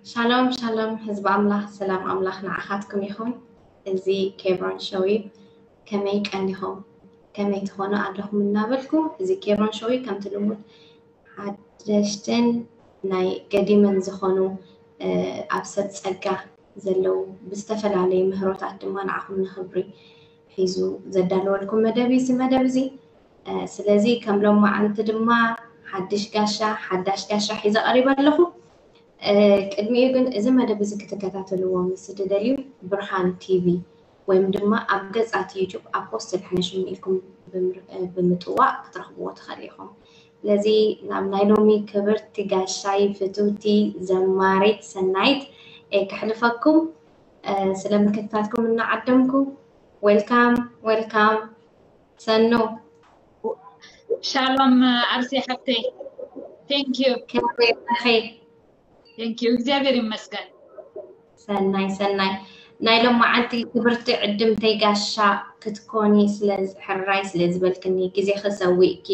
ሻሎም ሻሎም ህዝቢ ኣምላኽ፣ ሰላም ኣምላኽ ንዓኻትኩም ይኹን። እዚ ኬብሮን ሾው እዩ። ከመይ ቀኒኹም? ከመይ ትኾኑ ኣለኹም እናበልኩ፣ እዚ ኬብሮን ሾው እዩ። ከምቲ ልሙድ ሓደሽትን ናይ ገዲምን ዝኾኑ ኣብ ሰብ ጸጋ ዘለዉ ብዝተፈላለዩ ምህሮታት ድማ ንዓኹም ንኽብሪ ሒዙ ዘዳለወልኩም መደብ እዩ እዚ መደብ እዚ። ስለዚ ከም ሎማዓንቲ ድማ ሓድሽ ጋሻ ሓዳሽ ጋሻ ሒዘ ቀሪበ ኣለኹ። ቅድሚኡ ግን እዚ መደብ እዚ ክትከታተልዎ ምስ እትደልዩ ብርሃን ቲቪ ወይም ድማ ኣብ ገጻት ዩቱብ ኣፖስትል ሕነሽም ኢልኩም ብምጥዋቕ ክትረኽብዎ ትኽእሉ ኢኹም። ስለዚ ናብ ናይ ሎሚ ክብርቲ ጋሻይ ፍትውቲ ዘማሪት ሰናይት እየ ከሕልፈኩም። ስለ ምክትታልኩም እናዓደምኩ ዌልካም ዌልካም። ሰኑ ሻሎም ኣርሴ ሓብተይ። Thank you። ከመይ ኣለኺ? Thank you። እግዚኣብሔር ይመስገን። ሰናይ ሰናይ። ናይ ሎማዓንቲ ክብርቲ ዕድምተይ ጋሻ ክትኮኒ ስለ ሕራይ ስለ ዝበልክኒ፣ ግዜኺ ሰዊእኪ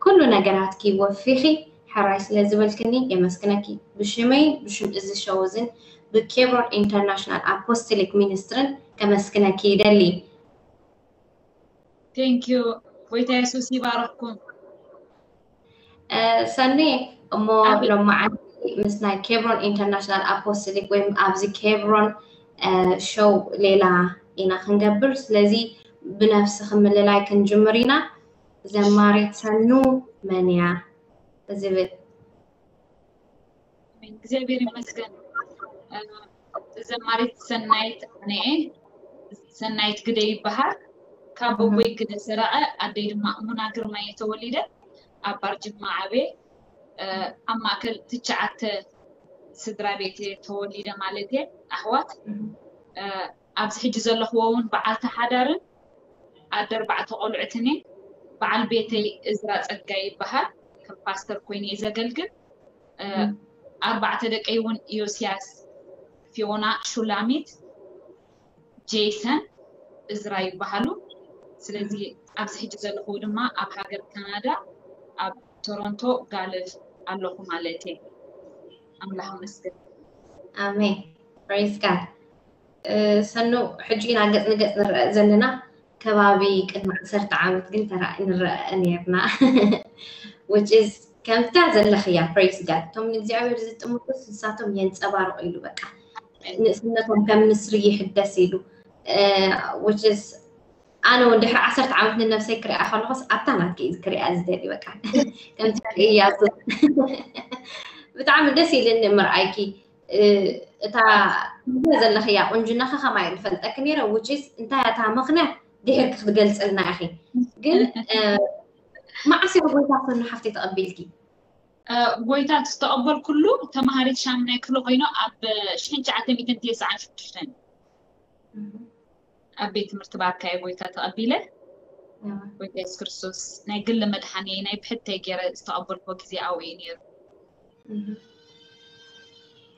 ኩሉ ነገራትኪ ወፊኺ ሕራይ ስለ ዝበልክኒ የመስግነኪ። ብሽመይ ብሽም እዚ ሸው እዝን ብኬብሮን ኢንተርናሽናል ኣፖስቶሊክ ሚኒስትርን ከመስግነኪ ይደሊ። Thank you። ጎይታ የሱስ ይባረክኩም። ሰኒ እሞ ሎማዓንቲ ምስ ናይ ኬብሮን ኢንተርናሽናል ኣፖስቶሊክ ወይም ኣብዚ ኬብሮን ሾው ሌላ ኢና ክንገብር። ስለዚ ብነፍሲ ክምልላይ ክንጅምር ኢና። ዘማሪት ሰኑ መን እያ ዝብል እግዚኣብሔር ይመስገን። ዘማሪት ሰናይት ኣነኤ ሰናይት ግደ ይበሃል። ካብ ኣቦይ ግደ ሰራቐ፣ ኣደይ ድማ እሙና ግርማ እየ ተወሊደ። ኣብ ባርጅማ ዓበየ። ኣብ ማእከል ትሽዓተ ስድራ ቤት እየ ተወሊደ ማለት እየ። ኣሕዋት ኣብዚ ሕጂ ዘለኽዎ እውን በዓልቲ ሓዳርን ኣደ ኣርባዕተ ቆልዑትን እየ። በዓል ቤተይ እዝራ ጸጋይ ይበሃል። ከም ፓስተር ኮይነ እየ ዘገልግል። ኣርባዕተ ደቀይ እውን ዮስያስ፣ ፊዮና፣ ሹላሚት፣ ጄይሰን፣ እዝራ ይበሃሉ። ስለዚ ኣብዚ ሕጂ ዘለኹ ድማ ኣብ ሃገር ካናዳ ኣብ ቶሮንቶ ጋልፍ ኣለኹ ማለት እየ። ኣምላኽ ይመስገን። ኣሜን። Praise God። ሰኑ ሕጂ ኢና ገጽ ንገጽ ንረአ ዘለና። ከባቢ ቅድሚ ዓሰርተ ዓመት ግን ተራ ንረአ ነርና። Which is ከምታ ዘለኽያ። Praise God። እቶም ንእግዚኣብሔር ዝጥምቱስ ንሳቶም የንጸባርቑ ኢሉ በቃ ንእስነቶም ከም ንስሪ ይሕደስ ኢሉ። Which is ኣነ እውን ድሕሪ ዓሰርተ ዓመት ንነብሰይ ክሪኣ ከለኹስ ኣብታ ናትኪ ክሪኣ ዝደሊ በቃ ከምቲ ክሪእያ ብጣዕሚ ደስ ኢልኒ ምርኣይኪ። እታ ዘለኽያ ቁንጅናኺ ከማይ ዝፈልጠኪ ነይረ። Which is እንታይ እታ ምኽንያት ድሕርኪ ክትገልፅልና ኢኺ። ግን መዓስ ኢኺ ጎይታ ሰኑ ሓፍተይ ተቐቢልኪ? ጎይታ ዝተቐበልኩሉ ተምሃሪት ሻምናይ ክፍሊ ኮይኑ ኣብ ሽሕን ትሽዓተ ሚእትን ተስዓን ሽዱሽተን ኣብ ቤት ትምህርቲ ባርካየ ጎይታ ተቐቢለ። ጎይታ የሱስ ክርስቶስ ናይ ግሊ መድሓኒየይ ናይ ብሕተይ ገይረ ዝተቐበልኩዎ ግዜ ኣብኡ እዩ ነይሩ።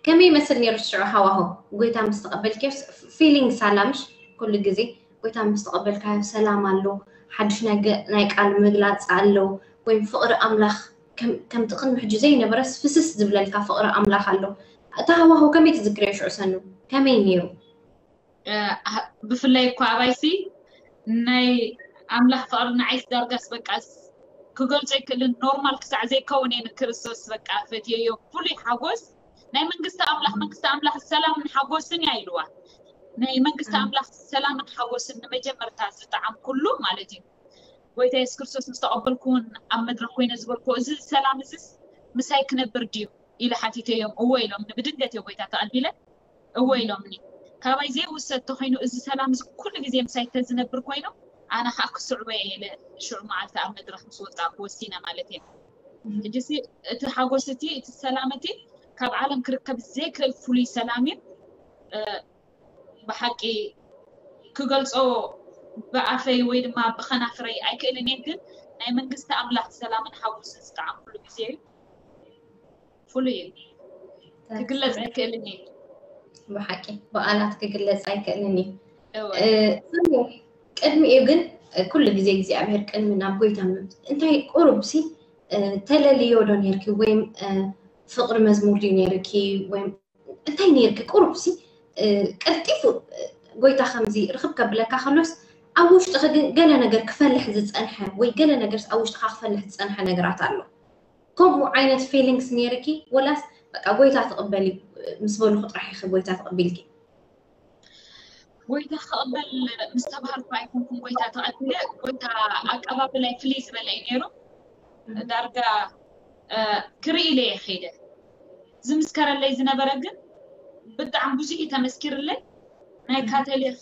ከመይ ይመስል ነይሩ ሽዑ ሃዋሁ? ጎይታ ምስ ተቐበልክዮ feeling ሳላ ምሽ ኩሉ ግዜ ጎይታ ምስ ተቐበልካዮ ሰላም ኣሎ፣ ሓድሽ ናይ ቃል ምግላፅ ኣሎ፣ ወይም ፍቕሪ ኣምላኽ ከምቲ ቅድሚ ሕጂ ዘይነበረስ ፍስስ ዝብለልካ ፍቕሪ ኣምላኽ ኣሎ። እቲ ሃዋሁ ከመይ ትዝክርዮ ሽዑ ሰኑ? ከመይ ነይሩ? ብፍላይ እኳ ኣባይሲ ናይ ኣምላኽ ፍቕሪ ንዓይስ ዳርጋስ በቃ ክገልጾ ኣይክእልን። ኖርማል ክሳዕ ዘይከውን እየ ንክርስቶስ በቃ ፈትየዮ። ፍሉይ ሓጎስ ናይ መንግስቲ ኣምላኽ መንግስቲ ኣምላኽ ሰላምን ሓጎስን እያ ኢልዋ። ናይ መንግስቲ ኣምላኽ ሰላምን ሓጎስን ንመጀመርታ ዝጠዓምኩሉ ማለት እዩ። ጎይታ የሱስ ክርስቶስ ምስ ተቐበልኩ እውን ኣብ መድረኽ ኮይነ ዝበልኩዎ እዚ ሰላም እዚስ ምሳይ ክነብር ድዩ ኢለ ሓቲተዮም። እወ ኢሎምኒ። ብድንገት እየ ጎይታ ተቐቢለ። እወ ኢሎምኒ። ካባይ ዘይውሰድ ተኾይኑ እዚ ሰላም እዚ ኩሉ ግዜ ምሳይ ተዝነብር ኮይኑ ኣነ ከዓ ክስዕቦ እየ ኢለ ሽዑ መዓልቲ ኣብ መድረኽ ምስ ወፃእኩ ወሲነ ማለት እየ። ሕጂሲ እቲ ሓጎስ እቲ እቲ ሰላም እቲ ካብ ዓለም ክርከብ ዘይክእል ፍሉይ ሰላም እዩ። ብሓቂ ክገልፆ ብኣፈይ ወይ ድማ ብኸናፍረይ ኣይክእልን እየ፣ ግን ናይ መንግስቲ ኣምላኽ ሰላምን ሓጎስን ዝጠዓምኩሉ ግዜ እዩ። ፍሉይ እዩ፣ ክግለፅ ኣይክእልን እዩ። ብሓቂ ብቓላት ክግለፅ ኣይክእልን እዩ። ቅድሚኡ ግን ኩሉ ግዜ እግዚኣብሔር ቅድሚ ናብ ጎይታ እንታይ ቁሩብ ሲ ተለልዮ ዶ ነርኪ ወይም ፍቕሪ መዝሙር ድዩ ነይርኪ? ወይ እንታይ ነይርኪ? ቁሩብ ሲ ቀልጢፉ ጎይታ ከምዚ ርኽብ ከብለካ ከሎስ ኣብ ውሽጥኺ ግን ገለ ነገር ክፈልሕ ዝጸንሐ ወይ ገለ ነገር ኣብ ውሽጥኻ ክፈልሕ ዝጸንሐ ነገራት ኣሎ። ከምኡ ዓይነት ፊሊንግስ ነይርኪ? ወላስ በቃ ጎይታ ትቕበሊ ምስ በሉኹ ጥራሕ ኢኺ ጎይታ ተቐቢልኪ? ጎይታ ክቕበል ምስ ተባሃልኩ ኣይኮንኩን ጎይታ ተቐቢለ። ጎይታ ኣቀባብላይ ፍልይ ዝበለ እዩ ነይሩ። ዳርጋ ክርኢ ኢለ እየ ከይደ። ዝምስከረለይ ዝነበረ ግን ብጣዕሚ ብዙሕ እዩ ተመስኪርለይ። ናይ ካቶሊክ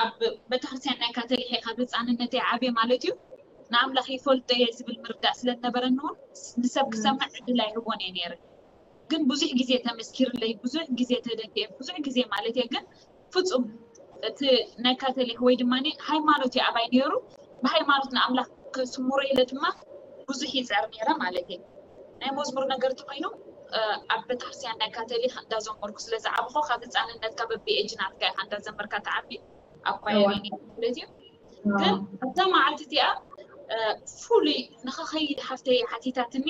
ኣብ ቤተክርስትያን ናይ ካቶሊክ ካብ ህፃንነተይ ዓብየ ማለት እዩ። ንኣምላኽ ይፈልጦ እየ ዝብል ምርዳእ ስለ ዝነበረኒ እውን ንሰብ ክሰምዕ ዕድል ኣይህቦን እየ ነይረ። ግን ብዙሕ ግዜ ተመስኪርለይ፣ ብዙሕ ግዜ ተደፊኤ፣ ብዙሕ ግዜ ማለት እየ። ግን ፍፁም እቲ ናይ ካቶሊክ ወይ ድማ ሃይማኖት እዩ ኣባይ ነይሩ። ብሃይማኖት ንኣምላኽ ከስምሮ ኢለ ድማ ብዙሕ ይፅዕር ነይረ ማለት እየ። ናይ መዝሙር ነገር ተኮይኑ ኣብ ቤተክርስትያን ናይ ካቶሊክ እንዳዘመርኩ ስለ ዝዓብኹ ካብ ህፃንነትካ በቢ ኤጅ ናትካ ኢኻ እንዳዘመርካ ትዓቢ ኣብ ኳየር ማለት እዩ። ግን ኣብታ መዓልቲ እቲኣ ፍሉይ ንኸኸይድ ሓፍተይ ሓቲታትኒ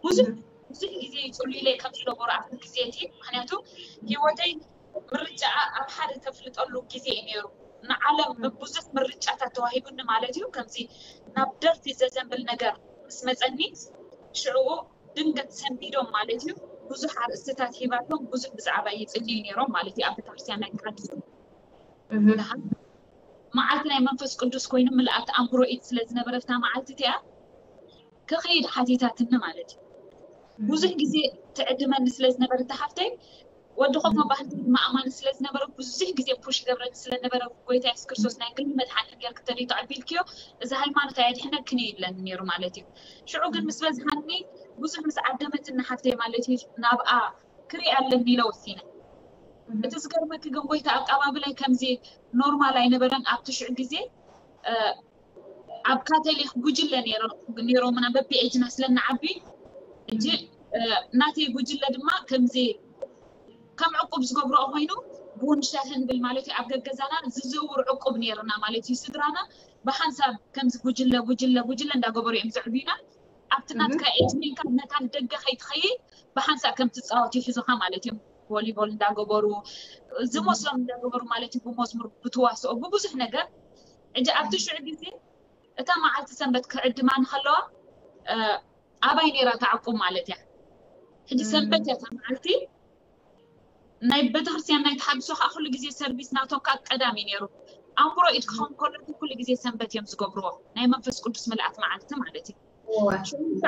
ብዙሕ ብዙሕ ግዜ ይፅሉ ኢለ ከም ዝነበሩ ኣብቲ ግዜ እቲ ምክንያቱ ህይወተይ ምርጫ ኣብ ሓደ ተፍልጠሉ ግዜ እዩ ነይሩ። ንዓለም ብብዙሕ ምርጫታት ተዋሂቡኒ ማለት እዩ። ከምዚ ናብ ደርፊ ዘዘንብል ነገር ምስ መፀኒ ሽዕኡ ድንገት ሰንቢዶም ማለት እዩ። ብዙሕ ኣርእስትታት ሂባቶም ብዙሕ ብዛዕባ ይፅልዩ ነይሮም ማለት እዩ። ኣብ ቤተክርስትያን ናይ ተሓድሶ መዓልቲ ናይ መንፈስ ቅዱስ ኮይኑ ምልኣት ኣእምሮ ኢድ ስለ ዝነበረ እታ መዓልቲ እቲኣ ክኸይድ ሓቲታትኒ ማለት እዩ። ብዙሕ ግዜ ትዕድመኒ ስለ ዝነበረ እታ ሓፍተይ ወዲ ኮፍ መባህልቲ ድማ ኣማኒ ስለ ዝነበረ ብዙሕ ግዜ ፑሽ ይገብረኒ ስለ ነበረ ጎይታ የሱስ ክርስቶስ ናይ ግሊ መድሓኒ ጌርኪ ተደይቶ ኣቢልክዮ እዚ ሃይማኖት ኣየድሕነክን እዩ ይብለኒ ነይሩ ማለት እዩ። ሽዑ ግን ምስ በዝሓኒ ብዙሕ ምስ ዓደመትኒ ሓፍተይ ማለት እዩ ናብኣ ክርኢ ኣለኒ ኢለ ወሲነ። እቲ ዝገርመኪ ግን ጎይታ ኣቀባብላይ ከምዚ ኖርማል ኣይነበረን ኣብቲ ሽዑ ግዜ ኣብ ካቶሊክ ጉጅለ ነይሮምና በቢ ኤጅና ስለንዓቢ እጂ ናተይ ጉጅለ ድማ ከምዚ ከም ዕቁብ ዝገብርኦ ኮይኑ ቡን ሻሂ ንብል ማለት እዩ ኣብ ገገዛና ዝዝውር ዕቁብ ነይርና ማለት እዩ ስድራና ብሓንሳብ ከምዚ ጉጅለ ጉጅለ ጉጅለ እንዳገበሩ እዮም ዘዕብዩና ኣብቲ ናትካ ኤጅ ኮይንካ ነታ ንደገ ከይትኸይድ ብሓንሳብ ከም ትፃወት ይሕዙኻ ማለት እዮም ቮሊቦል እንዳገበሩ ዝመስሎም እንዳገበሩ ማለት እዩ ብመዝሙር ብትዋስኦ ብብዙሕ ነገር እጂ ኣብቲ ሽዑ ግዜ እታ መዓልቲ ሰንበት ክዕድማ ንከለዋ ኣባይ ነይራ ተዓቁብ ማለት እያ ሕጂ ሰንበት እያ እታ መዓልቲ ናይ ቤተክርስትያን ናይ ተሓድሶ ከዓ ኩሉ ግዜ ሰርቪስ ናቶም ከዓ ቀዳም እዩ ነይሩ ኣእምሮ ኢድ ክኸውን ከሎ ኩሉ ግዜ ሰንበት እዮም ዝገብርዎ ናይ መንፈስ ቅዱስ ምልኣት መዓልቲ ማለት እዩ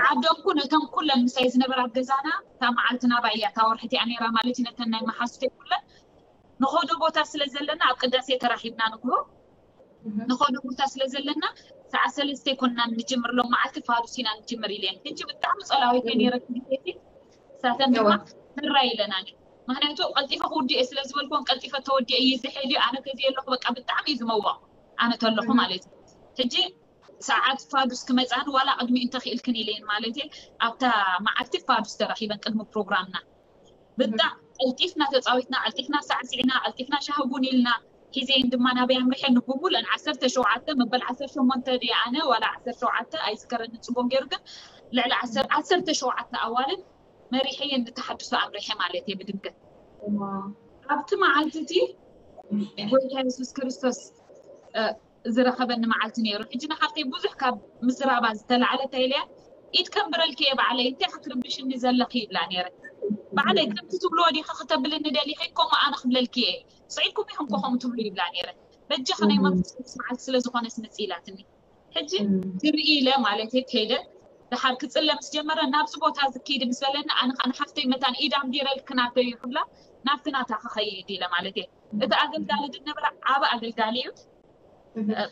ዓደምኩ ነተን ኩለን ምሳይ ዝነበራ ኣብ ገዛና እታ መዓልቲ ናባይ እያ እታ ወርሒ እቲኣ ነይራ ማለት እዩ ነተን ናይ መሓዙተይ ኩለን ንኸዶ ቦታ ስለ ዘለና ኣብ ቅዳሴ ተራኺብና ንግሆ ንኸዶ ቦታ ስለ ዘለና ሰዓት ሰለስተ ኮንና ንጅምር ሎም መዓልቲ ፋዱስ ኢና ንጅምር ኢለን ሕጂ ብጣዕሚ ፀላዊት እየ ነይረ ግዜቲ ሳተን ድማ ምራ ኢለናኒ ምክንያቱ ቀልጢፈ ክውድእ እየ ስለ ዝበልኩን ቀልጢፈ ተወዲአ እየ ዝሕል እዩ ኣነ ተዘየ ኣለኹ በቃ ብጣዕሚ እዩ ዝመወቕ ኣነ ተለኹ ማለት እዩ ሕጂ ሰዓት ፋዱስ ክመፃን ዋላ ቅድሚ እንተኽኢልክን ኢለን ማለት እየ ኣብታ መዓልቲ ፋዱስ ተረኺበን ቅድሚ ፕሮግራምና ብጣዕ ቀልጢፍና ተፃዊትና ቀልጢፍና ሳዕሲዕና ቀልጢፍና ሻሂ ቡን ኢልና ሒዘየን ድማ ናበይ ኣምሪሐ ንቡቡለን ዓሰርተ ሸውዓተ መበል ዓሰርተ ሸሞንተ ድየ ኣነ ዋላ ዓሰርተ ሸውዓተ ኣይዝከረኒ ፅቡቅ ገይሩ ግን ልዕሊ ዓሰርተ ሸውዓተ ኣዋልድ መሪሐየን ንተሓድሶ ኣምሪሐ ማለት እየ ብድንገት ኣብቲ መዓልቲ እቲ ጎይታ የሱስ ክርስቶስ ዝረኸበኒ መዓልቲ ነይሩ ሕጂ ንሓፍተይ ብዙሕ ካብ ምዝራባ ዝተላዕለ እንታይ ኢለያ ኢድ ከንብረልኪ እየ ባዕለይ እንታይ ክትርብሽኒ ዘለኺ ይብላ ነይረ ባዕለይ ከምቲ ትብልዎ ዲኺ ክተብልኒ ደሊኺ ከምኡ ኣነ ክብለልኪ እየ ስዒድኩም ኢኹም ኮ ከምኡ ትብሉ ይብላ ነይረ በጃኺ ናይ መንፈስ ቅዱስ መዓልቲ ስለ ዝኾነስ ምፂ ኢላትኒ ሕጂ ትርኢ ኢለ ማለት እየ ከይደ ደሓር ክፅለ ምስ ጀመረ ናብዚ ቦታ እዚ ክይዲ ምስ በለኒ ኣነ ከዓ ንሓፍተይ መታን ኢድ ኣንቢረልኪ ናተይ እዩ ክብላ ናብቲ ናታ ክኸይድ ኢለ ማለት እየ እቲ ኣገልጋሊ ዝነበረ ዓብ ኣገልጋሊ እዩ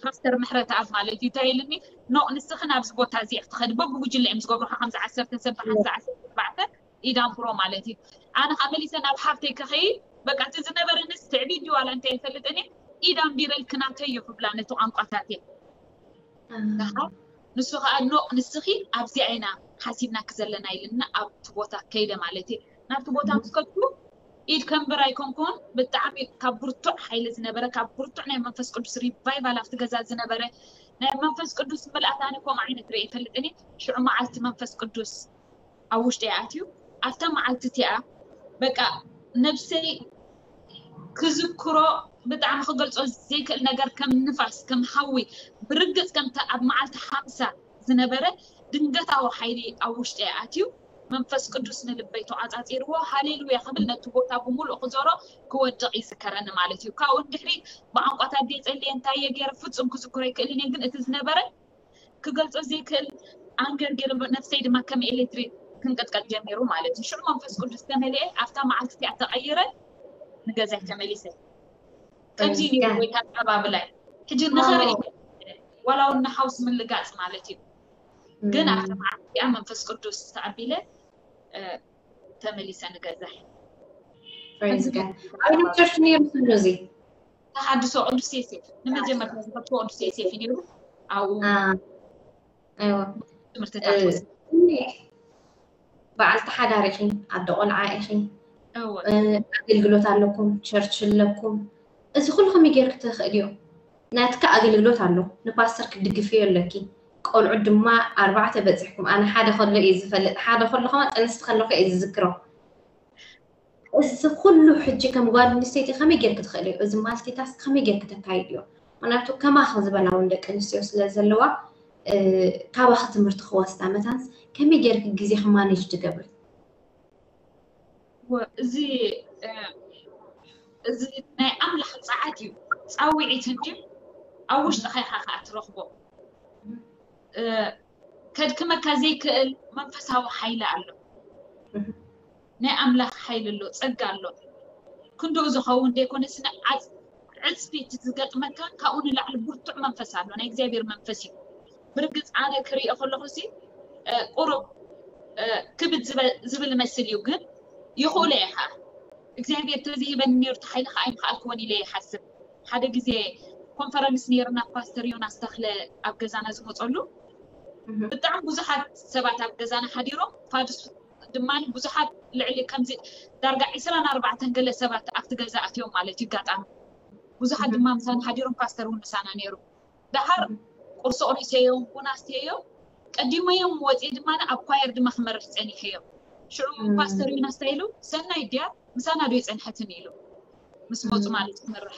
ፓስተር ምሕረተኣብ ማለት እዩ እንታይ ኢልኒ ኖ ንስኺ ናብዚ ቦታ እዚ ክትኸዲ በብጉጅለ እዮም ዝገብሩኻ ከምዚ ዓሰርተ ሰብ ብሓንሳ ዓሰርተ ኣርባዕተ ኢድ ኣንብሮ ማለት እዩ ኣነ ከዓ መሊሰ ናብ ሓፍተይ ክኸይድ በቃ እቲ ዝነበረንስ ትዕቢት ድዩ ዋላ እንታይ ይፈልጥን እየ ኢድ ኣንቢረልኪ ናተይ እዩ ክብላ ነቲ ቋንቋታት እየ ደሓር ንሱ ከዓ ኖ ንስኺ ኣብዚኣ ኢና ሓሲብናኪ ዘለና ኢልና ኣብቲ ቦታ ከይደ ማለት እዩ ናብቲ ቦታ ምስ ከድኩ ኢድ ከንብር ኣይኮንኩን ብጣዕሚ ካብ ብርቱዕ ሓይሊ ዝነበረ ካብ ብርቱዕ ናይ መንፈስ ቅዱስ ሪቫይቫል ኣብቲ ገዛ ዝነበረ ናይ መንፈስ ቅዱስ ምልኣት ኣነ ከምኡ ዓይነት ርኢ ይፈልጥን እየ ሽዑ መዓልቲ መንፈስ ቅዱስ ኣብ ውሽጢ ኣትዩ ኣብታ መዓልቲ እቲኣ በቃ ነብሰይ ክዝክሮ ብጣዕሚ ክገልጾ ዘይክእል ነገር ከም ንፋስ ከም ሓዊ ብርግጽ ከምታ ኣብ መዓልቲ ሓምሳ ዝነበረ ድንገታዊ ሓይሊ ኣብ ውሽጢ ኣትዩ መንፈስ ቅዱስ ንልበይ ተቋጻጺርዎ ሃሌሉያ ክብል ነቲ ቦታ ብምሉእ ክዞሮ ክወድቕ ይዝከረኒ ማለት እዩ። ካብኡ ንድሕሪ ብቋንቋታት ድየ ጸልየ እንታይ እየ ገይረ ፍጹም ክዝክሮ ኣይክእልን እየ፣ ግን እቲ ዝነበረ ክገልጾ ዘይክእል ኣንገር ገይሩ ነብሰይ ድማ ከም ኤሌክትሪክ ክንቀጥቀጥ ጀሚሩ ማለት እዩ። ሽዑ መንፈስ ቅዱስ ተመሊኤ ኣብታ መዓልቲ እቲኣ ተቐይረ ንገዛይ ተመሊሰ። ከምዚ እዩ ነይሩ ጎይታ ኣቀባብላይ። ሕጂ ንኽርኢ ዋላ እውን ንሓውስ ምልጋጽ ማለት እዩ። ግን ኣብታ መዓልቲ እቲኣ መንፈስ ቅዱስ ተቐቢለ ተመሊሰ ንገዛይ። ኣበይ ቸርች ነይሩ ስኑ እዚ? ተሓድሶ ቅዱስ ዮሴፍ ንመጀመርታ ዝኸድኩ ቅዱስ ዮሴፍ እዩ ነይሩ። ኣብኡ እወ ትምህርትታት በዓልቲ ሓዳር ኢኺ፣ ኣደ ቆልዓ ኢኺ፣ እወ ኣገልግሎት ኣለኩም፣ ቸርች ኣለኩም። እዚ ኩሉ ከመይ ጌርክ ትኽእልዮ? ናትካ ኣገልግሎት ኣሎ፣ ንፓስተር ክትድግፍዮ ኣለኪ። ቆልዑ ድማ ኣርባዕተ በፂሕኩም። ኣነ ሓደ ከሎ እየ ዝፈልጥ፣ ሓደ ከሎ ከማ ጥንስቲ ከለኹ እየ ዝዝክሮ። እዚ ኩሉ ሕጂ ከም ጓል ኣንስተይቲ ከመይ ጌርክ ትኽእልዮ? እዚ ማልቲታስክ ከመይ ጌርክ ተካይድዮ? ምክንያቱ ከማኺ ዝበላ እውን ደቂ ኣንስትዮ ስለ ዘለዋ ካባኺ ትምህርቲ ክወስዳ መታንስ ከመይ ጌርክ ግዜኺ ማኔጅ ትገብሪ? እዚ እዚ ናይ ኣምላኽ ጸዓት እዩ ጻውዒት እንጂ ኣብ ውሽጥኻ ኢኻ ከኣ ትረኽቦ ከድክመካ ዘይክእል መንፈሳዊ ሓይሊ ኣሎ ናይ ኣምላኽ ሓይሊ ኣሎ ጸጋ ኣሎ ክንድኡ ዝኸውን ዘይኮነስ ዕፅፊ ዝገጥመካ ካብኡ ንላዕሊ ብርቱዕ መንፈስ ኣሎ ናይ እግዚኣብሔር መንፈስ እዩ ብርግፅ ኣነ ክሪኦ ከለኹ ሲ ቁሩብ ክብድ ዝብል መስል እዩ ግን ይኽእሎ እየ ከዓ እግዚኣብሔር ተዘይበኒ ነይሩ ተሓይሊ ከዓ ኣይምክኣልክዎን ኢለ ይሓስብ ሓደ ግዜ ኮንፈረንስ ነይርና ፓስተር ዮናስ ተኽለ ኣብ ገዛና ዝመፀሉ ብጣዕሚ ብዙሓት ሰባት ኣብ ገዛና ሓዲሮም ፋድስ ድማ ብዙሓት ልዕሊ ከምዚ ዳርጋ ዒስራን ኣርባዕተን ገለ ሰባት ኣብቲ ገዛ ኣትዮም ማለት እዩ ኣጋጣሚ ብዙሓት ድማ ምሳና ሓዲሮም ፓስተር እውን ምሳና ነይሩ ደሓር ቁርሲ ቁሪሰዮም ቡና ኣስትየዮም ቀዲመዮም ወፅየ ድማ ኣብ ኳየር ድማ ክመርሕ ፀኒሐዮ ሽዑ ፓስተር ዮናስ እንታይ ኢሉ ሰናይ ድያ ምሳና ዶ ይፀንሐትን ኢሉ ምስ መፁ ማለት ክመርሕ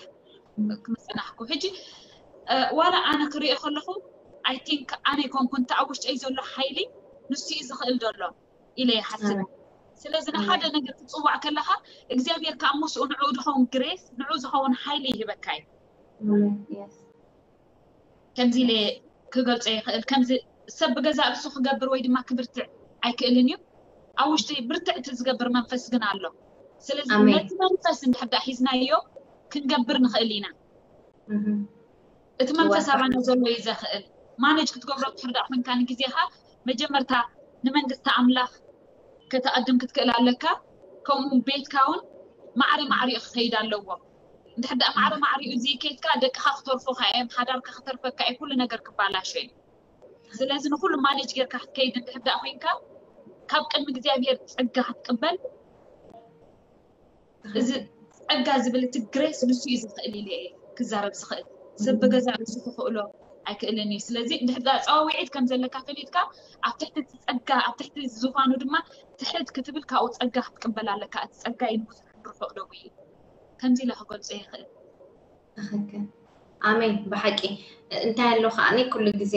ክምፀናሕኩ ሕጂ ዋላ ኣነ ክሪኦ ከለኹ ኣይ ቲንክ ኣነ ይኮንኩ እንተ ኣብ ውሽጠይ ዘሎ ሓይሊ ንሱ እዩ ዝኽእል ዘሎ ኢለ ይሓስብ ስለዚ ንሓደ ነገር ክትፅዋዕ ከለካ እግዚኣብሔር ከዓ ምስኡ ንዕኡ ዝኸውን ግሬስ ንዕኡ ዝኸውን ሓይሊ ይህበካ እዩ ከምዚ ኢለ ክገልፆ ይኽእል ከምዚ ሰብ ብገዛ ርእሱ ክገብር ወይ ድማ ክብርትዕ ኣይክእልን እዩ ኣብ ውሽጢ ብርትዕቲ ዝገብር መንፈስ ግን ኣሎ ስለዚ ነቲ መንፈስ እንድሕዳ ሒዝናዮ ክንገብር ንኽእል ኢና እቲ መንፈስ ኣባና ዘሎ እዩ ዘኽእል ማነጅ ክትገብሮ ትሕርዳእ ኮንካ ንግዜኻ መጀመርታ ንመንግስቲ ኣምላኽ ከተቐድም ክትክእል ኣለካ ከምኡ ቤትካ እውን ማዕረ ማዕሪኡ ክኸይድ ኣለዎ እንድሕር ደኣ ማዕረ ማዕሪኡ ዘይከይድካ ደቅኻ ክተርፉኻ እዮም ሓዳርካ ክተርፈካ እዩ ኩሉ ነገር ክባላሾ እዩ ስለዚ ንኩሉ ማኔጅ ጌርካ ክትከይድ እንድሕር ደኣ ኮይንካ ካብ ቅድሚ እግዚኣብሔር ጸጋ ክትቅበል እዚ ጸጋ ዝብል እቲ ግሬስ ንሱ እዩ ዝኽእል ኢለ እየ ክዛረብ ዝኽእል ሰብ ብገዛ ርእሱ ክኽእሎ ኣይክእልን እዩ ስለዚ እንድሕር ደኣ ጸዋዊዒት ከም ዘለካ ፈሊጥካ ኣብ ትሕቲ እቲ ጸጋ ኣብ ትሕቲ ዝፋኑ ድማ ትሕት ክትብል ካብኡ ጸጋ ክትቅበል ኣለካ እቲ ጸጋ እዩ ንብዙሕ ብርሑቕ ደው እዩ ከምዚ ኢለ ክገልጾ ይኽእል ትኽክል ኣሜን ብሓቂ እንታይ ኣሎ ከዓኒ ኩሉ ግዜ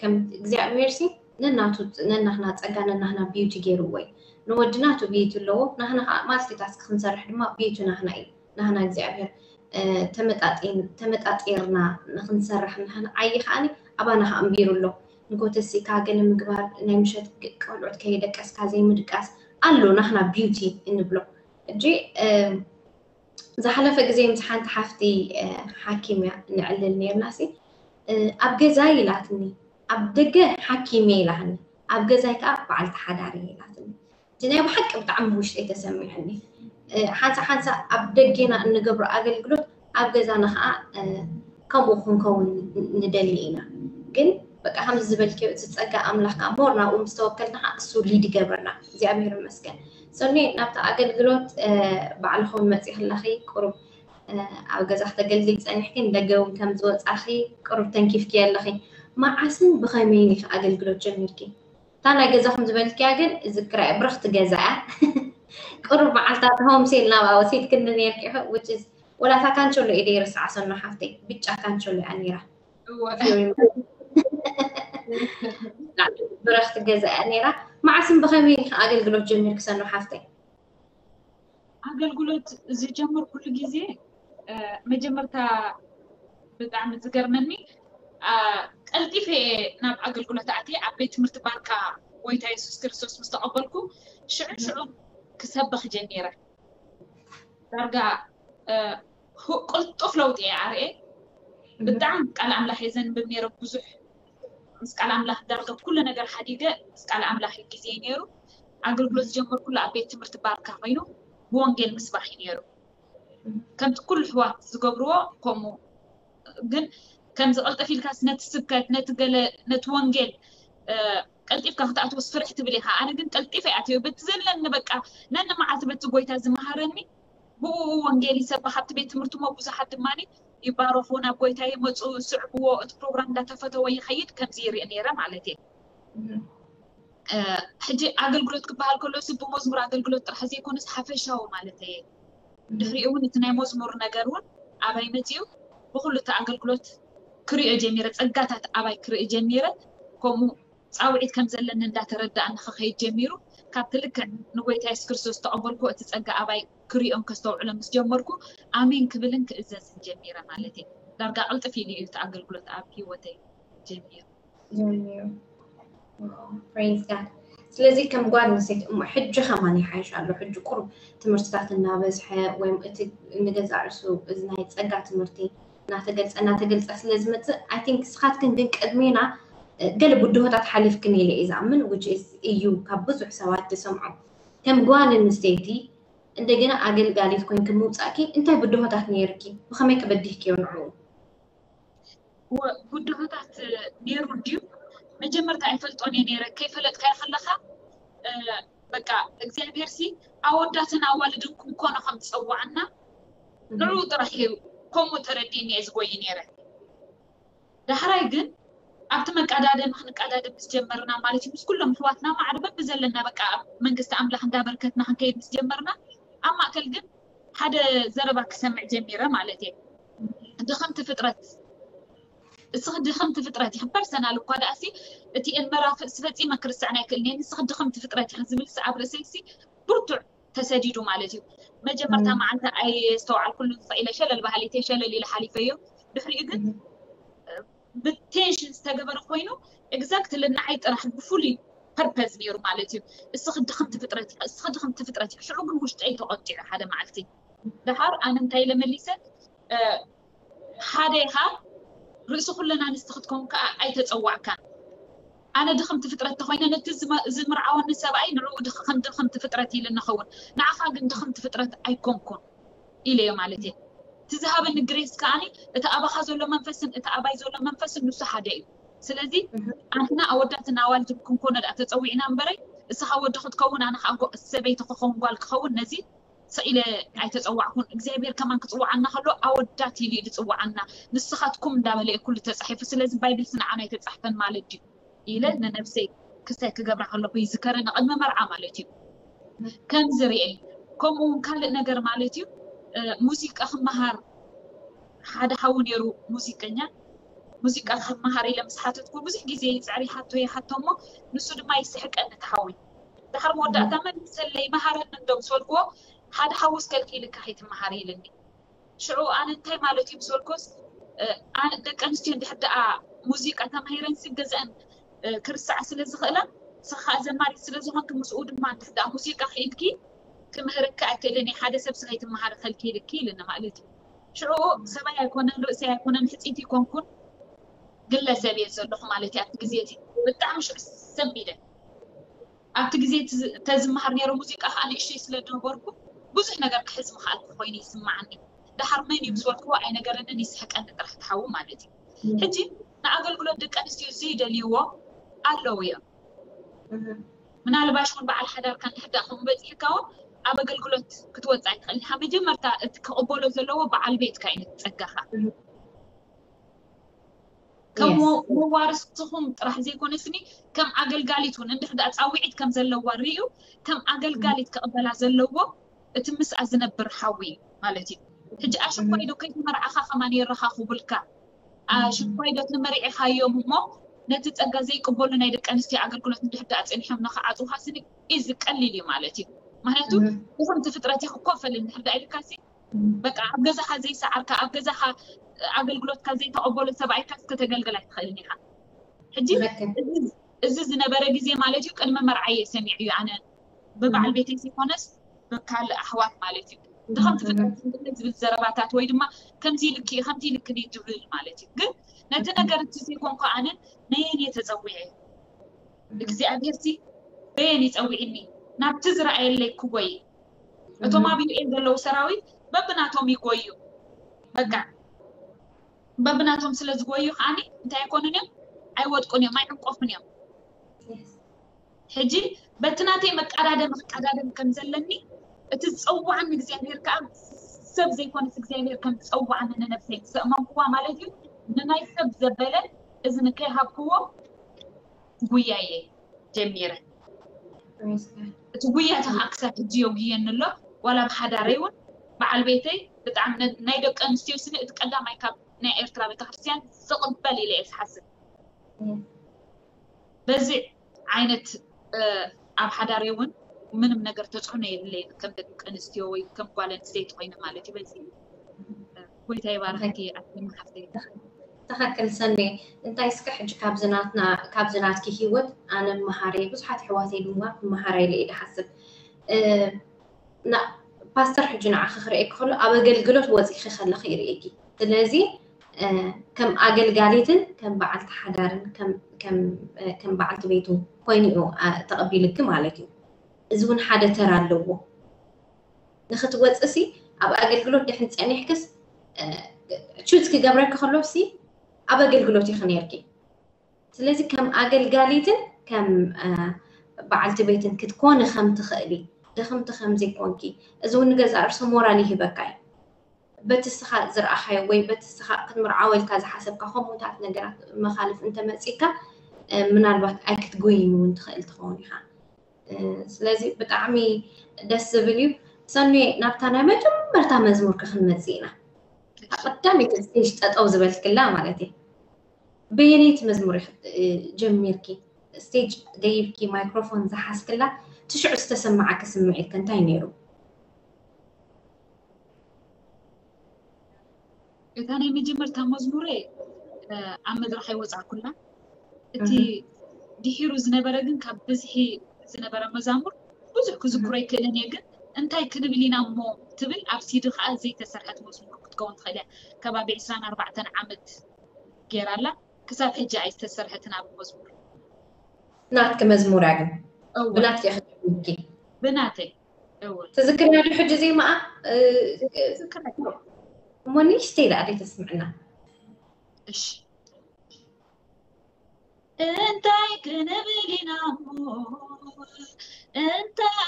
ከም እግዚኣብሔር ሲ ነናቱ ነናህና ፀጋ ነናህና ቢዩቲ ገይርዎ እዩ ንወዲ ናቱ ቢዩቲ ኣለዎ ናህና ከዓ ማልቲታስክ ክንሰርሕ ድማ ቢዩቲ ናህና እዩ ናህና እግዚኣብሔር ተመጣጢርና ንክንሰርሕ ናህና ዓይ ከዓኒ ኣባና ከዓ ኣንቢሩ ኣሎ ንጎተሲካ ገለ ምግባር ናይ ምሸት ቆልዑት ከየደቀስካ ዘይምድቃስ ኣሎ ናህና ቢዩቲ እንብሎ እጂ ዝሓለፈ ግዜ ምስ ሓንቲ ሓፍቲ ሓኪም እያ ንዕልል ነርና ሲ ኣብ ገዛይ ኢላትኒ ኣብ ደገ ሓኪም እየ ኢላትኒ ኣብ ገዛይ ከዓ በዓልቲ ሓዳር እየ ኢላትኒ እቲ ናይ ብሓቂ ብጣዕሚ ውሽጠይ ተሰሚዐኒ ሓንሳ ሓንሳ ኣብ ደጌና እንገብሮ ኣገልግሎት ኣብ ገዛና ከዓ ከምኡ ክንከውን ንደሊ ኢና ግን በቃ ከምዚ ዝበልክዮ እቲ ፀጋ ኣምላኽ ከዓ ሞር ናብኡ ምስ ተወከልና ከዓ እሱ ሊድ ይገብረና እግዚኣብሔር ይመስገን ሶኒ ናብቲ ኣገልግሎት ባዕልኹም መፂኽለኺ ቁሩብ ኣብ ገዛ ክተገልግል ፀኒሕኪ ንደገ እውን ከም ዝወፃኺ ቁሩብ ተንኪፍኪ ኣለኺ መዓስን ብኸመይን ኢኺ ኣገልግሎት ጀሚርኪ እታ ናይ ገዛኹም ዝበልክያ ግን እዝክራ እየ፣ ብርኽቲ ገዛ እያ። ቁሩብ መዓልታት ሆም ሴል ናብኣ ወሲድክኒ ነይርኪ ኢኹ፣ which is ወላ እታ ካንቸሎ ኢደ ይርስዓ ሰኖ ሓፍተይ፣ ብጫ ካንቸሎ እያ ነይራ። እወ። ብረኽቲ ገዛ እያ ነይራ። መዓስን ብኸመይ ኢኺ ኣገልግሎት ጀሚርኪ ሰኖ ሓፍተይ? ኣገልግሎት ዝጀመርኩሉ ግዜ፣ እ፣ መጀመርታ ብጣዕሚ ዝገርመኒ፣ አ፣ ቀልጢፈ እየ ናብ ኣገልግሎት ኣትየ። ኣብ ቤት ትምህርቲ ባርካ ጎይታ የሱስ ክርስቶስ ምስ ተቐበልኩ፣ ሽዑ ሽዑ ክሰብኽ ጀሚረ። ዳርጋ፣ እ፣ ሁ-፣ ቅልጡፍ ለውጢ እየ ኣርኤ። ብጣዕሚ ቃል ኣምላኽ እየ ዘንብብ ነይረ ብዙሕ። ምስ ቃል ኣምላኽ ዳርጋ ኩሉ ነገር ሓዲገ ምስ ቃል ኣምላኽ እዩ ግዜ ነይሩ። ኣገልግሎት ዝጀመርኩሉ ኣብ ቤት ትምህርቲ ባርካ ኮይኑ ብወንጌል ምስባኽ እዩ ነይሩ። ከምቲ ኩሉ ኣሕዋት ዝገብርዎ ከምኡ፣ ግን ከምዚ ቅልጥፍ ኢልካስ ነቲ ስብከት፣ ነቲ ገለ፣ ነቲ ወንጌል፣ እ፣ ቀልጢፍካ ክትኣትዎስ ፍርሕ ትብል ኢኻ። ኣነ ግን ቀልጢፈ እየ ኣትዮ። በቲ ዘለኒ በቃ ነኒ መዓልቲ በቲ ጎይታ ዝመሃረኒ ብኡ ወንጌል ይሰብኽ። ኣብቲ ቤት ትምህርቲ እሞ ብዙሓት ድማ ይባረኹ፣ ናብ ጎይታ ይመፁ፣ ይስዕብዎ፣ እቲ ፕሮግራም እንዳተፈተወ ይኸይድ። ከምዚ ይርኢ ነይረ ማለት እየ። እ፣ ሕጂ ኣገልግሎት ክበሃል ከሎ ሲ ብመዝሙር ኣገልግሎት ጥራሕ ዘይኮነስ ሓፈሻዊ ማለት እየ። ድሕሪኡ እውን እቲ ናይ መዝሙር ነገር እውን ኣባይ መፂኡ ብኩሉ እቲ ኣገልግሎት ክሪኦ ጀሚረ፣ ፀጋታት ኣባይ ክርኢ ጀሚረ። ከምኡ ፃውዒት ከም ዘለኒ እንዳተረዳእኒ ክኸይድ ጀሚሩ። ካብቲ ልክዕ ንጎይታ የሱስ ክርስቶስ ተቐበልኩ፣ እቲ ፀጋ ኣባይ ክሪኦን ከስተውዕሎ ምስ ጀመርኩ ኣሜን ክብልን ክእዘዝን ጀሚረ ማለት እየ። ዳርጋ ቅልጥፍ ኢሉ እዩ እቲ ኣገልግሎት ኣብ ህይወተይ ጀሚሩ። ጀሚሩ። Praise God። ስለዚ ከም ጓል ኣንስተይቲ እሞ ሕጂ ከማን ይሓይሽ ኣሎ። ሕጂ ቁሩብ ትምህርትታት እናበዝሐ ወይም እቲ ንገዛእ ርእሱ እዚ ናይ ጸጋ ትምህርቲ እናተገልጸ እናተገልጸ ስለ ዝመጽእ፣ I think ንስኻትክን ግን ቅድሜና፣ እ፣ ገለ ብድሆታት ሓሊፍክን ኢለ እየ ዝኣምን፣ which is እዩ ካብ ብዙሕ ሰባት ዝሰምዖ። ከም ጓል ኣንስተይቲ እንደገና ኣገልጋሊት ኮይንኪ ምውጻእኪ እንታይ ብድሆታት ነይርኪ? ብኸመይ ከ በዲህክዮ ንዕኡ? ወ-፣ ብድሆታት ነይሩ ድዩ? መጀመርታ ኣይፈልጦን እየ ነይረ። ከይፈለጥካዮ ከለኻ፣ እ፣ በቃ እግዚኣብሔር ሲ ኣወዳትን ኣዋልድን ክንኮኖ ከም ዝጸዋዓና ንዕኡ ጥራሕ እዩ። ከምኡ ተረዲእኒ እየ ዝጎይ ነይረ። ዳሕራይ ግን ኣብቲ መቀዳደሚ ክንቀዳደም ምስ ጀመርና ማለት እዩ፣ ምስ ኩሎም ኣሕዋትና ማዕረ በብዘለና በቃ ኣብ መንግስቲ ኣምላኽ እንዳበርከትና ክንከይድ ምስ ጀመርና፣ ኣብ ማእከል ግን ሓደ ዘረባ ክሰምዕ ጀሚረ ማለት እየ። ድኽምቲ ፍጥረት፣ እስኺ ድኽምቲ ፍጥረት ኢኺ። ፐርሰናል እኳ ደኣሲ እቲ ኤልመራ ፍ-፣ ፈጺመ ክርስዕን ኣይክእልን እየ፣ ንስኺ ድኽምቲ ፍጥረት ኢኺ ዝብል ሲ ኣብ ርእሰይ ሲ ብርቱዕ ተሰዲዱ ማለት እዩ። መጀመርታ እም። መዓልቲ ኣየስተውዓልኩሉን ስቕ ኢለ ሸለል በሃሊት እየ፣ ሸለል ኢለ ሓሊፈዮ። ድሕሪኡ ግን፣ እም። እ፣ ብቴንሽን ዝተገበረ ኮይኑ፣ ኤግዛክትሊ ንዓይ ጥራሕ ብፍሉይ ፐርፐዝ ነይሩ ማለት እዩ። እስኺ ድኽምቲ ፍጥረት ኢኺ፣ እስኺ ድኽምቲ ፍጥረት ኢኺ። ሽዑ ግን ውሽጠይ ተቖጢዑ ሓደ መዓልቲ። ደሓር ኣነ እንታይ ኢለ መሊሰ? እ፣ ሓደ ኢኻ፣ ርእሲ ኩለን ኣንስቲ ክትከውን ከኣ ኣይተጸዋዕካን። ኣነ ድኽምቲ ፍጥረት ተኾይነ፣ ነቲ ዝመ-፣ ዝምርዓወኒ ሰብኣይ ንዕኡ ድኽ-፣ ከም ድኽምቲ ፍጥረት ኢለ ንኸውን፣ ንዓኻ ግን ድኽምቲ ፍጥረት ኣይኮንኩን ኢለዮ ማለት እየ። እቲ ዝሃበኒ ግሬስ ከኣኒ፣ እቲ ኣባኻ ዘሎ መንፈስን እቲ ኣባይ ዘሎ መንፈስን ንሱ ሓደ እዩ። ስለዚ፣ እህ። ኣንሕና ኣወዳትን ኣዋልድን ክንኮኖ ደኣ ተጸዊዕና እምበረይ፣ እስኻ ወዲ ክትከውን፣ ኣነ ኸኣ ጎ-፣ ሰበይቲ ክኸውን፣ ጓል ክኸውን፣ ነዚ ስቕ ኢለ ኣይተጸዋዕኩን። እግዚኣብሔር ከማን ክጽውዓና ከሎ ኣወዳት ኢሉ እዩ ዝጽውዓና። ንስኻትኩም እንዳበለ እዩ ኩሉ ተጻሒፉ። ስለዚ ባይብል ንዓና ኣይተጻሕፈን ማለት ድዩ ኢለ ንነብሰይ ክሳይ ክገብራ ከለኹ ይዝከረኒ፣ ቅድሚ መርዓ ማለት እዩ። ከምዚ ርእየ። ከምኡ እውን ካልእ ነገር ማለት እዩ፣ እ፣ ሙዚቃ ክመሃር ሓደ ሓው ነይሩ ሙዚቀኛ። ሙዚቃ ክመሃር ኢለ ምስ ሓተትኩ ብዙሕ ግዜ ይጽዕር ይሓቶ ይሓቶ እሞ ንሱ ድማ ይስሕቀኒ እቲ ሓወይ። ድሓር መወዳእታ መሊሰለይ መሃረኒ እንዶ ምስ በልክዎ፣ ሓደ ሓውስ ከልኪልካ ከይትመሃሪ ኢልኒ። ሽዑ ኣነ እንታይ ማለት እዩ ምስ በልኩስ፣ እ፣ ኣነ ደቂ ኣንስትዮ እንድሕር ደኣ ሙዚቃ ተማሂረን ሲ ገዝአን፣ እ፣ ክርስዓ ስለ ዝኽእላ፣ ንስኻ ከኣ ዘማሪት ስለ ዝኾንኪ ምስኡ ድማ እንድሕር ደኣ ሙዚቃ ክኢልኪ ክምህረኪ ኣይክእልን እየ፣ ሓደ ሰብ ሲ ከይትመሃሪ ከልኪልኪ ኢልኒ ማለት እዩ። ሽዑ ሰብኣይ ኣይኮነን፣ ርእሰይ ኣይኮነን፣ ሕጽይቲ ኣይኮንኩን፣ ግለሰብ እየ ዘለኹ ማለት እዩ። ኣብቲ ግዜ እቲ ብጣዕሚ ሽዑ ሰም ኢለ። ኣብቲ ግዜ እቲ ዝ-፣ ተዝመሃር ነይረ ሙዚቃ ከዓ ንእሽተይ ስለ ዝነበርኩ ብዙሕ ነገር ክሕዝ ምኽኣልኩ ኮይኑ ይስምዓኒ። ደሓር መን እዩ ምስ በልክዎ ኣይነገረንን፣ ይስሕቀኒ ጥራሕ ትሓዊ ማለት እዩ። ሕጂ ንኣገልግሎት ደቂ ኣንስትዮ ዘይደልይዎ ኣለዉ እዮም። ምናልባሽ እውን በዓል ሓዳርካ እንድሕር ደኣ ከምኡ በፂሕካ እውን ኣብ ኣገልግሎት ክትወፅእ ኣይትኽእል ኢኻ። መጀመርታ እቲ ክቕበሎ ዘለዎ በዓል ቤትካ እዩ ጸጋኻ። ከም መዋርስኹም ጥራሕ ዘይኮነስኒ ከም ኣገልጋሊት እውን እንድሕር ዳኣ ፃውዒት ከም ዘለዋ ርእዩ ከም ኣገልጋሊት ክቕበላ ዘለዎ እቲ ምስኣ ዝነብር ሓዊ ማለት እዩ። ሕጂ ኣሽኳይ ዶ ከይተመርዓኻ ከማን የረኻኽቡልካ ኣሽኳይ ዶ ተመሪዕኻዮም እሞ ነቲ ፀጋ ዘይቅበሉ ናይ ደቂ ኣንስትዮ ኣገልግሎት እንድሕር ዳኣ ፀኒሖም ንኽዓፅውኻ ስኒ እዚ ቀሊል እዩ ማለት እዩ። ምክንያቱ ድኹምቲ ፍጥረት ይክኮፈል እንድሕር ዳኣ ኢልካ ሲ በቃ ኣብ ገዛኻ ዘይሰዓርካ ኣብ ገዛኻ ኣገልግሎትካ ዘይተቐበሎ ሰብኣይካ ከተገልግል ኣይትኽእልን ኢኻ። ሕጂ እዚ ዝነበረ ግዜ ማለት እዩ ቅድሚ መርዓየ ሰሚዑ እዩ ኣነ ብበዓል ቤተይ ዘይኮነስ ብካልእ ኣሕዋት ማለት እዩ። ድኸምቲ ፍጥረት ዝብል ዘረባታት ወይ ድማ ከምዚ ኢልኪ ከምዚ ኢልክኒ ትብል ማለት እዩ። ግን ነቲ ነገር እቲ ዘይኮንኩ ኣነ ነየን እየ ተፀዊዐ እግዚኣብሔር ሲ በየን ይፀዊዕኒ ናብቲ ዝረኣየለይ ክጎይ እቶም ኣብ ዩኤን ዘለዉ ሰራዊት በብናቶም ይጎዩ በቃ በብናቶም ስለ ዝጎዩ ከዓኒ እንታይ ኣይኮኑን እዮም ኣይወድቁን እዮም ኣይዕንቆፉን እዮም ሕጂ በቲ ናተይ መቀዳደም ክቀዳደም ከም ዘለኒ እቲ ዝፀዋዕኒ እግዚኣብሔር ከዓ ሰብ ዘይኮነስ እግዚኣብሔር ከም ዝፀዋዕኒ ንነብሰይ ምስ ኣእመንኩዋ ማለት እዩ ንናይ ሰብ ዘበለ እዝኒ ከይሃብክዎ ጉያየ ጀሚረ እቲ ጉያ እቲ ከዓ ክሳብ ሕጂ የጉየኒ ኣሎ ዋላ ብሓዳረይ እውን በዓል ቤተይ ብጣዕሚ ናይ ደቂ ኣንስትዮ ስኒ እቲ ቀዳማይ ካብ ናይ ኤርትራ ቤተክርስትያን ዝቕበል ኢለ እየ ዝሓስብ በዚ ዓይነት ኣብ ሓዳረይ እውን ምንም ነገር ተፅዕኖ የብለይን ከም ደቂ ኣንስትዮ ወይ ከም ጓል ኣንስተይቲ ኮይነ ማለት እዩ በዚ ጎይታ ይባርክኪ ኣትመሓፍተይ ትኽክል ሰኔ እንታይ እስከ ሕጂ ካብዚ ናትና ካብዚ ናትኪ ሂወት ኣነ መሃረየ ብዙሓት ኣሕዋተይ ድማ ክመሃራ ኢለ እየ ዝሓስብ ፓስተር ሕጂ ንዓኺ ክርእየኪ ከሎ ኣብ ኣገልግሎት ወፂኺ ከለኺ ይርእየኪ ስለዚ ከም ኣገልጋሊትን ከም በዓልቲ ሓዳርን ከም በዓልቲ ቤቱ ኮይኑ እዩ ተቐቢልኪ ማለት እዩ እዚ እውን ሓደ ተራ ኣለዎ ንክትወፅእ ሲ ኣብ ኣገልግሎት ድሕን ፀኒሕክስ ቹዝ ክገብረኪ ከሎ ሲ ኣብ ኣገልግሎት ኢኺ ነርኪ ስለዚ ከም ኣገልጋሊትን ከም በዓልቲ ቤትን ክትኮኒ ከም ትኽእሊ ድኽምቲ ከም ዘይኮንኪ እዚ እውን ንገዛእ ርእሱ ሞራል ይህበካ እዩ በቲ ስኻ ዝረኣኻዮ ወይ በቲ ስኻ ክትምርዓወ ኢልካ ዝሓሰብካ ከምኡታት ነገራት መኻልፍ እንተመፂካ ምናልባት ኣይክትጎይን እውን ትኽእል ትኸውን ኢኻ ስለዚ ብጣዕሚ ደስ ዝብል እዩ ሰኔ ናብታ ናይ መጀመርታ መዝሙርኪ ክንመፅእ ኢና ቀዳመይቲ ስቴጅ ጠጠው ዝበልክላ ማለት እዩ በየነይቲ መዝሙር ጀሚርኪ ስቴጅ ደይብኪ ማይክሮፎን ዝሓዝክላ ትሽዑ ዝተሰማዓኪ ስምዒት ከ እንታይ ነይሩ እታ ናይ መጀመርታ መዝሙረ ኣብ መድረኽ ኣይወፃእኩላ እቲ ድሒሩ ዝነበረ ግን ካብ ብዝሒ ዝነበረ መዛሙር ብዙሕ ክዝክሮ ኣይክእልን እየ ግን እንታይ ክንብል ኢና እሞ ትብል ኣብ ሲዲ ከዓ ዘይተሰርሐት መዝሙር ክትከውን ትኽእል እያ ከባቢ ዕስራን ኣርባዕተን ዓመት ገይራላ ክሳብ ሕጂ ኣይተሰርሐትን ኣብ መዝሙር ናትኪ መዝሙር እያ ግን ብናትኪ ክትብልኪ ብናተይ ትዝክርያ ዶ ሕጂ ዜማኣ እሞ ንእሽተይ ደኣ ደይ ተስምዕና እሺ እንታይ ክንብል ኢና እሞ እንታይ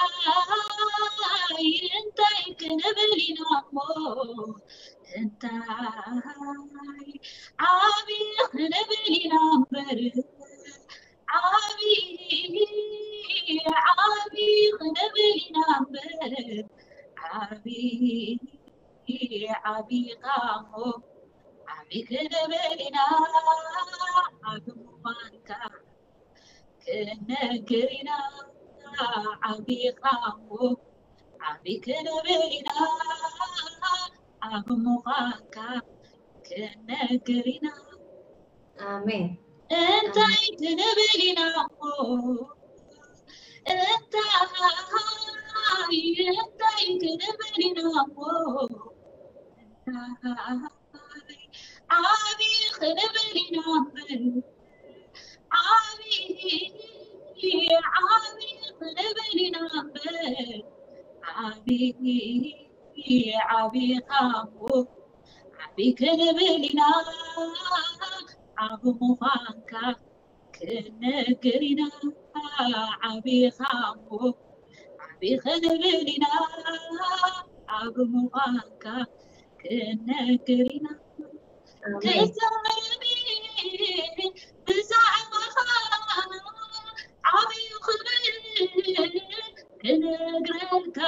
እንታይ ክንብል ኢና እሞ እንታይ ዓቢ ክንብል ኢና እምበር ዓቢ ዓቢ ክንብል ኢና እምበር ዓቢ ዓቢ ኻሞ ዓቢ ክንብል ኢና ዓቢ ምዃንካ ክንነግር ኢና ዓቢ ኻሞ ዓቢ ክንብል ኢና ዓቢ ምዃንካ ክንነግር ኢና ኣሜን እንታይ ክንብል ኢና እሞ እንታይ እንታይ ክንብል ኢና እሞ እንታይ ዓቢ ክንብል ኢና እምበር ዓቢ ዓቢ ክንብል ኢና እምበር ዓቢ ዓቢ ኻሞ ዓቢ ክንብል ኢና ዓቢ ምዃንካ ክንነግር ኢና ዓቢ ኻሞ ዓቢ ክንብል ኢና ዓቢ ምዃንካ ክንነግር ኢና ክዛረብ ብዛዕባኻ ዓብዩ ክብል ክነግረልካ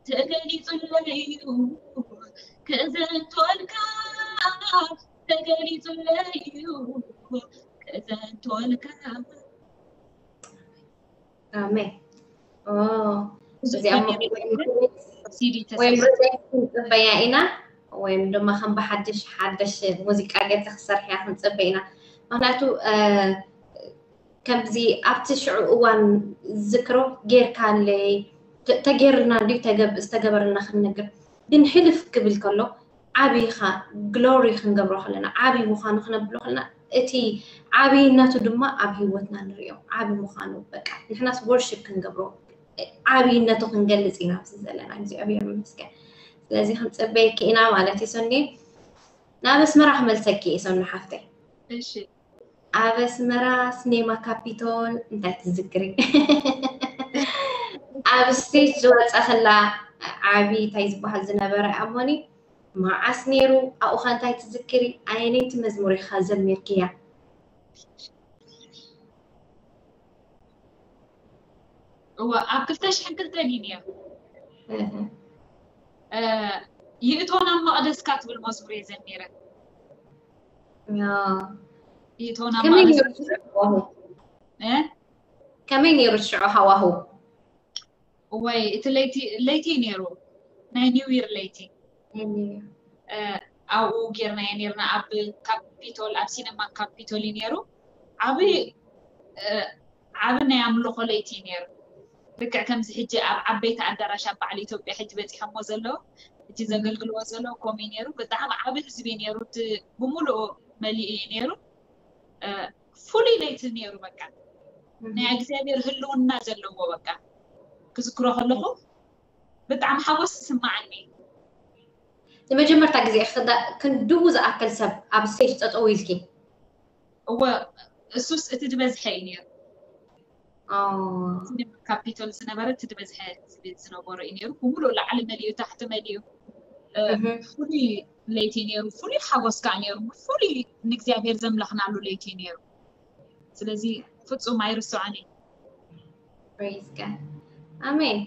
ተገሊጹለይ እዩ፣ ክእዘንቶልካ ተገሊጹለይ እዩ፣ ክእዘንቶልካ። ኣሜን። ኦ፣ ብዙሕ እዚኣ ነገር ወይም የለን። ሲዲ ወይም ተሰብስብ ርዘይ ክንጽበያ ኢና፣ ወይም ድማ ከም ብሓድሽ ሓደሽ ሙዚቃ ገይርካ ክትሰርሕያ ክንጽበ ኢና። ምክንያቱ እ፣ ከምዚ ኣብቲ ሽዑ እዋን ዝክሮ ጌርካለይ ተ- ተጌርና ድዩ ተገብ- ዝተገበረና ክንነግር፣ ግን ሕልፍ ክብል ከሎ ዓብይኻ ግሎሪ ክንገብሮ ከለና፣ ዓብይ ምዃኑ ክነብሎ ከለና፣ እቲ ዓብይነቱ ድማ ኣብ ህይወትና ንሪኦ። ዓብይ ምዃኑ በቃ ንሕናስ ወርሺፕ ክንገብሮ፣ ዓብይነቱ ክንገልጽ ኢና ኣብዚ ዘለና። እግዚኣብሔር ይመስገን። ስለዚ ክንጽበየኪ ኢና ማለት እዩ ሰኒ። ናብ ኣስመራ ክመልሰኪ እየ ሰኒ ሓፍተይ። እሺ። ኣብ ኣስመራ ስኔማ ካፒቶል እንታይ ትዝክሪ? ኣብ ስቴጅ ዝወፀ ከላ ዓቢ እንታይ ዝበሃል ዝነበረ ኣሞኒ መዓስ ነይሩ? ኣብኡ ኸ እንታይ ትዝክሪ? ኣየነይቲ መዝሙር ኢኻ ዘሚርክያ? እወ፣ ኣብ ክልተ ሽሕን ክልተን እዩ ነይሩ። እህ፣ እ፣ ይእቶን ኣብ መቕደስካ ትብል መዝሙር እየ ዘሚረ። ያ። ይእቶን ኣብ ከመይ ነይሩ መቕደስካ ሽዑ ሃዋሁ? እ? ከመይ ነይሩ ሽዑ ሃዋሁ? እወይ፣ እቲ ለይቲ ለይቲ እዩ ነይሩ፣ ናይ ኒው ይር ለይቲ። እህ፣ እ፣ ኣብኡ ጌርናዮ ነይርና። ኣብ ካፒቶል፣ ኣብ ሲነማ ካፒቶል እዩ ነይሩ። ዓቢ እ፣ ዓቢ ናይ ኣምልኾ ለይቲ እዩ ነይሩ። ልክዕ ከምዚ ሕጂ ኣብ ዓበይቲ ኣዳራሽ ኣብ በዓል ኢትዮጵያ ሕጂ በፂሖሞ ዘለዉ፣ ሕጂ እህ፣ ዘገልግልዎ ዘለዉ ከምኡ እዩ ነይሩ። ብጣዕሚ ዓቢ ህዝቢ እዩ ነይሩ። እቲ ብምሉኡ መሊኡ እዩ ነይሩ። እ፣ ፍሉይ ለይቲ ነይሩ። በቃ ናይ እህ። እግዚኣብሔር ህልውና ዘለዎ፣ በቃ ክዝክሮ ከለኹ ብጣዕሚ ሓጎስ ይስማዓኒ። ንመጀመርታ ግዜ ኢኺ ክዳ- ክንድኡ ዝኣክል ሰብ ኣብ ስቴጅ ጠጠው ኢልኪ? እወ፣ እሱስ እቲ ዝበዝሐ እዩ ነይሩ። ኣዎ። ሲነማ ካፒቶል ዝነበረ እቲ ዝበዝሐ ህዝቢ ዝነበሮ እዩ ነይሩ። ብምሉእ ላዕሊ መሊኡ፣ ታሕቲ መሊኡ፣ እ፣ እህ። ፍሉይ ለይቲ ነይሩ። ፍሉይ ሓጎስ ከኣ ነይሩ። ፍሉይ ንእግዚኣብሔር ዘምለኽናሉ ለይቲ እዩ ነይሩ። ስለዚ ፍጹም ኣይርስዖን እየ። Praise God። ኣሜን።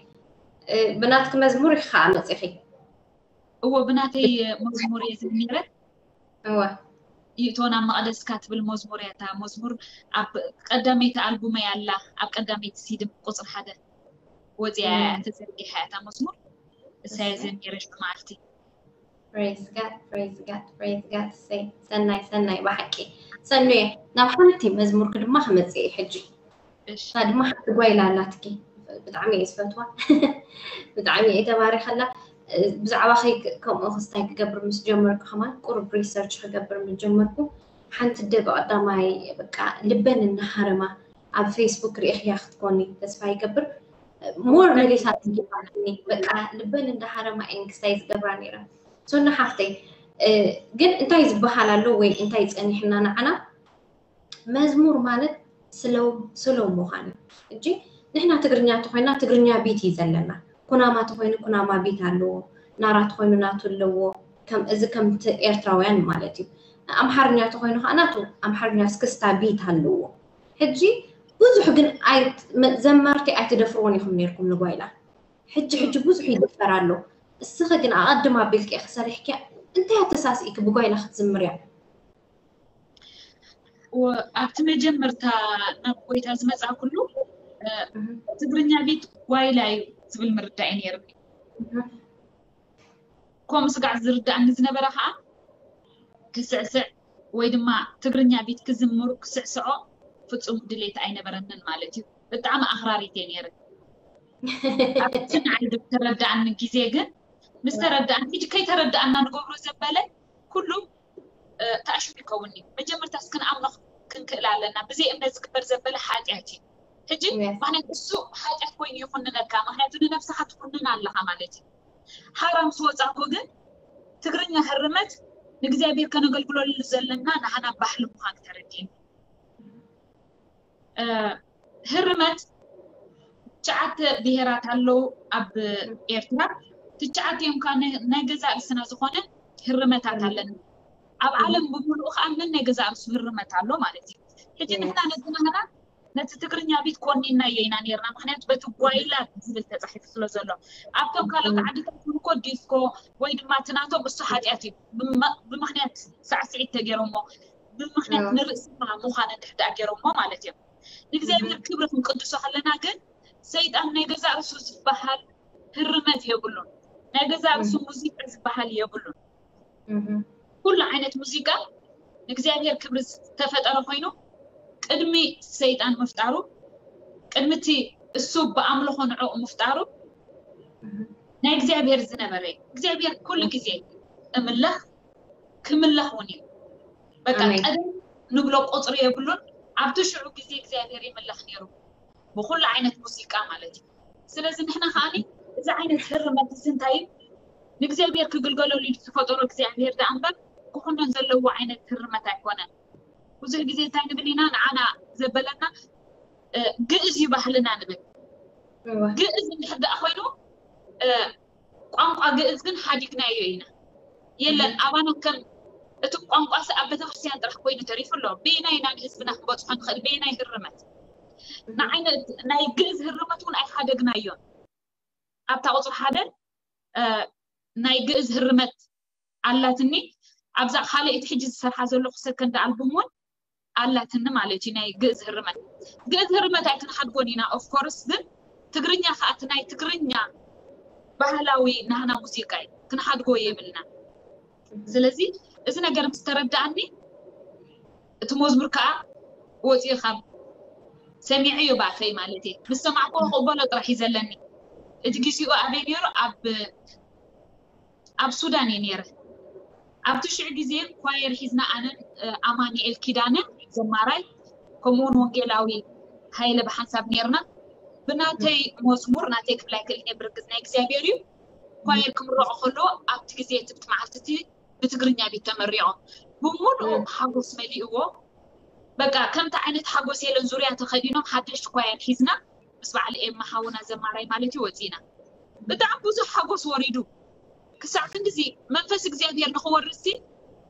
እ፣ ብናትኪ መዝሙር ኢኺ ከዓ መፂኺ? እዎ፣ ብናተይ መዝሙር እየ ዘሚረ። እወ። ይእቶን ኣብ መቕደስካ ትብል መዝሙር እያ። እታ መዝሙር ኣብ ቀዳመይቲ ኣልቡመይ ኣላ፣ ኣብ ቀዳመይቲ ሲዲ ቁፅሪ ሓደ ወፂኣ እያ፣ እም። ተዘርጊሓ እያ እታ መዝሙር። እሳ እየ እሰይ። ዘሚረ ሽዑ መዓልቲ። Praise God, praise God, praise God። እሰይ፣ ሰናይ፣ ሰናይ ብሓቂ። ሰኑየ፣ ናብ ሓንቲ መዝሙርኪ ድማ ክመጽእ እየ ሕጂ። እሺ። እታ ድማ ሓንቲ ጓይላ ኣላትኪ። ብጣዕሚ እየ ዝፈትዋ። ብጣዕሚ እየ ተባሪኸላ። ብዛዕባኺ ክ-፣ ከምኡ ክስታይ ክገብር ምስ ጀመርኩ ከማን ቁሩብ ሪሰርች ክገብር ምስ ጀመርኩ፣ ሓንቲ ኣደ ብቐዳማይ በቃ ልበን እናሃረማ ኣብ ፌስቡክ ርኢኽያ ክትኮኒ ተስፋ ይገብር። ሞር መሊሳ ትንኪፋትኒ። በቃ ልበን እንዳሃረማ እየን ክስታይ ዝገብራ ነይረን። ሶና ሓፍተይ፣ እ፣ ግን እንታይ ዝበሃል ኣሎ ወይ እንታይ ጸኒሕና ንዓና? መዝሙር ማለት ስለው፣ ስለው ምዃን እዩ። ሕጂ ንሕና ትግርኛ ተኾይና ትግርኛ ቢት እዩ ዘለና። ኩናማ ተኾይኑ ኩናማ ቢት ኣለዎ። ናራ ተኾይኑ ናቱ ኣለዎ። ከም፣ እዚ ከምቲ ኤርትራውያን ማለት እዩ። ኣምሓርኛ ተኾይኑ ከዓ ናቱ ኣምሓርኛ እስክስታ ቢት ኣለዎ። ሕጂ ብዙሕ ግን ኣይ-፣ መ-፣ ዘማርቲ ኣይትደፍርዎን ኢኹም ነይርኩም ንጓይላ። ሕጂ፣ ሕጂ ብዙሕ ይድፈር ኣሎ። እስኺ ግን ኣቐድም ኣቢልኪ ኢኺ ሰሪሕኪያ። እንታይ ኣተሳሲእኪ ብጓይላ ክትዝምርያ? ወ-፣ ኣብቲ መጀመርታ ናብ ጎይታ ዝመጻእኩሉ፣ እ፣ እህ። ትግርኛ ቢት ጓይላ እዩ ዝብል ምርዳእ እዩ ነይርኒ። እህ። ከምኡ ስጋዕ ዝርዳእኒ ዝነበረ ከዓ፣ ክስዕስዕ ወይ ድማ ትግርኛ ቢት ክዝምሩ ክስዕስዖ ፍጹም ድሌት ኣይነበረንን ማለት እዩ። ብጣዕሚ ኣኽራሪት እየ ነይረ። ኣብቲ ንዓይ ዝተረዳእኒ ግዜ ግን፣ ምስ ተረዳእኒ፣ ሕጂ ከይተረዳእና ንገብሮ ዘበለ ኩሉ፣ እ፣ ተኣሽሙ ይከውን እዩ። መጀመርታስ ክንኣምኖ ክንክእል ኣለና። ብዘይ እምነት ዝግበር ዘበለ ሓጢኣት እዩ። ሕጂ፣ yes፣ ምኽንያቱ እሱ ሓጢኣት ኮይኑ ይኹንነካ፣ ምኽንያቱ ንነብስኻ ትኹንን ኣለኻ ማለት እዩ። ሓራ ምስ ወጻእኩ ግን ትግርኛ ህርመት ንእግዚኣብሔር ከነገልግለሉ ዘለና ንሓና ባህሊ ምዃኑ ተረዲእኒ። እ፣ ህርመት ትሽዓተ ብሄራት ኣለዉ ኣብ ኤርትራ። ትሽዓተ እዮም ከዓ ናይ፣ ናይ ገዛእ ርእስና ዝኾነ ህርመታት ኣለና። ኣብ ዓለም ብምሉኡ ከዓ ነናይ ገዛእ ርእሱ ህርመት ኣሎ ማለት እዩ። ሕጂ ንሕና ነቲ ናህና ነቲ ትግርኛ ቢት ኮኒናዮ ኢና ነርና፣ ምክንያቱ በቲ ጓይላ ዝብል ተፃሒፉ ስለ ዘሎ። ኣብቶም ካልኦት ዓድታት እውን እኮ ዲስኮ ወይ ድማ እቲ ናቶም እሱ ሓጢኣት እዩ። ብመ- ብምክንያት ሳዕስዒት ተገይሮሞ፣ ብምክንያት ንርእስና ምዃን እንድሕዳኣ ገይሮሞ ማለት እዮም። ንእግዚኣብሔር ክብሪ ክንቅድሶ ከለና ግን ሰይጣን ናይ ገዛእ ርእሱ ዝበሃል ህርመት የብሉን። ናይ ገዛእ ርእሱ ሙዚቃ ዝበሃል የብሉን። ኩሉ ዓይነት ሙዚቃ ንእግዚኣብሔር ክብሪ ዝተፈጠረ ኮይኑ ቅድሚ ሰይጣን ምፍጣሩ፣ ቅድሚ እቲ እሱ ብኣምልኾ ንዕኡ ምፍጣሩ ናይ እግዚኣብሔር ዝነበረ እዩ። እግዚኣብሔር ኩሉ ግዜ እምለኽ ክምለኽ እውን እዩ። በቃ ቀደም ንብሎ ቁፅሪ የብሉን። ኣብቲ ሽዑ ግዜ እግዚኣብሔር ይምለኽ ነይሩ ብኩሉ ዓይነት ሙዚቃ ማለት እዩ። ስለዚ ንሕና ከዓኒ እዚ ዓይነት ህርመት እዚ እንታይ እዩ? ንእግዚኣብሔር ክግልገለሉ ኢሉ ዝፈጠሮ እግዚኣብሔር ደኣ እምበር ክኹነን ዘለዎ ዓይነት ህርመት ኣይኮነን። ብዙሕ ግዜ እንታይ ንብል ኢና ንዓና ዘበለና ግእዝ እዩ ባህልና ንብል። ግእዝ እንድሕር ደኣ ኮይኑ ቋንቋ ግእዝ ግን ሓዲግናዮ ኢና። የለን ኣባና ከም እቲ ቋንቋ ሲ ኣብ ቤተክርስትያን ጥራሕ ኮይኑ ተሪፉ ኣሎ። በየናይ ኢና ንህዝብና ክንበፅሖ ንኽእል? በየናይ ህርመት? ንዓይነ ናይ ግእዝ ህርመት እውን ኣይሓደግናዮን። ኣብታ ቁፅሪ ሓደ ናይ ግእዝ ህርመት ኣላትኒ። ኣብዛ ካልኣይቲ ሕጂ ዝሰርሓ ዘለኹ ሰከንድ ኣልቡም እውን ኣላትኒ ማለት እዩ። ናይ ግእዝ ህርመት ግእዝ ህርመት ኣይክንሓድጎን ኢና ኦፍኮርስ፣ ግን ትግርኛ ከዓ እቲ ናይ ትግርኛ ባህላዊ ናህና ሙዚቃ እዩ፣ ክንሓድጎ የብልና። ስለዚ እዚ ነገር ምስ ተረዳኣኒ እቲ መዝሙር ከዓ ወፂኡ ካብ ሰሚዐ እዩ ባፈይ ማለት እዩ። ምስ ሰማዕኩ ክቕበሎ ጥራሕ እዩ ዘለኒ። እቲ ግዜኡ ኣበይ ነይሩ? ኣብ ኣብ ሱዳን እየ ነይረ። ኣብቲ ሽዑ ግዜ ኳየር ሒዝና ኣነን ኣማኒኤል ኪዳነ ዘማራይ ከምኡውን ወንጌላዊ ሃይለ ብሓንሳብ ነይርና። ብናተይ መዝሙር ናተይ ክብል ኣይክእልን እየ ብርግፅ ናይ እግዚኣብሔር እዩ። ኳየር ክምረቑ ከለዎ ኣብቲ ግዜ እቲ ብቲ መዓልቲ እቲ ብትግርኛ ቤት ተመሪቖም ብምሉእ ሓጎስ መሊእዎ። በቃ ከምቲ ዓይነት ሓጎስ የለን ዙርያ ተኸዲኖም ሓደሽቲ ኳየር ሒዝና ምስ በዓል ኤማ ሓውና ዘማራይ ማለት እዩ ወፂና። ብጣዕሚ ብዙሕ ሓጎስ ወሪዱ ክሳዕ ክንድዚ መንፈስ እግዚኣብሔር ንክወርድ ሲ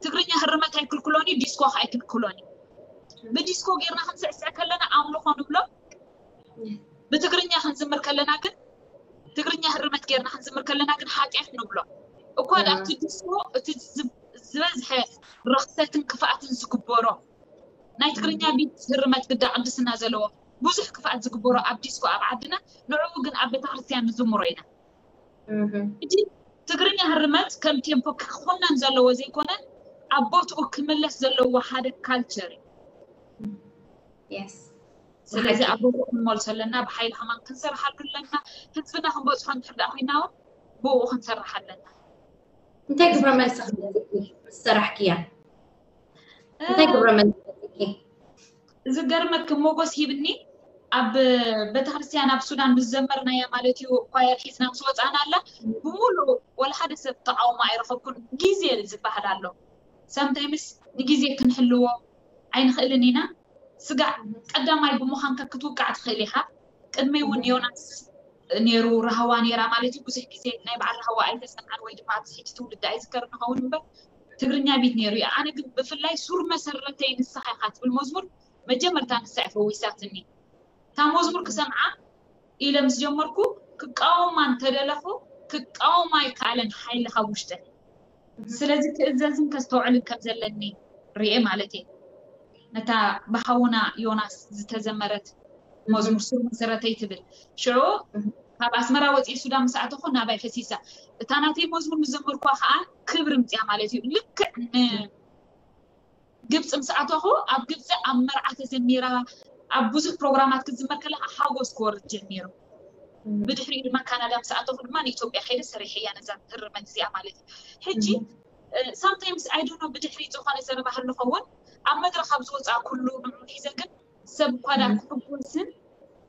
ትግርኛ ህርመት ኣይክልክሎን እዩ፣ ዲስኮ ከዓ ኣይክልክሎን እዩ። ብዲስኮ ጌርና ክንስዕስዕ ከለና ኣምልኾ ንብሎ፣ ብትግርኛ ክንዝምር ከለና ግን ትግርኛ ህርመት ጌርና ክንዝምር ከለና ግን ሓጢኣት ንብሎ። እኳ ደኣ ኣብቲ ዲስኮ እቲ ዝበዝሐ ረኽሰትን ክፍኣትን ዝግበሮ ናይ ትግርኛ ቢት ህርመት ግዳ ቅድስና ዘለዎ ብዙሕ ክፍኣት ዝግበሮ ኣብ ዲስኮ ኣብ ዓድና ንዕኡ ግን ኣብ ቤተክርስትያን ንዝምሮ ኢና። ሕጂ ትግርኛ ህርመት ከም ቴምፖ ክኹነን ዘለዎ ዘይኮነ ኣብ ቦትኡ ክምለስ ዘለዎ ሓደ ካልቸር እዩ። ስለዚ ኣብ ቦትኡ ክንመልሶ ኣለና፣ ብሓይሊ ከማን ክንሰርሓሉ ኣለና። ህዝብና ክንበፅሖ እንድሕር ደኣ ኮይና እውን ብኡ ክንሰርሕ ኣለና። እንታይ ግብረ መልሲ ክህበኪ ምስ ሰራሕክያ? እንታይ ግብረ መልሲ ክህበኪ? ዝገርመኪ ሞጎስ ሂብኒ ኣብ ቤተክርስትያን ኣብ ሱዳን ምስ ዘመርናያ ማለት እዩ ኳየር ሒዝና ምስ ወፃና ኣላ ብምሉእ ወላ ሓደ ሰብ ተቃውሞ ኣይረኸብኩን። ግዜ ዝበሃል ኣሎ። ሳምታይምስ ንግዜ ክንሕልዎ ኣይንኽእልን ኢና። ስጋዕ ቀዳማይ ብምዃንካ ክትውቃዕ ትኽእል ኢኻ። ቅድመይ እውን ዮናስ ነይሩ፣ ራህዋ ነይራ ማለት እዩ። ብዙሕ ግዜ ናይ በዓል ራህዋ ኣይተሰምዓን ወይ ድማ ኣብዚ ሕጂ ትውልዲ ኣይዝከርን ንኸውን እምበር ትግርኛ ቢት ነይሩ እዩ። ኣነ ግን ብፍላይ ሱር መሰረተይ ንስኻ ኢኻ ትብል መዝሙር መጀመርታ ንሳ እያ ፈዊሳትኒ። እታ መዝሙር ክሰምዓ ኢለ ምስ ጀመርኩ ክቃወማ እንተደለኹ ክቃወማ ኣይከኣለን ሓይሊ ካብ ውሽጠ። ስለዚ ክእዘዝን ከስተውዕልን ከም ዘለኒ ርኤ ማለት እየ። ነታ ብሓውና ዮናስ ዝተዘመረት መዝሙር ሱር መሰረተይ ትብል ሽዑ ካብ ኣስመራ ወፂኢ ሱዳን ምስ ኣተኹ ናባይ ፈሲሳ። እታ ናተይ መዝሙር ምስ ዘመርኳ ከዓ ክብሪ ምፅያ ማለት እዩ። ልክዕ ንግብፂ ምስ ኣተኹ ኣብ ግብፂ ኣብ መርዓ ተዘሚራ ኣብ ብዙሕ ፕሮግራማት ክትዝመር ከላ ሓጎስ ክወርድ ጀሚሩ። ብድሕሪኡ ድማ ካናዳ ምስ ኣተኹ ድማ ንኢትዮጵያ ከይደ ሰሪሐያ ነዛ ህርመት እዚኣ ማለት እዩ። ሕጂ ሳምታይምስ ኣይ ዶንት ኖ ብድሕሪኡ ዝኾነ ዘረባ ህሉ ኸውን ኣብ መድረኽ ኣብ ዝወፅኣ ኩሉ ንዑ ሒዘ ግን ሰብ እኳ ዳ ክሕጎስን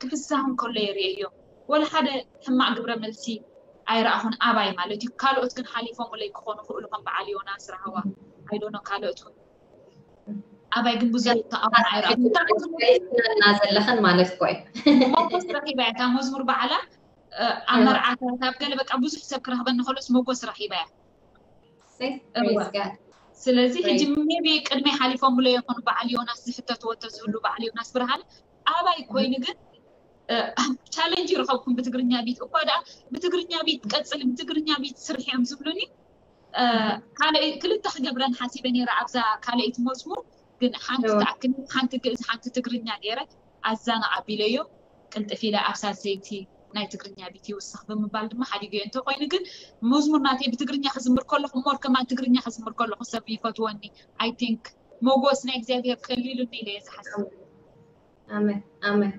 ክፍሳህን ከሎ የርእየዮ። ወላ ሓደ ሕማቕ ግብረ መልሲ ኣይረኣኹን ኣባይ ማለት እዩ። ካልኦት ግን ሓሊፎምለይ ክኾኑ ክእሉ ከም በዓል ዮናስ ራህዋ ኣይ ዶንት ኖ ካልኦት እውን ኣባይ ግን ብዙሕ ተቃውሞ ኣይረኣኹን። እና ዘለኽን ማለት ኮይ ሞጎስ ረኺባ እያ እታ መዝሙር በዓላ ኣብ መርዓታት ኣብ ገለ በቃ ብዙሕ ሰብ ክረኽበኒ ከሎስ ሞጎስ ረኺባ እያ። Praise God። ስለዚ ሕጂ maybe ቅድሚ ሓሊፎምሎ ይኾኑ በዓል ዮናስ ዝሕተትዎ እንተዝህሉ በዓል ዮናስ ብርሃን ኣባይ ኮይኑ ግን ቻለንጅ ይረኸብኩም ብትግርኛ ቢት እኳ ደኣ ብትግርኛ ቢት ቀፅሊ ብትግርኛ ቢት ስርሒ እዮም ዝብሉኒ። ካልእ ክልተ ክገብረን ሓሲበ ነይረ ኣብዛ ካልኣይቲ መዝሙር ግን ሓንቲ ትኣክል ሓንቲ ግእዝ ሓንቲ ትግርኛ ገይረ ኣዛናቕ ኣቢለዮ ቅልጥፍ ኢለ ኣብ ሳልሰይቲ ናይ ትግርኛ ቢት ይውስኽ ብምባል ድማ ሓዲገዮ። እንተኾይኑ ግን መዝሙር ናተይ ብትግርኛ ክዝምር ከለኹ ሞር ከማን ትግርኛ ክዝምር ከለኹ ሰብ ይፈትወኒ። I think ሞጎስ ናይ እግዚኣብሔር ከሊሉኒ ኢለ እየ ዝሓስብ። ኣሜን ኣሜን።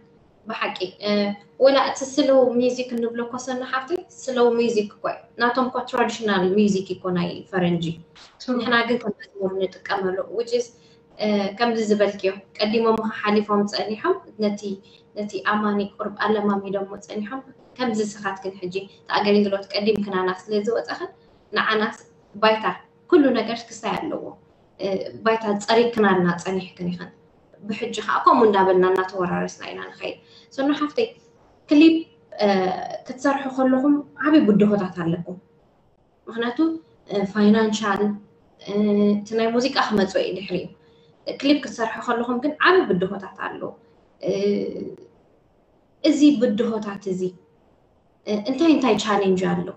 ብሓቂ ወላ እቲ ስሎው ሚዚክ እንብሎ ኮሰና ሓፍቲ ስሎው ሚዚክ እኮ ናቶም እኮ ትራዲሽናል ሚዚክ እኮ ናይ ፈረንጂ ንሕና ግን ከም መዝሙር ንጥቀመሉ ውጅስ ከምዚ ዝበልክዮ ቀዲሞም ሓሊፎም ፀኒሖም ነቲ ነቲ ኣማኒ ቁርብ ኣለማሚዶሞ ፀኒሖም ከምዚ ስኻትክን ሕጂ እቲ ኣገልግሎት ቀዲምክናና ስለ ዝወፀኽን ንዓናስ ባይታ ኩሉ ነገር ክሳይ ኣለዎ ባይታ ፀሪክናልና ፀኒሕክን ኢኽን ብሕጂ ከዓ ከምኡ እንዳበልና እናተወራረስና ኢና ንኸይድ ሶኖ ሓፍተይ ክሊፕ ክትሰርሑ ከለኹም ዓብይ ብድሆታት ኣለኩም ምክንያቱ ፋይናንሻል እቲ ናይ ሙዚቃ ክመፅኦ እዩ ድሕሪኡ ክሊፕ ክትሰርሑ ከለኹም ግን ዓብይ ብድሆታት ኣሎ እዚ ብድሆታት እዚ እንታይ እንታይ ቻሌንጅ ኣሎ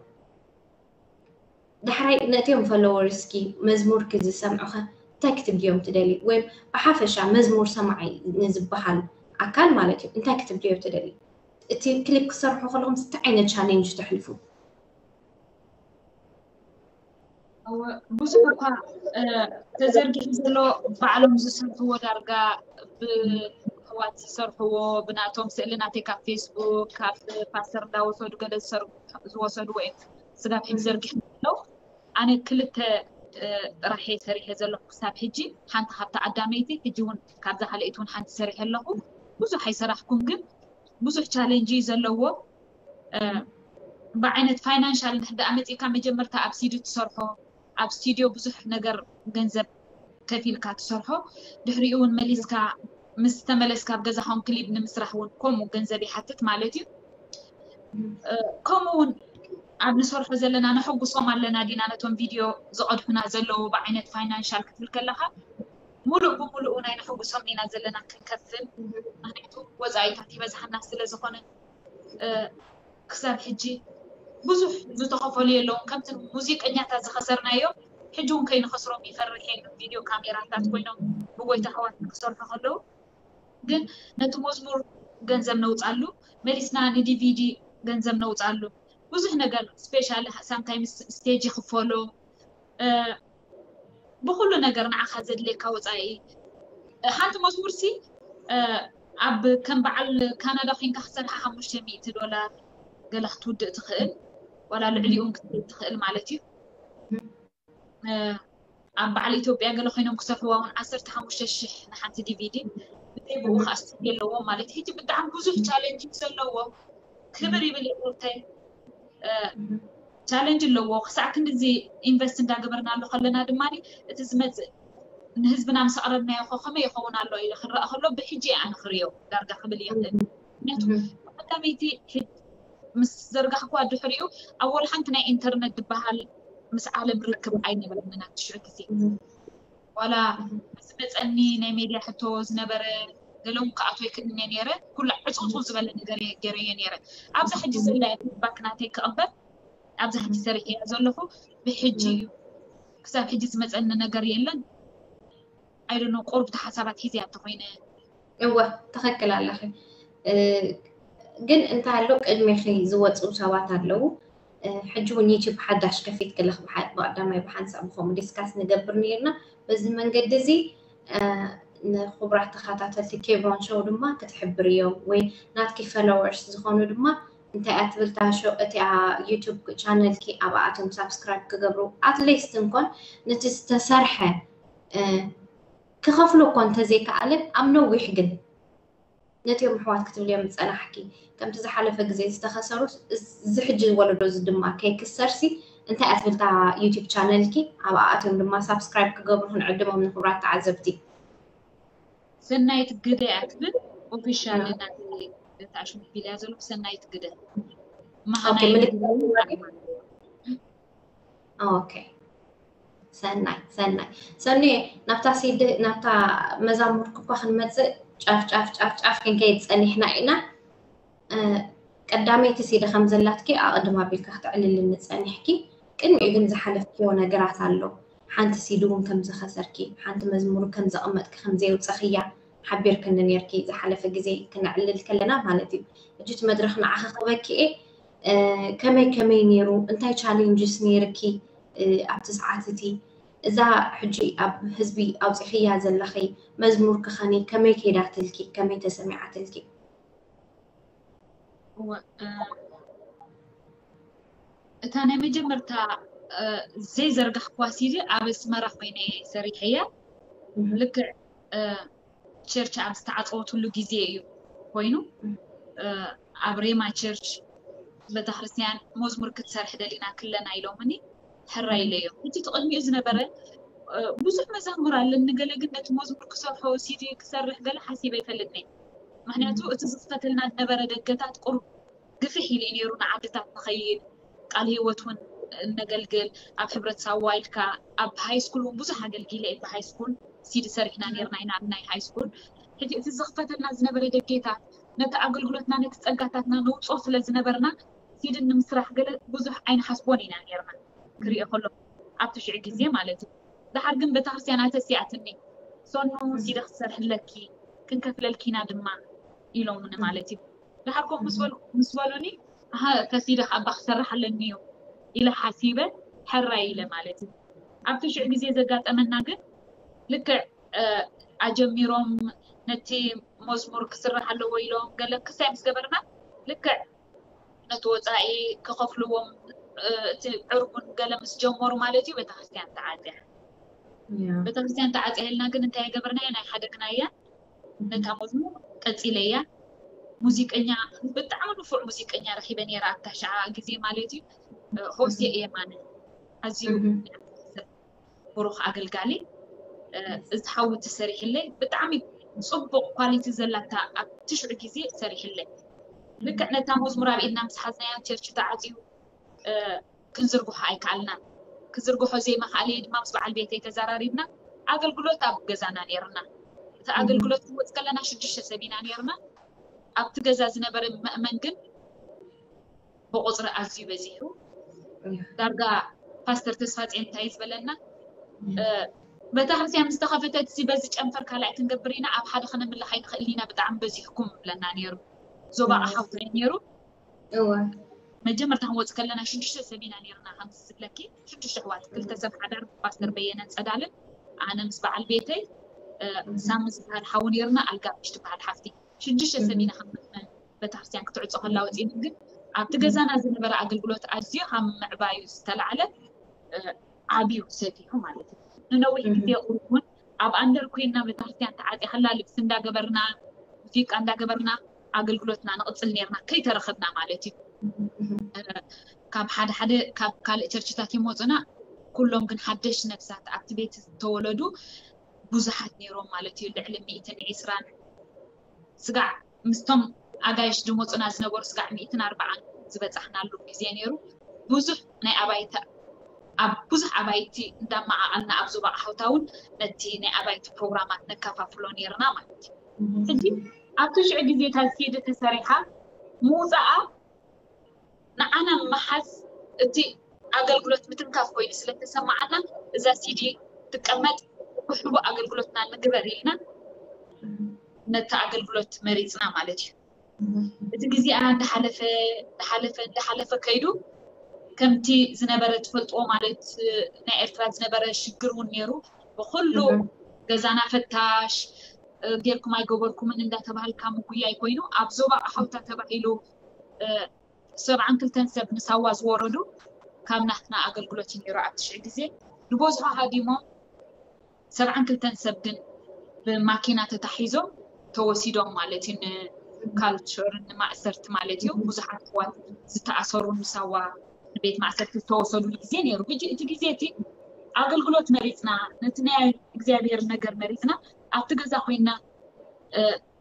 ዳሕራይ ነቲኦም ፎሎወርስኪ መዝሙርኪ ዝሰምዑኸ እንታይ ክትብልዮም ትደሊ ወይም ብሓፈሻ መዝሙር ሰማዒ ንዝበሃል ኣካል ማለት እዩ እንታይ ክትብልዮ ትደሊ እቲ ክሊፕ ክሰርሑ ከለኹም እንታይ ዓይነት ቻሌንጅ ተሕልፉ ብዙሕ እኳ ተዘርጊሑ ዘሎ ባዕሎም ዝሰርሕዎ ዳርጋ ብኣሕዋት ዝሰርሕዎ ብናቶም ስእሊ ናተይ ካብ ፌስቡክ ካብ ፓስተር እንዳወሰዱ ገለ ዝወሰድዎ እዮም ስጋብ ሕጂ ዘርጊሑ ዘለዉ ኣነ ክልተ ጥራሕ እየ ሰሪሐ ዘለኹ ክሳብ ሕጂ ሓንቲ ካብቲ ዓዳመይቲ ሕጂ እውን ካብዛ ካልኣይቲ እውን ሓንቲ ሰሪሐ ኣለኹ ብዙሕ ኣይሰራሕኩን ግን ብዙሕ ቻሌንጅ እዩ ዘለዎ ብዓይነት ፋይናንሻል እንድሕር ደኣ መፂእካ መጀመርታ ኣብ ሲዲ ትሰርሖ ኣብ ስቱዲዮ ብዙሕ ነገር ገንዘብ ከፊልካ ትሰርሖ ድሕሪኡ እውን መሊስካ ምስ ተመለስካ ኣብ ገዛኹም ክሊፕ ንምስራሕ እውን ከምኡ ገንዘብ ይሓትት ማለት እዩ ከምኡ እውን ኣብ ንሰርሖ ዘለና ነሐጉሶም ኣለና ዲና ነቶም ቪድዮ ዝቐድሑና ዘለዉ ብዓይነት ፋይናንሻል ክትብል ከለካ ሙሉእ ብሙሉእ ናይ ነሐጉሶም ኢና ዘለና ክንከፍል ምክንያቱ ወፃኢታት ይበዝሓና ስለ ዝኾነ ክሳብ ሕጂ ብዙሕ ዝተኸፈሉ የለውን ከምቲ ሙዚቀኛታት ዝኸሰርናዮ ሕጂ እውን ከይንኸስሮም ይፈርሕ የ ቪድዮ ካሜራታት ኮይኖም ብጎይታ ኣሕዋት ክሰርሑ ከለዉ ግን ነቲ መዝሙር ገንዘብ ነውፃሉ መሊስና ንዲቪዲ ገንዘብ ነውፃሉ ብዙሕ ነገር ስፔሻሊ ሳምታይምስ ስቴጅ ይኽፈሎ ብኩሉ ነገር ንዓኻ ዘድልየካ ወፃኢ ሓንቲ መዝሙር ሲ ኣብ ከም በዓል ካናዳ ኮንካ ክሰርሓ ሓሙሽተ ሚእቲ ዶላር ገለ ክትውድእ ትኽእል ዋላ ልዕሊኡ ክትብል ትኽእል ማለት እዩ ኣብ በዓል ኢትዮጵያ ገለ ኮይኖም ክሰርሕዋ እውን ዓሰርተ ሓሙሽተ ሽሕ ንሓንቲ ዲቪዲ ብዘይ ብኡ ከዓ ስቱድዮ ኣለዎም ማለት ሕጂ ብጣዕሚ ብዙሕ ቻሌንጅ እዩ ዘለዎ ክብር ይብል ይቁርተይ ቻሌንጅ ኣለዎ ክሳዕ ክንድዚ ኢንቨስት እንዳገበርናሉ ከለና ድማ እቲ ዝመፅእ ንህዝብና ምስ ኣቕረብናዮ ከ ከመይ ይኸውን ኣሎ ኢለ ክረኣ ከሎ ብሕጂ ኣነ ክርእዮ ዳርጋ ክብል ይኽእል ምክንያቱ ቀዳመይቲ ምስ ዘርጋሕኩዋ ድሕሪኡ ኣብ ወላ ሓንቲ ናይ ኢንተርነት ዝበሃል ምስ ዓለም ርክብ ኣይነበረንን ኣብ ትሽዑ ግዜ ዋላ ዝመፀኒ ናይ ሜድያ ሕቶ ዝነበረ ገለውን ክኣትወ ክእምነ ነይረ ኩሉ ዕፅውፅው ዝበለ ነገር ገይረዮ ነይረ ኣብዛ ሕጂ ዘላ ፊድባክ ናተይ ክቕበል ኣብዛ ሕጂ ሰሪሐያ ዘለኹ ብሕጂ እዩ ክሳብ ሕጂ ዝመፀኒ ነገር የለን ኣይደኖ ቁርብቲ ሓሳባት ሒዘያ እንተኮይነ እወ ትኽክል ኣለኺ ግን እንታይ ኣሎ ቅድሜኺ ዝወፁ ሰባት ኣለዉ ሕጂ እውን ዩቲብ ሓዳሽ ከፊት ክለኽ ብቀዳማይ ብሓንሳብ ብከምኡ ዲስካስ ንገብር ነርና በዚ መንገዲ እዚ ንክቡራት ተኸታተልቲ ኬብሮን ሾው ድማ ክትሕብርዮም ወይ ናትኪ ፈሎወርስ ዝኾኑ ድማ እንታይ እያ ትብል እታ ሾው እቲኣ ዩቱብ ቻነልኪ ኣብኣቶም ሳብስክራይብ ክገብሩ ኣትሊስት እንኮን ነቲ ዝተሰርሐ ክኸፍሉ እኮ እንተዘይከኣለ ኣብ ነዊሕ ግን ነቲኦም ኣሕዋት ክትብልዮም ዝፀናሕኪ ከምቲ ዝሓለፈ ግዜ ዝተኸሰሩ እዚ ሕጂ ወለዶ እዚ ድማ ከይክሰርሲ እንታይ እያ ትብል እታ ዩቱብ ቻነልኪ ኣብኣቶም ድማ ሳብስክራይብ ክገብሩ ክንዕድሞም ንክብራት ተዓዘብቲ ሰናይት ግደ እያ ትብል ኦፊሻል ናተይ ታሽሙ ቢልያ ዘለኩ ሰናይት ግደ ምልክት መሃናይ ኦኬ ሰናይ ሰናይ ሰኒ ናብታ ሲዲ ናብታ መዛሙርክ እኳ ክንመፅእ ጫፍ ጫፍ ጫፍ ጫፍ ክንከይድ ፀኒሕና ኢና። ቀዳመይቲ ሲዲ ከም ዘላትኪ ኣቐድም ኣቢልካ ክትዕልልኒ ጸኒሕኪ። ቅድሚኡ ግን ዝሓለፍክዮ ነገራት ኣሎ። ሓንቲ ሲዲ እውን ከም ዝኸሰርኪ፣ ሓንቲ መዝሙር ከም ዘቐመጥኪ ከም ዘየውጸኽያ ሓቢርክኒ ነርኪ ዝሓለፈ ግዜ ክነዕልል ከለና ማለት እዩ። ሕጂ እቲ መድረኽ ንዓኺ ክበኪ እየ። ከመይ ከመይ ነይሩ? እንታይ ቻሌንጅስ ነይርኪ ኣብቲ ሰዓት እቲ? እዛ ሕጂ ኣብ ህዝቢ ኣውፂኽያ ዘለኺ መዝሙር ክኸኒ ከመይ ከይዳትልኪ? ከመይ ተሰሚዓትልኪ? እታ ናይ መጀመርታ ዘይዘርጋሕኩዋ ሲዲ ኣብ ኣስመራ ኮይነ ሰሪሐያ። ልክዕ ቸርች ኣብ ዝተዓፀወትሉ ግዜ እዩ ኮይኑ፣ ኣብ ሬማ ቸርች ቤተክርስትያን መዝሙር ክትሰርሕ ደሊና ክለና ኢሎምኒ ሕራይ ኢለዮም። እቲ ትቕድሚኡ ዝነበረ ብዙሕ መዛሙር ኣለኒ፣ ገለ ግን ነቲ መዝሙር ክሰርሖ ሲዲ ክሰርሕ ገለ ሓሲበ ኣይፈልጥን። ምክንያቱ እቲ ዝኽፈተልና ዝነበረ ደገታት ቁሩብ ግፍሕ ኢሉ እዩ ነይሩ። ንዓድታት ንኸይድ፣ ቃል ህይወት እውን እነገልግል፣ ኣብ ሕብረት ሳዋ ኢልካ ኣብ ሃይ ስኩል እውን ብዙሕ ኣገልጊለ እየ። ብሃይ ስኩል ሲዲ ሰሪሕና ነርና ኢና ኣብ ናይ ሃይ ስኩል። ሕጂ እቲ ዝኽፈተልና ዝነበረ ደጌታት ነቲ ኣገልግሎትና ነቲ ጸጋታትና ነውፅኦ ስለ ዝነበርና ሲዲ ንምስራሕ ገለ ብዙሕ ኣይንሓስቦን ኢና ነርና። ክሪኦ ከሎ ኣብቲ ሽዑ ግዜ ማለት እዩ። ድሓር ግን ቤተክርስትያን ኣተሲኣትኒ። ሶኑ ሲዲ ክትሰርሕለኪ ክንከፍለልኪ ኢና ድማ ኢሎምኒ ማለት እዩ። ድሓር ኮፍ ምስ በሉ ምስ በሉኒ ኣሃ እታ ሲዲ ካብ ኣባ ክሰርሕ ኣለኒ እዩ ኢለ ሓሲበ ሕራይ ኢለ ማለት እዩ። ኣብቲ ሽዑ ግዜ ዘጋጠመና ግን ልክዕ ኣጀሚሮም ነቲ መዝሙር ክስራሕ ኣለዎ ኢሎም ገለ ክሳይ ምስ ገበርና ልክዕ ነቲ ወፃኢ ክኸፍልዎም እቲ ዕርቡን ገለ ምስ ጀመሩ ማለት እዩ ቤተክርስትያን ተዓፅያ። ቤተክርስትያን ተዓፅያ ኢልና ግን እንታይ የገበርናዮ? ናይ ሓደግናያ ነታ መዝሙር ቀፂለያ። ሙዚቀኛ ብጣዕሚ ንፉዕ ሙዚቀኛ ረኪበ ነይረ ኣብታ ሸዓ ግዜ ማለት እዩ። ሆሴ የማነ ኣዝዩ ብሩኽ ኣገልጋሊ። እዚ ሓዊ ትሰሪሕለይ ብጣዕሚ ፅቡቕ ኳሊቲ ዘላታ ኣብ ትሽዑ ግዜ ሰሪሕለይ። ልክዕ ነታ መዝሙር ኣብ ኢድና ምስ ሓዝናያ ቸርች ተዓፅዩ ክንዝርግሖ ኣይከኣልናን። ክዝርግሖ ዘይምኽኣለይ ድማ ምስ በዓል ቤተይ ተዘራሪብና ኣገልግሎት ኣብ ገዛና ነይርና። እቲ ኣገልግሎት ክንወፅ ከለና ሽዱሽተ ሰብ ኢና ነይርና። ኣብቲ ገዛ ዝነበረ መእመን ግን ብቁፅሪ ኣዝዩ በዚሑ። ዳርጋ ፓስተር ተስፋፅዮን እንታይ ዝበለና፣ ቤተክርስትያን ምስ ተኸፈተት በዚ ጨንፈር ካልኣይ ክንገብር ኢና፣ ኣብ ሓደ ክነምልኽ ኣይንኽእልን ኢና፣ ብጣዕሚ በዚሕኩም ይብለና ነይሩ። ዞባ ኣሓውታይ ነይሩ። መጀመርታ ክንወፅ ከለና ሽዱሽተ ሰብ ኢና ነይርና፣ ከምዚ ዝብለኪ ሽዱሽተ ኣሕዋት፣ ክልተ ሰብ ሓዳር ፓስተር በየነን ፀዳልን ኣነ ምስ በዓል ቤተይ ሳሚ ዝበሃል ሓው ነይርና፣ ኣልጋብሽ ትበሃል ሓፍቲ። ሽዱሽተ ሰብ ኢና ከም ቤተክርስትያን ክትዕፆ ከላ ወፂና፣ ግን ኣብቲ ገዛና ዝነበረ ኣገልግሎት ኣዝዩ ካብ ምዕባዩ ዝተላዕለ ዓብዩ ሰፊሑ ማለት እዩ። ንነዊሕ ግዜ ቁሩብ እውን ኣብ ኣንደር ኮይንና ቤተክርስትያን ተዓፅያ ከላ ልብሲ እንዳገበርና ሙዚቃ እንዳገበርና ኣገልግሎትና ንቕፅል ነርና ከይተረኸብና ማለት እዩ። ካብ ሓደ ሓደ ካብ ካልእ ቸርችታት ይመፁና፣ ኩሎም ግን ሓደሽ ነብሳት ኣብቲ ቤት ዝተወለዱ ብዙሓት ነይሮም ማለት እዩ። ልዕሊ ሚእትን ዒስራን ስጋዕ ምስቶም ኣጋይሽ ዝመፁና ዝነበሩ ስጋዕ ሚእትን ኣርባዓን ዝበፃሕናሉ ግዜ ነይሩ። ብዙሕ ናይ ኣባይቲ ኣብ ብዙሕ ኣባይቲ እንዳመዓቐልና ኣብ ዞባ ኣሓውታ እውን ነቲ ናይ ኣባይቲ ፕሮግራማት ነከፋፍሎ ነይርና ማለት እዩ። ሕጂ ኣብቲ ሽዑ ግዜ እታ ሲዲ ተሰሪሓ ምውፃኣ ንዓና ምሓዝ እቲ ኣገልግሎት ምትንካፍ ኮይኑ ስለተሰማዓና እዛ ሲዲ ትቀመጥ ብሕቡእ ኣገልግሎትና ንግበር ኢልና ነቲ ኣገልግሎት መሪፅና ማለት እዩ። እቲ ግዜኣ እንዳሓለፈ እንዳሓለፈ እንዳሓለፈ ከይዱ ከምቲ ዝነበረ ትፈልጥዎ ማለት ናይ ኤርትራ ዝነበረ ሽግር እውን ነይሩ። ብኩሉ ገዛና ፈታሽ ጌርኩም ኣይገበርኩምን እንዳተባሃልካ ምጉያይ ኮይኑ ኣብ ዞባ ኣሓውታ ተባሂሉ ሰብዓን ክልተን ሰብ ንሳዋ ዝወረዱ ካብ ናትና ኣገልግሎት እዩ ነይሩ ኣብ ትሽዒ ግዜ ንቦዝሖ ሃዲሞም ሰብዓን ክልተን ሰብ ግን ብማኪና ተታሒዞም ተወሲዶም ማለት እዩ። ንካልቸር ንማእሰርቲ ማለት እዩ። ብዙሓት ኣሕዋት ዝተኣሰሩ ንሳዋ ንቤት ማእሰርቲ ዝተወሰዱሉ ግዜ ነይሩ። ሕጂ እቲ ግዜ እቲ ኣገልግሎት መሪፅና ነቲ ናይ እግዚኣብሔር ነገር መሪፅና ኣብቲ ገዛ ኮይና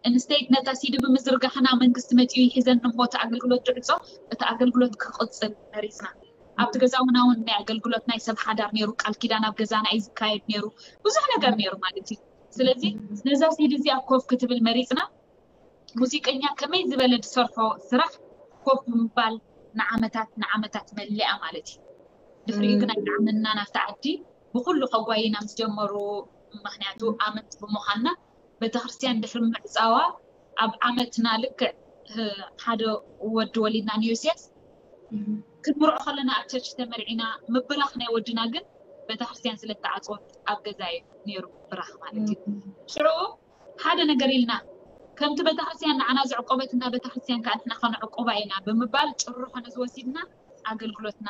ኢንስቴድ ነታ ሲዲ ብምዝርጋሕና መንግስቲ መፂኡ ይሒዘኒ እሞ እቲ ኣገልግሎት ድዕፆ እቲ ኣገልግሎት ክቕፅል መሪፅና። ኣብቲ ገዛ እውን እውን ናይ ኣገልግሎት ናይ ሰብ ሓዳር ነይሩ፣ ቃል ኪዳን ኣብ ገዛና እዩ ዝካየድ ነይሩ፣ ብዙሕ ነገር ነይሩ ማለት እዩ። ስለዚ ነዛ ሲዲ እዚኣ ኮፍ ክትብል መሪፅና፣ ሙዚቀኛ ከመይ ዝበለ ዝሰርሖ ስራሕ ኮፍ ብምባል ንዓመታት ንዓመታት መሊኣ ማለት እዩ። ድሕሪኡ ግን ኣይጠዓመና ናብቲ ዓዲ። ብኩሉ ከጓይና ምስ ጀመሩ፣ ምክንያቱ ኣመንቲ ብምዃንና፣ ቤተክርስትያን ድሕሪ ምዕፃዋ ኣብ ዓመትና ልክዕ ሓደ ወዲ ወሊድና ንዮስያስ። ክንምርዖ ከለና ኣብ ቸርች ተመርዒና፣ ምብራኽ ናይ ወድና ግን ቤተክርስትያን ስለተዓፅወት ኣብ ገዛ እዩ ነይሩ ብራኽ ማለት እዩ። ሽዑ ሓደ ነገር ኢልና፣ ከምቲ ቤተክርስትያን ንዓና ዘዕቆበትና ቤተክርስትያን ከዓ ንሕና ከነዕቆባ ኢና ብምባል ጭርሖ ነዚ ወሲድና ኣገልግሎትና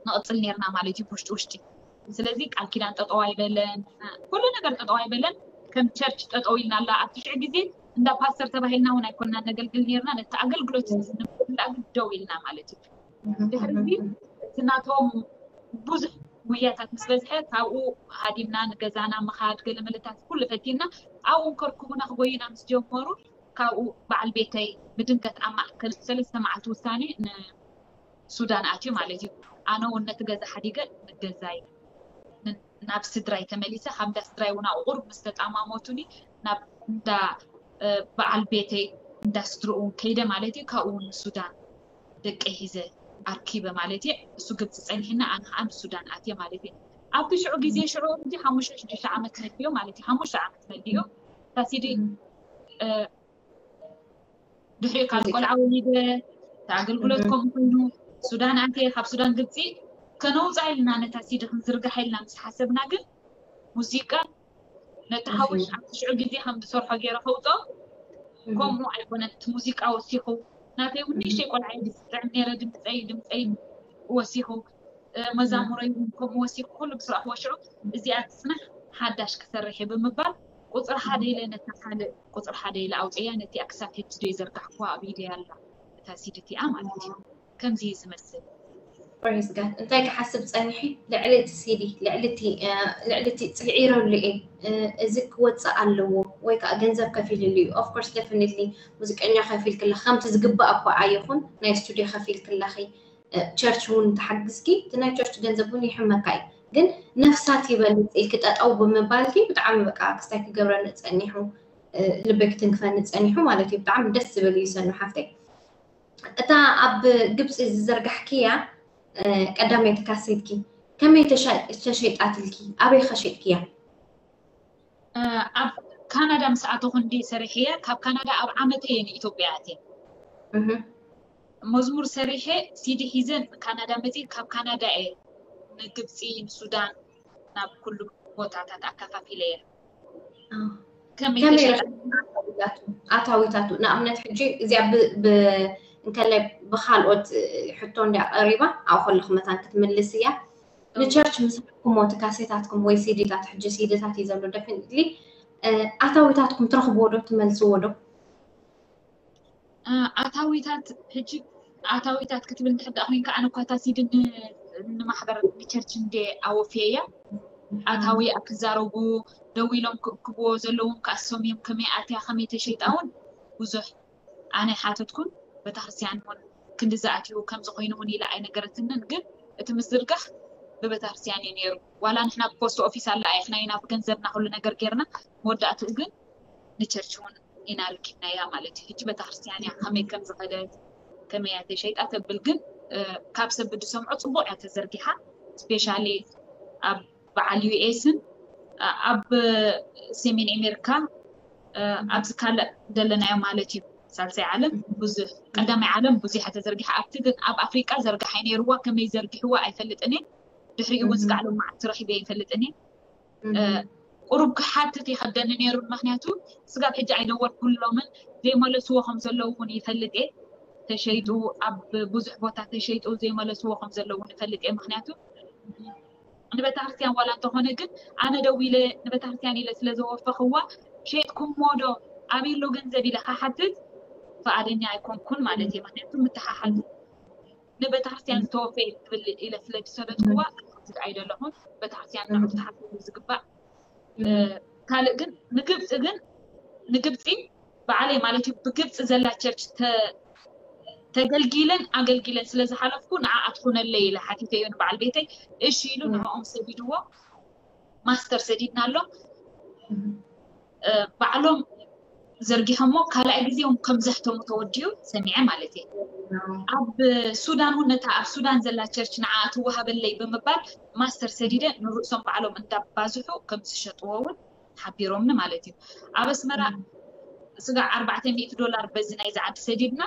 ንቕፅል ነርና ማለት እዩ ብውሽጢ ውሽጢ። ስለዚ ቃል ኪዳን ጠጠው ኣይበለን፣ ኩሉ ነገር ጠጠው ኣይበለን። ከም ቸርች ጠጠው ኢልና ኣላ። ኣብቲ ሽዑ ግዜ እንዳ ፓስተር ተባሂልና እውን ኣይኮንና ነገልግል ነርና። ነቲ ኣገልግሎት ንምልላእ ግን ደው ኢልና ማለት እዩ። ድሕሪ እዚ እቲ ናቶም ብዙሕ ጉያታት ምስ በዝሐ ካብኡ ሃዲምና ንገዛና ምኻድ ገለ መለታት ኩሉ ፈቲና ኣብኡ ከርክቡና ክጎዩና ምስ ጀመሩ ካብኡ በዓል ቤተይ ብድንገት ኣብ ማእከል ሰለስተ መዓልቲ ውሳኔ ንሱዳን ኣትዩ ማለት እዩ። ኣነ እውን ነቲ ገዛ ሓዲገ ንገዛይ ናብ ስድራይ ተመሊሰ። ካብ እንዳ ስድራይ እውን ኣብኡ ቁሩብ ምስ ተጣማሞቱኒ ናብ እንዳ በዓል ቤተይ እንዳ ስድርኡ ከይደ ማለት እዩ። ካብኡ እውን ንሱዳን ደቀይ ሒዘ ኣርኪበ ማለት እዩ። እሱ ግብፂ ፀኒሕና ኣነ ከዓ ንሱዳን ኣትየ ማለት እዩ። ኣብቲ ሽዑ ግዜ ሽዑ እንጂ ሓሙሽተ ሽዱሽተ ዓመት መዲዮ ማለት እዩ። ሓሙሽተ ዓመት መዲዮ ታሲዲ ድሕሪኡ ካብ ቆልዓ ወሊደ ኣገልግሎት ከምኡ ኮይኑ ሱዳን ኣትየ። ካብ ሱዳን ግብፂ ከነውፃ ኢልና ነታ ሲዲ ክንዝርግሓ ኢልና ምስ ሓሰብና ግን ሙዚቃ ነቲ ሓውሽ ኣብቲ ሽዑ ግዜ ከም ዝሰርሖ ገይረ ከውፅኦ ከምኡ ኣይኮነን። እቲ ሙዚቃ ወሲኹ ናተይ እውን ንእሽተይ ቆልዓ እየ ዝጥዕም ነይረ። ድምፀይ ድምፀይ ወሲኹ መዛሙረይ እውን ከምኡ ወሲኹ ኩሉ ብስራሕ ወሽዑ እዚኣ ትፅናሕ ሓዳሽ ክሰርሕ እየ ብምባል ቁፅሪ ሓደ ኢለ ነታ ካልእ ቁፅሪ ሓደ ኢለ ኣውፅያ። ነቲኣ ክሳብ ሕጂ ዶ ይዘርጋሕኩዋ ኣብ ኢደይ ኣላ እታ ሲዲ እቲኣ ማለት እዩ። ከምዚ እዩ ዝመስል። ፕሬዝ ጋድ እንታይ ክሓስብ ፀኒሐ ልዕሊ እቲ ሲዲ ልዕሊ እቲ ልዕሊ እቲ ፅዒረሉ እየ እዚ ክወፅእ ኣለዎ ወይ ከዓ ገንዘብ ከፊልሉ እዩ። ኦፍኮርስ ደፍኒትሊ ሙዚቀኛ ከፊልክላ ከምቲ ዝግባእ እኳ ኣይኹን ናይ ስቱዲዮ ከፊልክላኺ ቸርች እውን ተሓግዝኪ እቲ ናይ ቸርች ገንዘብ እውን ይሕመካ እዩ። ግን ነፍሳት ይበልፅ ኢልኪ ጠጠው ብምባልኪ ብጣዕሚ በቃ ክስታይ ክገብረኒ ፀኒሑ ልበይ ክትንክፈኒ ፀኒሑ ማለት እዩ። ብጣዕሚ ደስ ዝብል እዩ ሰኑ ሓፍተይ። እታ ኣብ ግብፂ ዝዘርጋሕክያ ቀዳመይቲ ካሴትኪ ከመይ ተሸይጣትልኪ? ኣበይ ከሸጥክያ? ኣብ ካናዳ ምስ ኣተኹ እንዲ ሰሪሐያ ካብ ካናዳ ኣብ ዓመተ እየ ንኢትዮጵያ ኣትየ። መዝሙር ሰሪሐ ሲዲ ሒዘ ካናዳ መፂ ካብ ካናዳ እየ ንግብፂ ንሱዳን ናብ ኩሉ ቦታታት ኣከፋፊለ እየ። ከመይ ኣታዊታቱ ንኣብነት ሕጂ እዚኣ እንከላይ ብካልኦት ሕቶ እንዲያ ቀሪባ ኣብኡ ከለኹ መታን ክትምልስ እያ። ንቸርች ምስ ሃብኩሞ እቲ ካሴታትኩም ወይ ሲዲታት ሕጂ ሲዲታት እዩ ዘሎ ደፊኒትሊ ኣታዊታትኩም ትረኽብዎ ዶ ትመልስዎ ዶ? ኣታዊታት ሕጂ ኣታዊታት ክትብል እንድሕር ደኣ ኮይንካ ኣነ እኳ እታ ሲዲ ንማሕበር ንቸርች እንደ ኣወፍየያ ኣታዊ ክዛረቡ ደው ኢሎም ክእክብዎ ዘለዎም ከኣሶም እዮም ከመይ ኣትያ ከመይ ተሸይጣ እውን ብዙሕ ኣነ ሓተትኩን ቤተክርስትያን እውን ክንዲ ዝኣትዩ ከምዚ ኮይኑ እውን ኢላ ኣይነገረትንን ግን እቲ ምዝርጋሕ ብቤተክርስትያን እዩ ነይሩ ዋላ ንሕና ብፖስት ኦፊስ ኣላ ኣይኽናይና ብገንዘብና ኩሉ ነገር ጌርና መወዳእትኡ ግን ንቸርች እውን ኢና ርኪብናያ ማለት እዩ። ሕጂ ቤተክርስትያን እያ ከመይ ከም ዝኸደት ከመይ እያ ተሸይጣ ተብል ግን ካብ ሰብ ብድሰምዖ ፅቡቅ እያ ተዘርጊሓ ስፔሻሊ ኣብ በዓል ዩኤስን ኣብ ሰሜን ኣሜሪካ ኣብዚ ካልእ ዘለናዮ ማለት እዩ ሳልሳይ ዓለም ብዙሕ ቀዳማይ ዓለም ብዙሕ ተዘርጊሓ ኣብቲ ግን ኣብ ኣፍሪቃ ዘርጋሓይ ነይርዋ ከመይ ዘርጊሕዋ ኣይፈልጥን እየ ድሕሪኡ እውን ስጋዕ ሎም መዓልቲ ረኪበ ይፈልጥን እየ ቁሩብ ክሓትት ይኸብደኒ ነይሩ ምክንያቱ ስጋብ ሕጂ ኣይደወልኩሎምን ዘይመለስዎ ከም ዘለዉ እውን ይፈልጥ እየ ተሸይጡ ኣብ ብዙሕ ቦታ ተሸይጡ ዘይመለስዎ ከም ዘለዉ እውን ይፈልጥ እየ ምክንያቱ ንቤተክርስትያን ዋላ እንተኾነ ግን ኣነ ደው ኢለ ንቤተክርስትያን ኢለ ስለ ዘወፈኽዋ ሸይጥኩሞ ዶ ኣበይ ኣሎ ገንዘብ ኢለ ክሓትት ፍቓደኛ ኣይኮንኩን ማለት እየ ምክንያቱ ምትሓሓዝ ንቤተክርስትያን ዝተወፈየ ትብል ኢለ ስለ ዝሰደድክዋ ክሓትት ኣይደለኹን ቤተክርስትያን ንዑ ክትሓስቡ ዝግባእ ካልእ ግን ንግብፂ ግን ንግብፂ በዓለይ ማለት እዩ ብግብፂ ዘላ ቸርች ተገልጊለን ኣገልጊለን ስለ ዝሓለፍኩ ንዓኣ ትኹነለይ ኢለ ሓቲተዮ ንበዓል ቤተይ። እሺ ኢሉ ንዕኦም ሰዲድዎ። ማስተር ሰዲድናሎም። ባዕሎም ዘርጊሖሞ ካልኣይ ግዜ እውን ከም ዘሕተሙ ተወዲኡ ሰሚዐ ማለት እየ። ኣብ ሱዳን እውን ነታ ኣብ ሱዳን ዘላ ቸርች ንዓ ትወሃበለይ ብምባል ማስተር ሰዲደ ንርእሶም ባዕሎም እንዳባዝሑ ከም ዝሸጥዎ እውን ሓቢሮምኒ ማለት እዩ። ኣብ ኣስመራ ስጋዕ ኣርባዕተ ሚእቲ ዶላር በዚ ናይዚ ዓዲ ሰዲድና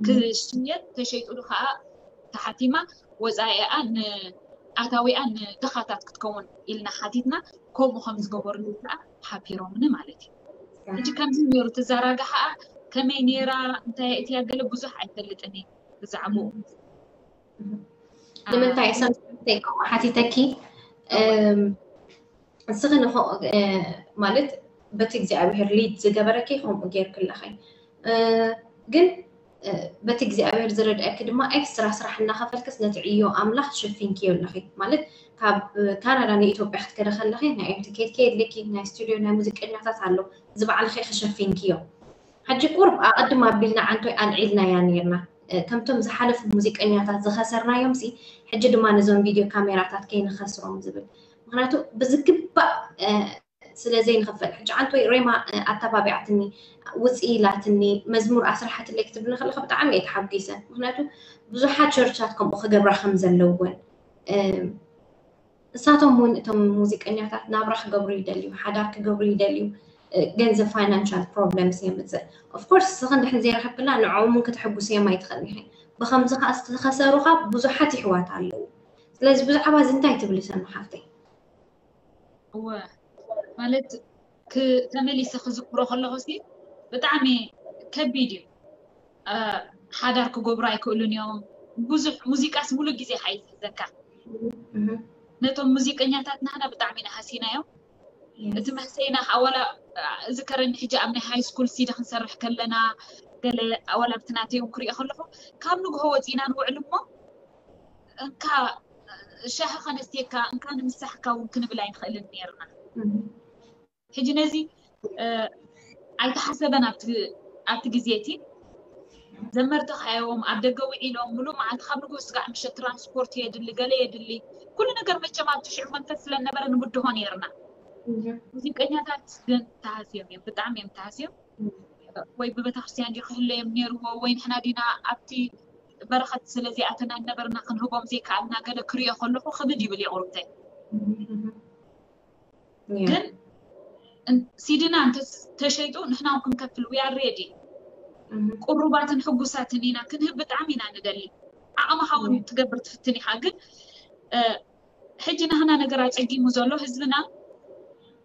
ክሽየጥ ተሸይጡሉ ከዓ ተሓቲማ ወፃኢኣ ንኣታዊኣ ንድኻታት ክትከውን ኢልና ሓቲትና። ከምኡ ከም ዝገበሩሉ ከዓ ሓቢሮምኒ ማለት እዩ። ሕጂ ከምዚ ነይሩ ትዘራግሓኣ ከመይ ነይራ እንታይ እትያ ገለ ብዙሕ ኣይፈልጥን እየ ብዛዕባኡ። ንምንታይ ሰምተይ ከምኡ ሓቲተኪ? እስኺ ንኸ ማለት በቲ እግዚኣብሔር ሊድ ዝገበረኪ ከምኡ ጌርክለኺ። ግን በቲ እግዚኣብሔር ዝረድአኪ ድማ ኤክስትራ ስራሕ እናኸፈልክስ ነቲ ዕዮ ኣምላኽ ሸፊንክዮ ኣለኺ። ማለት ካብ ካናዳ ንኢትዮጵያ ክትከደ ከለኺ ናይ ኤምቲ ኬት ከየድልኪ ናይ ስቱዲዮ ናይ ሙዚቀኛታት ኣሎ፣ እዚ ባዕልኺ ክሸፊንክዮ። ሕጂ ቁርብ ኣቐድም ኣቢልና ዓንቶይ ኣልዒልናያ ነይርና። ከምቶም ዝሓለፉ ሙዚቀኛታት ዝኸሰርናዮም ሲ ሕጂ ድማ ነዞም ቪድዮ ካሜራታት ከይንኸስሮም ዝብል። ምክንያቱ ብዝግባእ ስለ ዘይንኽፈል። ሕጂ ዓንቶይ ሬማ ኣተባቢዓትኒ፣ ውፅኢ ኢላትኒ፣ መዝሙር ኣስራሓትለይ ክትብልኒ ከለካ ብጣዕሚ እየ ተሓጒሰ። ምክንያቱ ብዙሓት ቸርቻት ከምኡ ክገብራ ከም ዘለወን። ንሳቶም እውን እቶም ሙዚቀኛታት ናብራ ክገብሩ ይደልዩ፣ ሓዳር ክገብሩ ይደልዩ፣ ገንዘብ ፋይናንሻል ፕሮብለምስ የምፅእ። ኦፍኮርስ እስኺ እንድሕን ዘይረኸብክላ ንዕኦም እውን ከተሐጉስዮም ኣይትኽእልን ኢኺ። ብኸምዚ ከዓ ዝተኸሰሩኻ ብዙሓት ይሕዋት ኣለዉ። ስለዚ ብዛዕባ እዚ እንታይ ትብሊ ሰኑ ሓፍተይ? እወ ማለት ተመሊሰ ክዝክሮ ከለኹ ሲ ብጣዕሚ ከቢድ እዩ። ሓዳር ክገብሩ ኣይክእሉን እዮም። ብዙሕ ሙዚቃስ ሙሉእ ግዜ ከዓ ይሕዘካ። ነቶም ሙዚቀኛታት ናህና ብጣዕሚ ኢና ሃሲናዮም። እቲ መህሰይና ከዓ ዋላ እዝከረኒ ሕጂ ኣብ ናይ ሃይ ስኩል ሲዲ ክንሰርሕ ከለና ገለ ኣዋላብቲ ናተይ እውን ክሪኦ ከለኹ ካብ ንግሆ ወፂና ንውዕል እሞ እንካ ሻሂ ከነስትየካ እንካ ንምሳሕካ እውን ክንብል ኣይንኽእልን ነይርና። ሕጂ ነዚ ኣይተሓሰበን ኣብቲ ግዜ እቲ ዘመርቲ ካዮም ኣብ ደገ ውዒሎም ሙሉእ መዓልቲ ካብ ንግሆ ስጋዕ ምሸት ትራንስፖርት የድሊ ገለ የድሊ ኩሉ ነገር መቸም ኣብቲ ሽዑ መንፈስ ስለነበረ ንብድሆ ነይርና። ሙዚቀኛታት ግን ተሃስዮም እዮም፣ ብጣዕሚ እዮም ተሃስዮም። ወይ ብቤተክርስትያን ድዩ ክህለዮም ነይርዎ ወይ ንሕና ዲና ኣብቲ በረኸት ስለዚኣተና ነበርና ክንህቦም ዘይከኣልና ገለ ክሪኦ ከለኹ ክብድ ይብል ይቑርብተይ። ግን ሲድና እንተተሸይጡ ንሕና እውን ክንከፍል we are ready። ቁሩባትን ሕጉሳትን ኢና ክንህብ ብጣዕሚ ኢና ንደሊ። ዓቕምኻ እውን ትገብር ትፍትን ኢኻ። ግን ሕጂ ናህና ነገር ኣፀጊሙ ዘሎ ህዝብና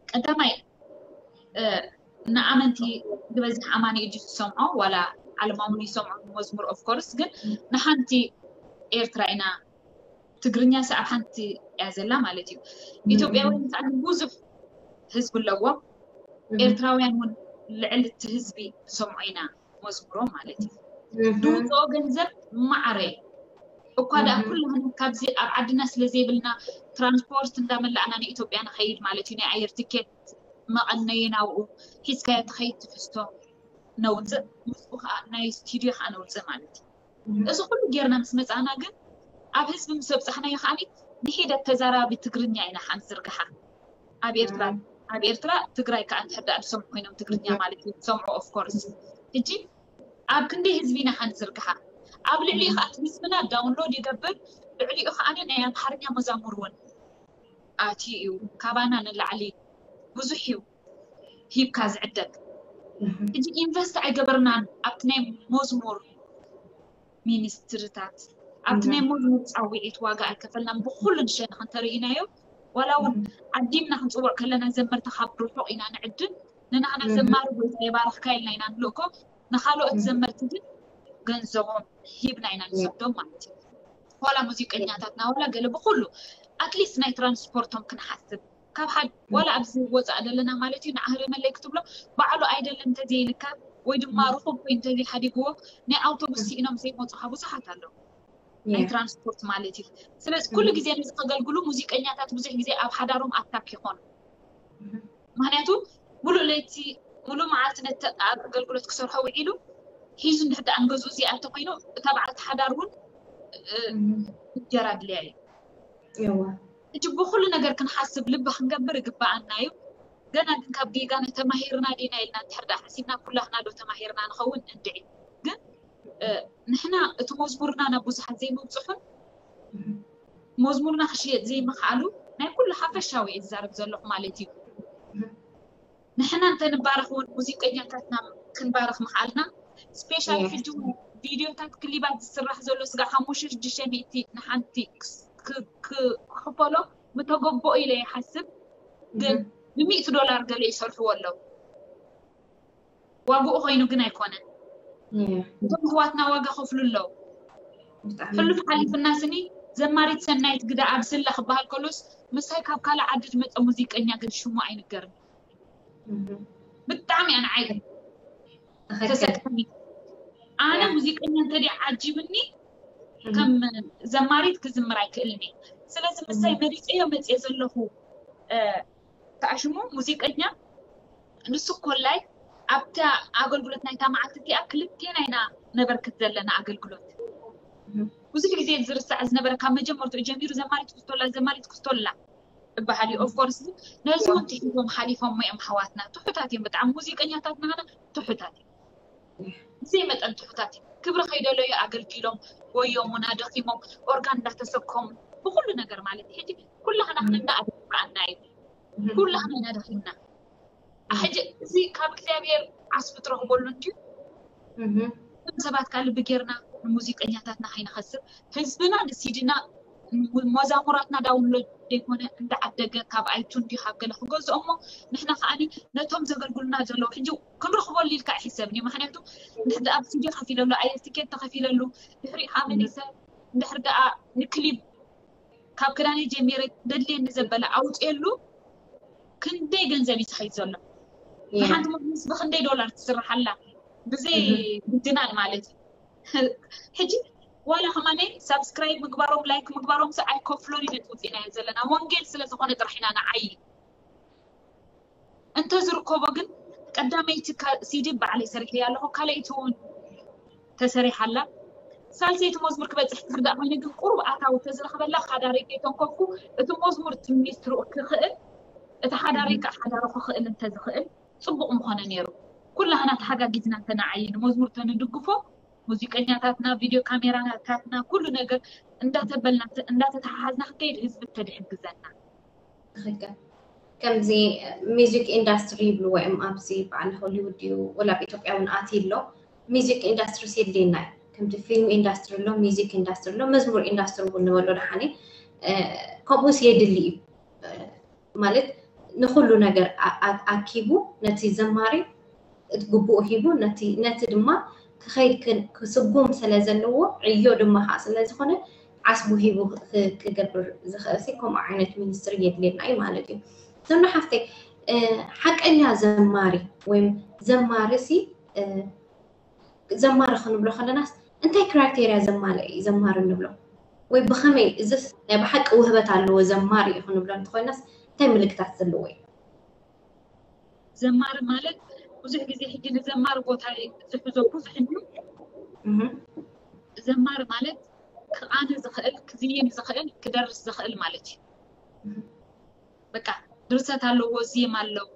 ቀዳማይ ንኣመንቲ ዝበዝሕ ኣማኒ እዩ ዝሰምዖ ዋላ ዓለማውን ይሰምዖ መዝሙር ኦፍኮርስ ግን ንሓንቲ ኤርትራ ኢና ትግርኛ ሲ ኣብ ሓንቲ እያ ዘላ ማለት እዩ። ኢትዮጵያውያን ከዓ ብዙሕ ህዝቢ ኣለዎም። ኤርትራውያን እውን ልዕሊ እቲ ህዝቢ ዝሰምዖ ኢና መዝሙሮም ማለት እዩ። ዝውፅኦ ገንዘብ ማዕረ እኳ ደኣ ኩላህና ካብዚ ኣብ ዓድና ስለ ዘይብልና ትራንስፖርት እንዳመላእና ንኢትዮጵያ ንኸይድ ማለት እዩ። ናይ ኣየር ትኬት መቐነይን ኣብኡ ሒዝካዮ ትኸይድ ትሕዝቶ ነውፅእ ምስኡ ከዓ ናይ ስቱዲዮ ከዓ ነውፅእ ማለት እዩ። እዚ ኩሉ ጌርና ምስ መፃእና ግን ኣብ ህዝቢ ምስ ኣብፃሕናዮ ከዓ ንሒደት ተዛራቢ ትግርኛ ኢና ሓንቲ ዝርግሓ ኣብ ኤርትራ ኣብ ኤርትራ ትግራይ ከዓ እንድሕር ደኣ ዝሰምዑ ኮይኖም ትግርኛ ማለት እዩ ዝሰምዑ ኦፍኮርስ ሕጂ ኣብ ክንደይ ህዝቢ ኢና ሓንዝርግሓ ኣብ ልዕሊኡ ከዓ እቲ ህዝብና ዳውንሎድ ይገብር ልዕሊኡ ከዓ ናይ ኣምሓርኛ መዛሙር እውን ኣትዩ እዩ ካባና ንላዕሊ ብዙሕ እዩ ሂብካ ዝዕደግ ሕጂ ኢንቨስት ኣይገበርናን ኣብቲ ናይ መዝሙር ሚኒስትርታት ኣብቲ ናይ መዝሙር ፃውዒት ዋጋ ኣይከፈልናን ብኩሉ ንሸንኽ እንተርእናዮ ዋላ እውን ዓዲምና ክንፅውዕ ከለና ዘመርቲ ካብ ርሑቕ ኢና ንዕድም ንናህና ዘማሪ ጎይታ የባርኽካ ኢልና ኢና ንልእኮ ንካልኦት ዘመርቲ ግን ገንዘቦም ሂብና ኢና ንሰዶም ማለት እዩ ዋላ ሙዚቀኛታትና ዋላ ገለ ብኩሉ ኣትሊስት ናይ ትራንስፖርቶም ክንሓስብ ካብ ሓደ ዋላ ኣብዚ ወፃእ ዘለና ማለት እዩ ንዓህሪ መለይ ክትብሎ ባዕሉ ኣይደለን እንተዘይልካ ወይ ድማ ርኹብ ወይ እንተዘይሓዲግዎ ናይ ኣውቶቡስ ስኢኖም ዘይመፁኻ ብዙሓት ኣለዉ ናይ ትራንስፖርት ማለት እዩ ስለዚ ኩሉ ግዜ ነዚ ከገልግሉ ሙዚቀኛታት ብዙሕ ግዜ ኣብ ሓዳሮም ኣታክ ይኾኑ ምክንያቱ ሙሉእ ለይቲ ሙሉእ መዓልቲ ነቲ ኣብ ኣገልግሎት ክሰርሖ ውዒሉ ሒዙ እንድሕር ደኣ ንገዝኡ ዘይኣተ ኮይኑ እታ በዓልቲ ሓዳር እውን እንጀራ ድልያ እዩ። ሕጂ ብኩሉ ነገር ክንሓስብ ልቢ ክንገብር ይግባኣና እዩ። ገና ግን ካብ ጌጋና ተማሂርና ዲና ኢልና እንድሕር ደኣ ሓሲብና ኩላህና ዶ ተማሂርና ንኸውን? እንድዒ። ግን ንሕና እቲ መዝሙርና ናብ ብዙሓት ዘይምብፅሑን መዝሙርና ክሽየጥ ዘይምኽኣሉ ናይ ኩሉ ሓፈሻዊ እየ ዝዛረብ ዘለኹ ማለት እዩ። ንሕና እንተንባረኽ እውን ሙዚቀኛታትና ክንባረኽ ምኽኣልና ስፔሻሊ ሕጂ እውን ቪድዮታት ክሊባት ዝስራሕ ዘሎ ስጋ ሓሙሽተ ሽዱሽተ ሚእቲ ንሓንቲ ክኽፈሎ ምተገበኦ ኢለ ይሓስብ። ግን ብሚእቲ ዶላር ገለ ይሰርሕዎ ኣለዉ። ዋግኡ ኮይኑ ግን ኣይኮነን። እቶም ኣሕዋትና ዋጋ ከፍሉ ኣለዉ። ሕሉፍ ሓሊፍና ስኒ ዘማሪት ሰናይት ግዳ ኣብ ስላ ክበሃል ከሎስ ምሳይ ካብ ካልእ ዓዲ ዝመፀ ሙዚቀኛ ግን ሽሙ ኣይንገርን። ብጣዕሚ እያ ንዓይ ተሰክፈኒ። ኣነ ሙዚቀኛ እንተደ ዓጂብኒ ከም ዘማሪት ክዝምር ኣይክእልን እየ። ስለዚ ምሳይ መሪፀዮ መፅየ ዘለኹ ተኣሽሙ ሙዚቀኛ ንሱ ኮላይ ኣብታ ኣገልግሎት ናይታ መዓልቲ እቲኣ ክልቴና ኢና ነበርክት ዘለና ኣገልግሎት። ብዙሕ ግዜ ዝርሳዕ ዝነበረ ካብ መጀመርትኡ ጀሚሩ ዘማሪት ክስቶላ ዘማሪት ክስቶላ እበሃል እዩ። ኦፍኮርስ ነዚ እውን ትሒዞም ሓሊፎም እዮም ሓዋትና። ትሑታት እዮም ብጣዕሚ ሙዚቀኛታት ናና ትሑታት እዮም። ብዘይ መጠን ትሑታት እዮም። ክብሪ ከይደለዩ ኣገልጊሎም ጎዮሙና ደኺሞም ኦርጋን እንዳተሰከሙ ብኩሉ ነገር ማለት እዩ። ሕጂ ኩላህና ክንና ኣደፋኣና እዩ። ኩላህና ኢና ደኺምና። ሕጂ እዚ ካብ እግዚኣብሔር ዓስቢ ትረኽበሉ እንድዩ። እቶም ሰባት ከዓ ልቢ ጌርና ንሙዚቀኛታትና ከይንኸስር ህዝብና ንሲድና መዛሙራትና ዳውንሎድ ዘይኮነ እንዳዓደገ ካብ ኣይቱ እንዲ ካብ ገለ ክገዝኦ እሞ ንሕና ከዓኒ ነቶም ዘገልግሉና ዘለዉ ሕጂ ክንረኽበሉ ኢልካ ኣይሕሰብን እዩ። ምክንያቱ እንድሕር ደኣ ብሲዲ ከፊለሉ ኣየር ትኬት ተኸፊለሉ ድሕሪ ኣመሊሰ እንድሕር ደኣ ንክሊብ ካብ ክዳነይ ጀሚረ ደድልየኒ ዘበለ ኣውፅየሉ ክንደይ ገንዘብ እዩ ዝኸይድ ዘሎ። ንሓንቲ መግለስ ብክንደይ ዶላር ትስርሓላ ብዘይ ምድናል ማለት እዩ። ሕጂ ዋላ ከማነይ ሳብስክራይብ ምግባሮም ላይክ ምግባሮም ስ ኣይከፍሎን እዩ ነቲ ውፅኢናዮ ዘለና ወንጌል ስለ ዝኾነ ጥራሕ ኢና ንዓይ እንተዝርከቦ ግን ቀዳመይቲ ሲዲ ባዕለይ ሰሪሐያ ኣለኹ። ካልኣይቲ እውን ተሰሪሓላ። ሳልሰይቲ መዝሙር ክበፅሕ ትርዳእ ኮይኑ ግን ቁሩብ ኣታዊ ተዝረኽበላ ሓዳረይ ከይተንከፍኩ እቲ መዝሙር እቲ ሚኒስትሩ ክኽእል እቲ ሓዳረይ ከዓ ሓዳሩ ክኽእል እንተዝኽእል ፅቡቕ ምኾነ ነይሩ። ኩላህና ተሓጋጊዝና እንተነዓይ ንመዝሙር ተንድግፎ ሙዚቀኛታትና ቪድዮ ካሜራታትና ኩሉ ነገር እንዳተበልና እንዳተተሓሓዝና ክንከይድ ህዝቢ ተድሕግዘና። ትኽክል። ከምዚ ሚዚክ ኢንዳስትሪ ይብልዎ እዮም ኣብዚ በዓል ሆሊውድ እዩ ወላ ኣብ ኢትዮጵያ እውን ኣትዩ ኣሎ። ሚዚክ ኢንዳስትሪ የድልየና እዩ። ከምቲ ፊልም ኢንዳስትሪ ኣሎ፣ ሚዚክ ኢንዳስትሪ ኣሎ፣ መዝሙር ኢንዳስትሪ እውን ንበሎ ደሓነ ከምኡስ የድሊ እዩ። ማለት ንኩሉ ነገር ኣኪቡ ነቲ ዘማሪ እቲ ግቡኡ ሂቡ ነቲ ነቲ ድማ ክኸይድ ክስጉም ስለ ዘለዎ ዕዮ ድማ ከዓ ስለ ዝኾነ ዓስቡ ሂቡ ክገብር ዝኽእል ሲ ከምኡ ዓይነት ሚኒስትሪ የድልየና እዩ ማለት እዩ። ሰምና ሓፍተይ ሓቀኛ ዘማሪ ወይም ዘማሪ ሲ ዘማሪ ክንብሎ ከለናስ እንታይ ክራይቴርያ ዘማልአ እዩ ዘማሪ ንብሎ? ወይ ብኸመይ እዝስ ናይ ብሓቂ ውህበት ኣለዎ ዘማሪ እዩ ክንብሎ እንተኮይናስ እንታይ ምልክታት ዘለዎ እዩ? ዘማሪ ማለት ብዙሕ ግዜ ሕጂ ንዘማሪ ቦታ ዝሕዞ ብዙሕ እዩ። ዘማሪ ማለት ክቓኒ ዝኽእል ክዝይም ዝኽእል ክደርስ ዝኽእል ማለት እዩ። በቃ ድርሰት ኣለዎ፣ ዜማ ኣለዎ፣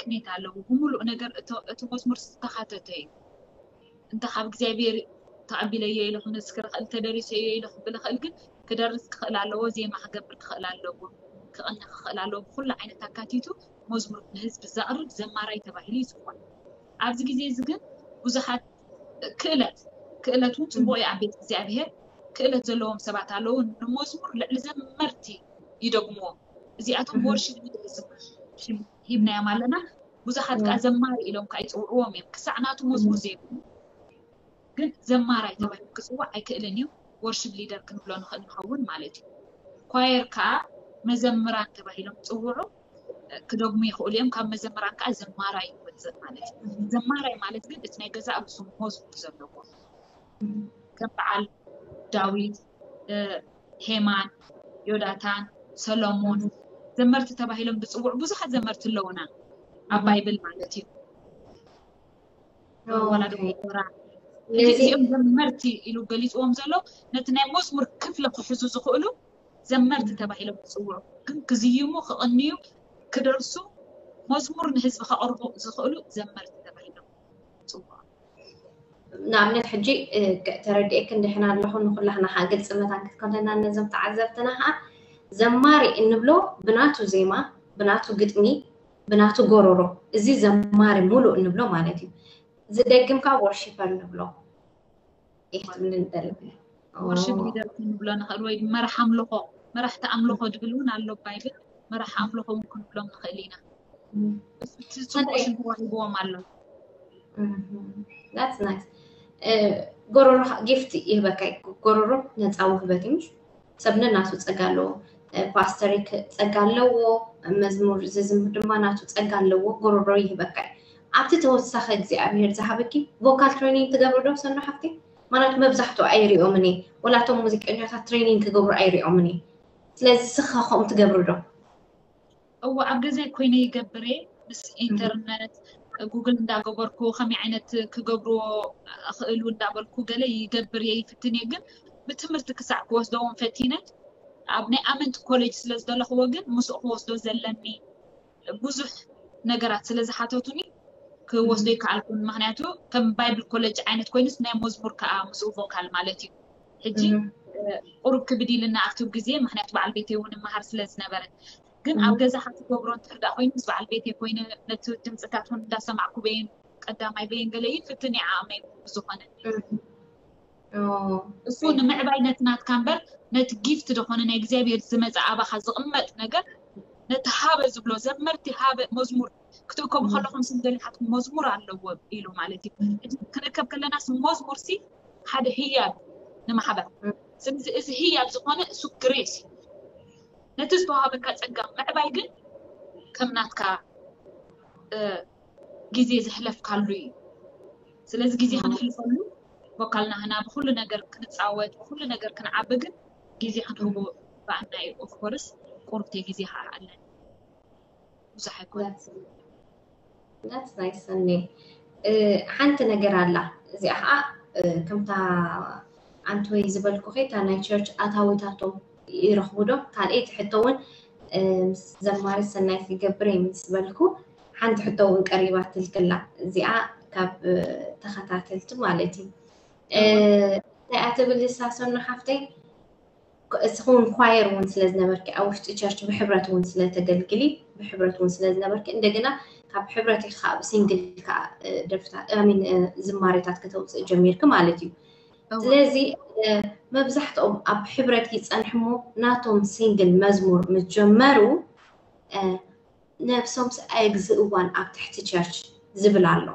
ቅኒት ኣለዎ። ብምሉእ ነገር እቲ መዝሙር ዝተኻተተ እዩ። እንተ ካብ እግዚኣብሔር ተቐቢለዮ ኢለ ክምስክር እኽእል፣ ተደሪሰዮ ኢለ ክብል እኽእል፣ ግን ክደርስ ክኽእል ኣለዎ፣ ዜማ ክገብር ክኽእል ኣለዎ፣ ክቕኒ ክኽእል ኣለዎ። ብኩሉ ዓይነት ኣካቲቱ መዝሙር ንህዝቢ ዘቕርብ ዘማራይ ተባሂሉ ይፅዋዕ። ኣብዚ ግዜ እዚ ግን ብዙሓት ክእለት ክእለት እውን ፅቡቕ እዩ ኣብ ቤት እግዚኣብሔር ክእለት ዘለዎም ሰባት ኣለዉ። ንመዝሙር ልዕሊ ዘመርቲ ይደግምዎ። እዚኣቶም ብወርሺፕ ሊደር ዝብል ሽም ሂብናዮም ኣለና። ብዙሓት ከዓ ዘማሪ ኢሎም ከዓ ይፅውዕዎም እዮም ክሳዕ ናቱ መዝሙር ዘይብሉ። ግን ዘማራይ ተባሂሉ ክፅዋዕ ኣይክእልን እዩ። ወርሺፕ ሊደር ክንብሎ ንኽእል ንኸውን ማለት እዩ። ኳየር ከዓ መዘምራን ተባሂሎም ክፅውዑ ክደግሙ ይኽእሉ እዮም። ካብ መዘምራን ከዓ ዘማራይ ይወፅእ ማለት እዩ። ዘማራይ ማለት ግን እቲ ናይ ገዛእ ርእሱ መዝሙር ዘለዎ ከም በዓል ዳዊት፣ ሄማን፣ ዮዳታን፣ ሰሎሞን ዘመርቲ ተባሂሎም ዝፅውዑ ብዙሓት ዘመርቲ ኣለውና ኣብ ባይብል ማለት እዩ። ወላ ዶክተራ ሕጂ እዚኦም ዘመርቲ ኢሉ ገሊፅዎም ዘሎ ነቲ ናይ መዝሙር ክፍሊ ክሕዙ ዝኽእሉ ዘመርቲ ተባሂሎም ይፅውዑ። ግን ክዝይሙ፣ ክቕንዩ፣ ክደርሱ፣ መዝሙር ንህዝቢ ከቕርቡ ዝኽእሉ ዘመርቲ ተባሂሎም ይፅውዑ። ንኣብነት ሕጂ ተረዲኤክ እንድሕና ኣለኹ ንኩላህና ግልፂ መታን ክትኮነና ነዞም ተዓዘብትና ከዓ ዘማሪ እንብሎ ብናቱ ዜማ፣ ብናቱ ግጥሚ፣ ብናቱ ጎሮሮ፣ እዚ ዘማሪ ሙሉእ እንብሎ ማለት እዩ። ዝደግም ከዓ ወርሺፐር ንብሎ። ይህ ትብል እንደለ ወርሽፕ ሊደር ክንብሎ ንኽእል ወይ መራሕ ኣምልኾ፣ መራሕቲ ኣምልኾ ድብል እውን ኣሎ ባይብል። መራሕ ኣምልኾ እውን ክንብሎም ንኽእል ኢና። እቲ ፅቡቅ ሽም ተዋሂብዎም ኣሎ። That's nice። ጎሮሮ ጊፍት ይህበካ እዩ። ጎሮሮ ነፃ ውህበት እዩ። ሰብ ነናቱ ፀጋ ኣለዎ። ፓስተር ጸጋ ኣለዎ፣ መዝሙር ዝዝምር ድማ ናቱ ጸጋ ኣለዎ። ጎሮሮ ይህበካ እዩ። ኣብቲ ተወሳኺ እግዚኣብሔር ዝሃበኪ ቮካል ትሬኒንግ ትገብሪ ዶ ሰኖ ሓፍቲ? ማለት መብዛሕትኡ ኣይሪኦምን እየ። ወላ እቶም ሙዚቀኛታት ትሬኒንግ ክገብሩ ኣይሪኦምን እየ። ስለዚ ስኻ ከምኡ ትገብሪ ዶ? እዎ ኣብ ገዛይ ኮይነ ይገብር እየ። ምስ ኢንተርነት ጉግል እንዳገበርኩ ከመይ ዓይነት ክገብርዎ እኽእሉ እንዳበልኩ ገለ ይገብር እየ፣ ይፍትን እየ። ግን ብትምህርቲ ክሳዕ ክወስዶ እውን ፈቲነ ኣብ ናይ ኣመንቲ ኮሌጅ ስለ ዝደለኽዎ ግን ምስኡ ክወስዶ ዘለኒ ብዙሕ ነገራት ስለ ዝሓተቱኒ ክወስዶ ይከኣልኩን። ምክንያቱ ከም ባይብል ኮሌጅ ዓይነት ኮይኑስ ናይ መዝሙር ከዓ ምስኡ ቮካል ማለት እዩ። ሕጂ ቁሩብ ክብድ ኢልና ኣብቲ ግዜ ምክንያቱ በዓል ቤተይ እውን ይመሃር ስለ ዝነበረ ግን ኣብ ገዛኻ ትገብሮ እንድሕር ደኣ ኮይኑ ምስ በዓል ቤተይ ኮይነ ነቲ ድምፅታት እውን እንዳሰማዕኩ በይን ቀዳማይ በይን ገለ ይፍትን እየ ዓቕመይ ብዝኾነ እሱ ንምዕባይ ነቲ ናትካ እምበር ነቲ ጊፍት ዝኾነ ናይ እግዚኣብሔር ዝመፀ ኣባኻ ዝቕመጥ ነገር ነቲ ሃበ ዝብሎ ዘመርቲ ሃበ መዝሙር ክትእከቡ ከለኹም ስም ገሊሓትኩም መዝሙር ኣለዎ ኢሉ ማለት እዩ። ሕጂ ክንእከብ ከለና ስም መዝሙር ሲ ሓደ ህያብ ንማሕበር ስለዚ እዚ ህያብ ዝኾነ እሱ ግሬስ እዩ። ነቲ ዝተዋሃበካ ጸጋ ምዕባይ ግን ከም ናትካ ግዜ ዘሕለፍካሉ እዩ። ስለዚ ግዜ ከነሕልፈሉ ቮካልና ህና ብኩሉ ነገር ክንጻወት ብኩሉ ነገር ክንዓቢ ግን ግዜ ክንህቦ ባእና እዩ። ኦፍኮርስ ቁርብቲ ግዜ ከዓ ኣለን ብዙሕ ኣይኮነ ናት ናይ ሰኒ ሓንቲ ነገር ኣላ። እዚኣ ከዓ ከምታ ኣንትወይ ዝበልኩ ከይታ ናይ ቸርች ኣታዊታቶም ይረኽቡ ዶ? ካልኣይቲ ሕቶ እውን ምስ ዘማሪ ሰናይት ይገብር ምስ በልኩ ሓንቲ ሕቶ እውን ቀሪባ ትልክላ። እዚኣ ካብ ተኸታተልቲ ማለት እዩ። እንታይ ትብል ንሳ ሰኑ ሓፍተይ? እስኹን ኳየር እውን ስለ ዝነበርኪ ኣብ ውሽጢ ቸርች ብሕብረት እውን ስለተገልግሊ ብሕብረት እውን ስለ ዝነበርኪ እንደገና ካብ ሕብረት ኢኻ ኣብ ሲንግል ከዓ ደርፍታት ሚን ዝማሬታት ከተውፅእ ጀሚርኪ ማለት እዩ። ስለዚ መብዛሕትኦም ኣብ ሕብረት ይፀንሕሞ ናቶም ሲንግል መዝሙር ምስ ጀመሩ ነብሶምስ ኣየግዝእዋን ኣብ ትሕቲ ቸርች ዝብል ኣሎ።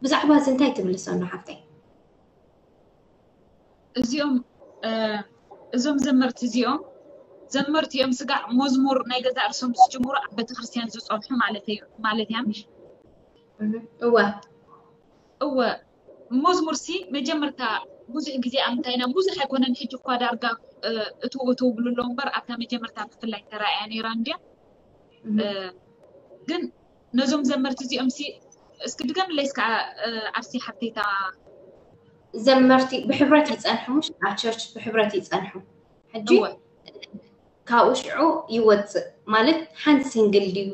ብዛዕባ እዚ እንታይ ትብሊ ሰኑ ሓፍተይ? እዚኦም እዞም ዘመርቲ እዚኦም ዘመርቲ እዮም ስጋዕ መዝሙር ናይ ገዛ እርሶም ዝጅምሩ ኣብ ቤተክርስትያን ዝፀንሑ ማለት እዩ ማለት እያ ምሽ እወ እወ መዝሙር ሲ መጀመርታ ብዙሕ ግዜ ኣብ ምንታይ ኢና ብዙሕ ኣይኮነን ሕጂ እኳ ዳርጋ እቱ እቱ ብሉ ኣለዉ እምበር ኣብታ መጀመርታ ብፍላይ ተራእያ ነይራ እንድያ ግን ነዞም ዘመርቲ እዚኦም ሲ እስኪ ድገምለይ እስከ ኣርሲ ሓፍተይታ ዘመርቲ ብሕብረት ይፀንሑ ምሽ ኣብ ቸርች ብሕብረት ይፀንሑ ሕጂ ካብኡ ሽዑ ይወፅእ ማለት ሓንቲ ሲንግል ድዩ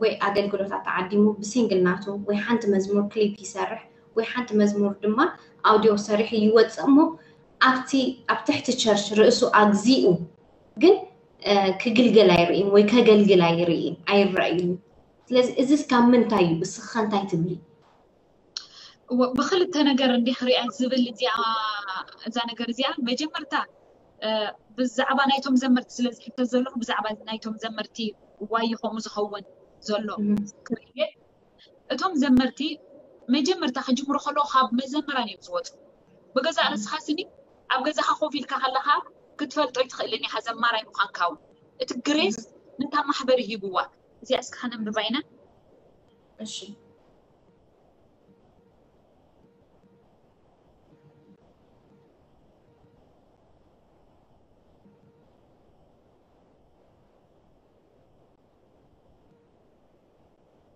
ወይ ኣገልግሎታት ተዓዲሙ ብሲንግል ናቱ ወይ ሓንቲ መዝሙር ክሊፕ ይሰርሕ ወይ ሓንቲ መዝሙር ድማ ኣውዲዮ ሰሪሑ ይወፅእ እሞ ኣብቲ ኣብ ትሕቲ ቸርች ርእሱ ኣግዚኡ ግን ክግልገል ኣይርእን ወይ ከገልግል ኣይርእን ኣይረእይን። ስለዚ እዚስ ካብ ምንታይ እዩ? እስኻ እንታይ ትብሊ? ብክልተ ነገር እንዲ ክሪኣ ዝብል እዚኣ እዛ ነገር እዚኣ መጀመርታ ብዛዕባ ናይቶም ዘመርቲ ስለ ዝሕተት ዘለኹ ብዛዕባ ናይቶም ዘመርቲ ዋይ ከምኡ ዝኸውን ዘሎ ክርእየ እቶም ዘመርቲ መጀመርታ ክጅምሩ ከለዉ ካብ መዘምራን እዮም ዝወፁ ብገዛእ ርእስኻ ስኒ ኣብ ገዛኻ ኮፍ ኢልካ ከለኻ ክትፈልጦ ይትኽእልን ኢኻ ዘማራይ ምዃንካ እውን እቲ ግሬስ ነታ ማሕበር ሂብዋ እዚኣ እስካ ከነንብባ ኢና እሺ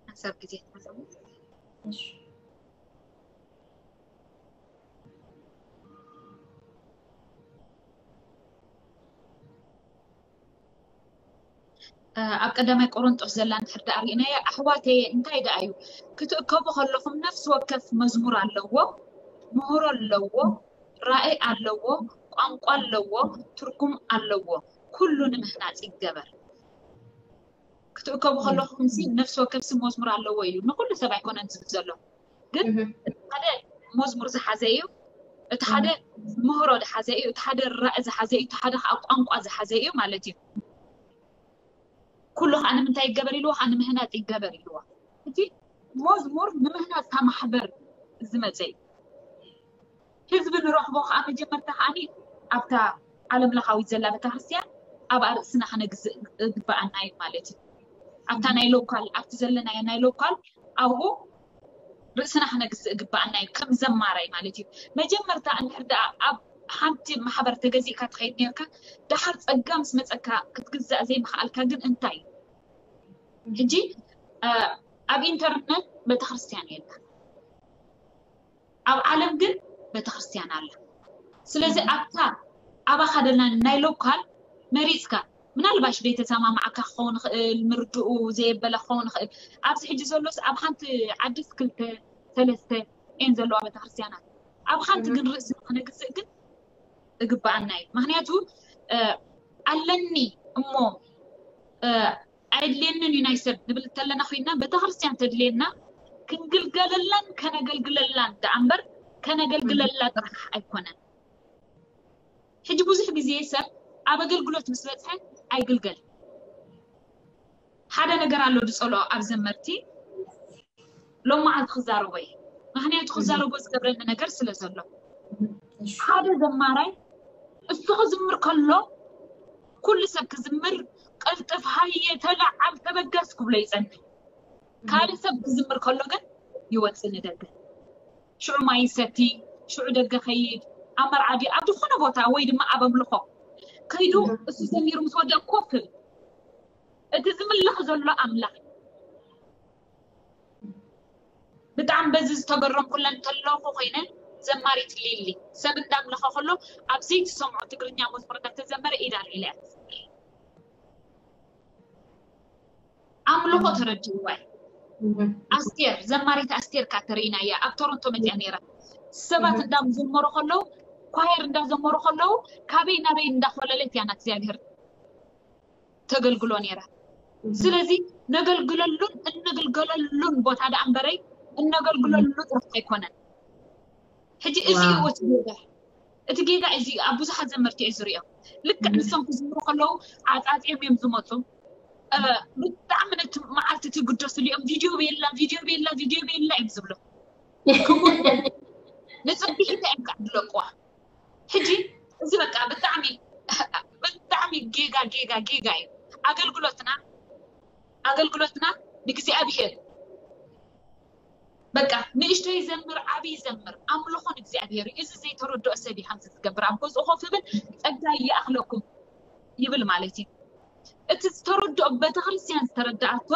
ሓሳብ ግዜ ተሓሰቡ እሺ ኣብ ቀዳማይ ቆሮንጦስ ዘላ እንድሕር ደኣ ርኢናዮ ኣሕዋተየ እንታይ ደኣ እዩ ክትእከቡ ከለኹም ነፍሲ ወከፍ መዝሙር ኣለዎ፣ ምህሮ ኣለዎ፣ ራእይ ኣለዎ፣ ቋንቋ ኣለዎ፣ ትርጉም ኣለዎ፣ ኩሉ ንምህናፅ ይገበር። ክትእከቡ ከለኹም ሲ ነፍሲ ወከፍ ሲ መዝሙር ኣለዎ ኢሉ ንኩሉ ሰብ ኣይኮነን ዝብል ዘሎ፣ ግን እቲ ሓደ መዝሙር ዝሓዘ እዩ፣ እቲ ሓደ ምህሮ ዝሓዘ እዩ፣ እቲ ሓደ ራእይ ዝሓዘ እዩ፣ እቲ ሓደ ከዓ ቋንቋ ዝሓዘ እዩ ማለት እዩ። ኩሉ ከዓ ንምንታይ ይገበር ኢልዎ ከዓ ንምህናፅ ይገበር ኢልዎ። እቲ መዝሙር ንምህናፅ እታ ማሕበር ዝመፀ እዩ። ህዝቢ ንረኽቦ ከዓ መጀመርታ ከዓ ኣብታ ዓለም ለኻዊት ዘላ ቤተክርስትያን ኣብ ኣርእስና ክነግዝእ ግባኣና እዩ ማለት እዩ። ኣብታ ናይ ሎካል ኣብቲ ዘለናዮ ናይ ሎካል ኣብኡ ርእስና ክነግዝእ ግባኣና እዩ ከም ዘማራይ ማለት እዩ። መጀመርታ እንድሕር ደኣ ኣብ ሓንቲ ማሕበር ተገዚእካ ትኸይድ ነርካ፣ ደሓር ፀጋ ምስ መፀካ ክትግዛእ ዘይምኽኣልካ ግን እንታይ እዩ? ሕጂ ኣብ ኢንተርነት ቤተክርስትያን የለን፣ ኣብ ዓለም ግን ቤተክርስትያን ኣላ። ስለዚ ኣብታ ኣባኻ ደላ ናይ ሎካል መሪፅካ ምናልባሽ ዘይተሰማማዓካ ክኸውን ይኽእል፣ ምርድኡ ዘየበለ ክኸውን ይኽእል። ኣብዚ ሕጂ ዘሎስ ኣብ ሓንቲ ዓድስ ክልተ ሰለስተ እየን ዘለዋ ቤተክርስትያናት። ኣብ ሓንቲ ግን ርእሲ ክነግዝእ ግን እግባኣና እዩ። ምክንያቱ ኣለኒ እሞ ኣየድልየንን እዩ ናይ ሰብ ንብል እንተለና ኮይና ቤተክርስትያን ተድልየና ክንግልገለላን ከነገልግለላን ደኣ እምበር ከነገልግለላ ጥራሕ ኣይኮነን። ሕጂ ብዙሕ ግዜ ሰብ ኣብ ኣገልግሎት ምስ በፅሐ ኣይግልገል። ሓደ ነገር ኣሎ ዝፀልኦ ኣብ ዘመርቲ ሎም መዓልቲ ክዛረቦ እየ። ምክንያቱ ክዛረቦ ዝገብረኒ ነገር ስለ ዘሎ ሓደ ዘማራይ እሱ ክዝምር ከሎ ኩሉ ሰብ ክዝምር ቅልጥፍ ሃየ ተለዓል ተበገስ ክብሎ ይፀንሕ። ካልእ ሰብ ክዝምር ከሎ ግን ይወፅእ ንደገ። ሽዑ ማይ ይሰቲ፣ ሽዑ ደገ ከይድ፣ ኣብ መርዓ ድዩ ኣብ ዝኾነ ቦታ ወይ ድማ ኣብ ኣምልኾ ከይዱ እሱ ዘሚሩ ምስ ወደአ ኮፍ ይብል። እቲ ዝምለኽ ዘሎ ኣምላኽ ብጣዕሚ በዚ ዝተገረምኩለን ተለኹ ኮይነ ዘማሪት ሊሊ ሰብ እንዳምለኸ ከሎ ኣብ ዘይትሰምዖ ትግርኛ መዝሙር እንዳተዘመረ ኢዳ ኣልዒላ እያ ትዝምር። ኣምልኾ ተረዲእዋ እዩ። ኣስቴር ዘማሪት ኣስቴር ካተሪና እያ ኣብ ቶሮንቶ መፅያ ነይራ። ሰባት እንዳዘመሩ ከለዉ ኳየር እንዳዘመሩ ከለዉ ካበይ ናበይ እንዳኮለለት እያ ናት እግዚኣብሔር ተገልግሎ ነይራ። ስለዚ ነገልግለሉን እንግልገለሉን ቦታ ደኣ እምበረይ እነገልግለሉ ጥራሕ ኣይኮነን። ሕጂ እዚ እዩ እቲ ጌጋ። እቲ ጌጋ እዚ ኣብ ብዙሓት ዘመርቲ እየ ዝሪኦ። ልክዕ ንሶም ክዝምሩ ከለዉ ዓፃፂዮም እዮም ዝመፁ። ብጣዕሚ ነቲ መዓልቲ እቲ ግደስሉ እዮም። ቪድዮ ቤላ ቪድዮ ቤላ ቪድዮ ቤላ እዮም ዝብሉ። ንፅብሒታ እዮም ከዓ ዝለቅዋ። ሕጂ እዚ በቃ ብጣዕሚ ብጣዕሚ ጌጋ ጌጋ ጌጋ እዩ። ኣገልግሎትና ኣገልግሎትና ንእግዚኣብሔር በቃ ንእሽተይ ዘምር ዓብይ ዘምር ኣምልኾ ንእግዚኣብሔር እዩ። እዚ ዘይተረድኦ ሰብ እዩ ከምዚ ዝገብር ኣብ ገዝኡ ኮፍ ይብል ጸጋ ይኣኽለኩም ይብል ማለት እዩ። እቲ ዝተረድኦ ቤተክርስትያን ዝተረድኣቶ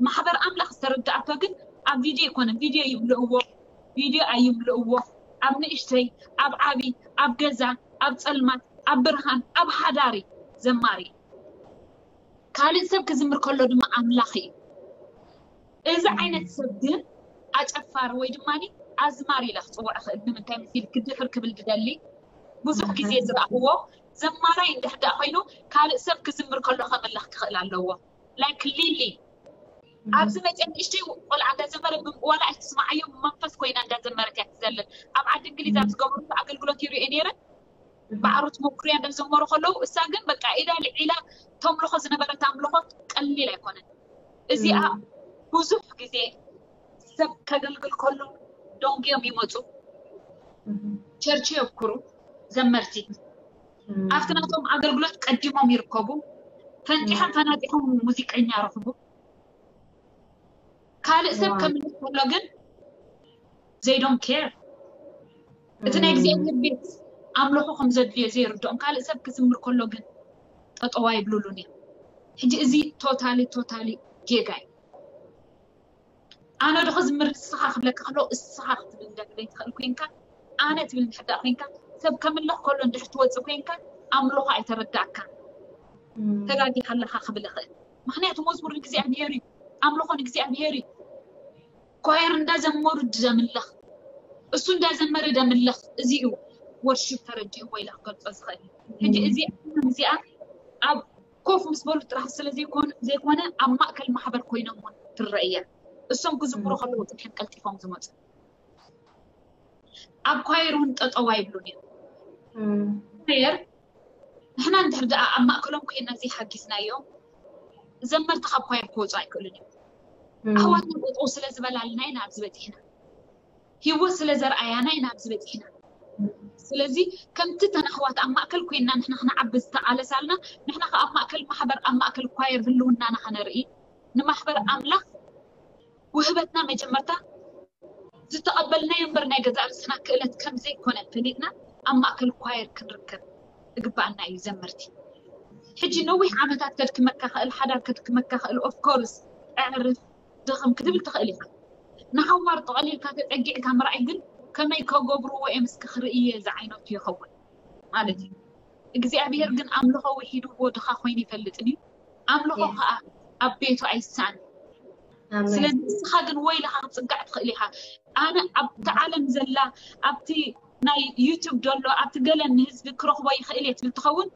ማሕበር ኣምላኽ ዝተረድኣቶ ግን ኣብ ቪድዮ ኣይኮነን። ቪድዮ ይምልእዎ ቪድዮ ኣይምልእዎ ኣብ ንእሽተይ ኣብ ዓብይ ኣብ ገዛ ኣብ ጸልማት ኣብ ብርሃን ኣብ ሓዳሪ ዘማሪ ካልእ ሰብ ክዝምር ከሎ ድማ ኣምላኽ እዩ። እዚ ዓይነት ሰብ ግን ኣጨፋሪ ወይ ድማ ኣዝማሪ ኢለ ክፅውዕ እኽእል። ንምንታይ ምስ ኢልኪ ድሕር ክብል ዝደሊ ብዙሕ ግዜ ዝረኣኽዎ ዘማራይ እንድሕር ደኣ ኮይኑ ካልእ ሰብ ክዝምር ከሎ ከምልኽ ክኽእል ኣለዎ። ላይክ ሊሊ ኣብዚ መፅአ ንእሽተይ ቆልዓ እንዳዘመረ ዋላ ኣይትስማዓዮ ብመንፈስ ኮይና እንዳዘመረት እያ ትዘልል። ኣብ ዓዲ እንግሊዝ ኣብ ዝገበሩ ኣገልግሎት ይሪኦ ነይረ። ባዕሩ ትሞክርያ እንዳዘመሩ ከለዉ እሳ ግን በቃ ኢዳ ልዒላ ተምልኾ ዝነበረት ኣምልኾት ቀሊል ኣይኮነን። እዚኣ ብዙሕ ግዜ ሰብ ከገልግል ከሎ ደንጉዮም ይመፁ፣ ቸርች የብኩሩ፣ ዘመርቲ ኣብቲ ናቶም ኣገልግሎት ቀዲሞም ይርከቡ፣ ፈንጢሖም ፈናጢሖም ሙዚቀኛ ረኽቡ። ካልእ ሰብ ከምልክ ከሎ ግን they don't care። እቲ ናይ እግዚኣብሔር ቤት ኣምልኾ ከም ዘድልዮ ዘይርድኦም ካልእ ሰብ ክዝምር ከሎ ግን ጠጠው ኣይብሉሉን እዮም። ሕጂ እዚ ቶታሊ ቶታሊ ጌጋ እዩ። ኣነ ዶ ክዝምር ንስኻ ክብለካ ከሎ እስኻ ክትብል እንድሕር ዘይትኽእል ኮይንካ ኣነ ትብል እንድሕር ደኣ ኮይንካ ሰብ ከምልኽ ከሎ እንድሕር ትወፅእ ኮይንካ ኣምልኾ ኣይተረዳእካን ተጋጊኻ ኣለኻ ክብል እኽእል። ምክንያቱ መዝሙር ንእግዚኣብሔር እዩ፣ ኣምልኾ ንእግዚኣብሔር እዩ። ኳየር እንዳዘመሩ ደምልኽ፣ እሱ እንዳዘመረ ደምልኽ። እዚ እዩ ወርሺፕ ተረዲኡ ወይ ኢላ ክገልጾ ዝኽእል። ሕጂ እዚ እዚኣ ኣብ ኮፍ ምስ በሉ ጥራሕ ስለ ዘይኮነ ኣብ ማእከል ማሕበር ኮይኖም እውን ትረአ እያ። እሶም ክዝምሩ ከለዉ ጽንሐን ቀልጢፎም ዝመጹ። ኣብ ኳየር እውን ጠጠው ኣይብሉን እዮም። ኳየር ንሕና እንድሕር ደኣ ኣብ ማእከሎም ኮይና ዘይሓጊዝናዮም ዘመርቲ ካብ ኳየር ክወፁ ኣይክእሉን እዮም። ኣሕዋትና ጠጠው ስለ ዝበላልና ኢና ኣብዚ በፂሕና። ህይወት ስለ ዘርኣያና ኢና ኣብዚ በፂሕና። ስለዚ ከምቲ ተን ኣሕዋት ኣብ ማእከል ኮይንና ንሕና ክንዓቢ ዝተቓለሳልና ንሕና ከ ኣብ ማእከል ማሕበር ኣብ ማእከል ኳየር ህልውናና ከነርኢ ንማሕበር ኣምላኽ ውህበትና መጀመርታ ዝተቐበልናዮ እምበር ናይ ገዛእ ርእስና ክእለት ከም ዘይኮነ ፈሊጥና ኣብ ማእከል ኳየር ክንርከብ እግባኣና እዩ ዘመርቲ። ሕጂ ነዊሕ ዓመታት ከድክመካ ክእል ሓዳር ከድክመካ ክእል ኦፍኮርስ ኣዕርፍ ድኽም ክትብል ትኽእል ኢኻ። ንሓዋር ጠቐሊልካ ተጸጊዕካ ምርኣይ ግን ከመይ ከገብርዎ እዮም እስኪ ክርእየ ዝዓይነቱ ይኸውን ማለት እዩ። እግዚኣብሔር ግን ኣምልኾ ውሒድዎ ድኻ ኮይኑ ይፈልጥን እዩ። ኣምልኾ ከዓ ኣብ ቤቱ ኣይሳን። ስለዚ ንስኻ ግን ወይ ኢልኻ ክትጽጋዕ ትኽእል ኢኻ። ኣነ ኣብቲ ዓለም ዘላ ኣብቲ ናይ ዩቱብ ዘሎ ኣብቲ ገለ ንህዝቢ ክረኽቦ ይኽእል እየ ትብል ትኸውን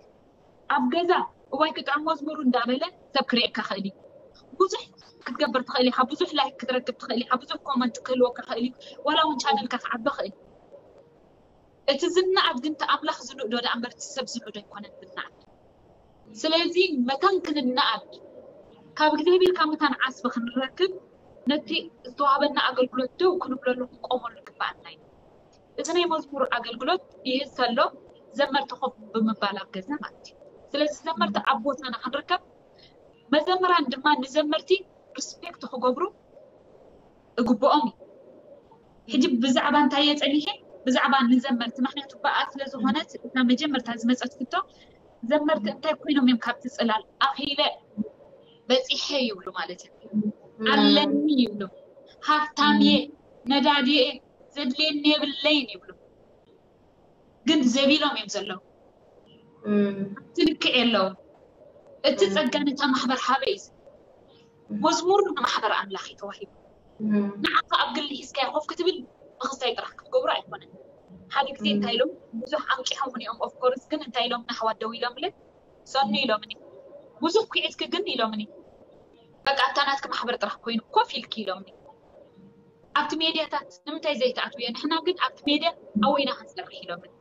ኣብ ገዛ እዋይ ክጥዕም መዝሙሩ እንዳበለ ሰብ ክርእየካ ክእል እዩ። ብዙሕ ክትገብር ትኽእል ኢኻ፣ ብዙሕ ላይክ ክትረክብ ትኽእል ኢኻ፣ ብዙሕ ኮመንት ክህልወካ ክእል እዩ። ዋላ እውን ቻነልካ ክዓቢ ክእል እዩ። እቲ ዝንኣድ ግን እቲ ኣምላኽ ዝንእዶ ደኣ እምበር እቲ ሰብ ዝንእዶ ኣይኮነን ዝንኣድ። ስለዚ መታን ክንንኣድ ካብ እግዚኣብሔር ካብ መታን ዓስቢ ክንረክብ ነቲ ዝተዋህበና ኣገልግሎት ደው ክንብለሉ ክንቆመሉ ይግባኣና እዩ። እዚ ናይ መዝሙር ኣገልግሎት ይህዝ ተሎ ዘመርቲ ኮፍ ብምባል ኣብ ገዛ ማለት እዩ። ስለዚ ዘመርቲ ኣብ ቦታና ክንርከብ መዘምራን ድማ ንዘመርቲ ሪስፔክት ክገብሩ እግብኦም እዩ። ሕጂ ብዛዕባ እንታይ እየ ፀኒሐ ብዛዕባ ንዘመርቲ ምክንያቱ ብኣ ስለ ዝኾነት እታ መጀመርታ ዝመፀት ክቶ ዘመርቲ እንታይ ኮይኖም እዮም ካብቲ ፅላል ኣኺለ በፂሐ ይብሉ ማለት እዩ። ኣለኒ ይብሉ፣ ሃፍታም እየ፣ ነዳዲ እየ፣ ዘድልየኒ የብለይን ይብሉ። ግን ዘቢሎም እዮም ዘለዉ። እቲ ልክዕ የለዉ። እቲ ፀጋ ነታ ማሕበር ሃበ እዩ። መዝሙር ንማሕበር ኣምላኽ እዩ ተዋሂቡ። ንዓኻ ኣብ ግሊ ሒዝካዮ ኮፍ ክትብል ምኽስታይ ጥራሕ ክትገብሮ ኣይኮነን። ሓደ ግዜ እንታይ ኢሎም ብዙሕ ኣንቂሖም እውን እዮም ኦፍኮርስ ግን እንታይ ኢሎም ንኣሕዋት ደው ኢሎምለ ሰኑ ኢሎምኒ ብዙሕ ኩዒትኪ ግን ኢሎምኒ በቃ ኣብታ ናትኪ ማሕበር ጥራሕ ኮይኑ ኮፍ ኢልኪ ኢሎምኒ። ኣብቲ ሜድያታት ንምንታይ ዘይትኣትውዮ ንሕና ግን ኣብቲ ሜድያ ኣወይና ክንሰርሕ ኢሎምኒ።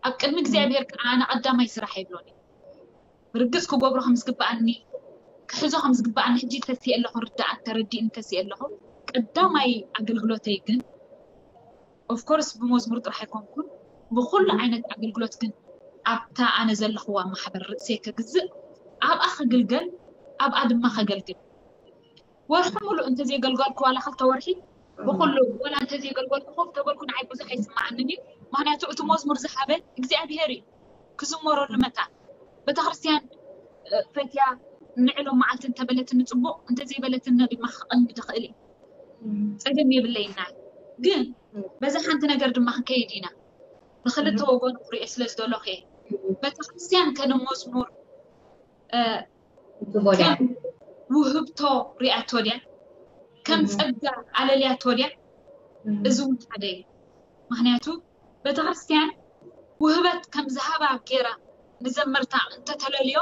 ኣብ ቅድሚ እግዚኣብሔር ከዓ ኣነ ቀዳማይ ስራሕ ኣይብሎን እዩ። ርግፅ ክገብሮ ከም ዝግበኣኒ ክሕዞ ከም ዝግበኣኒ ሕጂ ተስየ ኣለኹ ርዳኣን ተረዲእን ተስየ ኣለኹ። ቀዳማይ ኣገልግሎተይ ግን ኦፍኮርስ ብመዝሙር ጥራሕ ኣይኮንኩን ብኩሉ ዓይነት ኣገልግሎት ግን ኣብታ ኣነ ዘለኽዋ ማሕበር ርእሰይ ከግዝእ ኣብኣ ከግልገል ኣብኣ ድማ ከገልግል ወርሒ ሙሉእ እንተዘይገልገልኩ ዋላ ክልተ ወርሒ ብኩሉ ዋላ እንተዘይገልገልኩ ኮፍ ተበልኩ ንዓይ ብዙሕ ኣይስማዓንን እዩ። ምክንያቱ እቲ መዝሙር ዝሃበ እግዚኣብሄር እዩ ክዝመረሉ መታን ቤተክርስትያን ፈትያ ንዕሎም መዓልቲ እንተበለትኒ ፅቡቅ እንተዘይበለትኒ ድማ ክቐንዲ ትኽእል እዩ። ፀገም የብለይና ግን በዛ ሓንቲ ነገር ድማ ክንከይድ ኢና። ብክልተ ወገኑ ክሪኦ ስለ ዝደለኹ እየ። ቤተክርስትያን ከነ መዝሙር ከም ውህብቶ ሪኣቶ ድያ ከም ፀጋ ኣለልያቶ ድያ? እዚ እውን ሓደ እዩ። ምክንያቱ ቤተክርስትያን ውህበት ከም ዝሃባ ገይራ ንዘመርታ እንተተለልዮ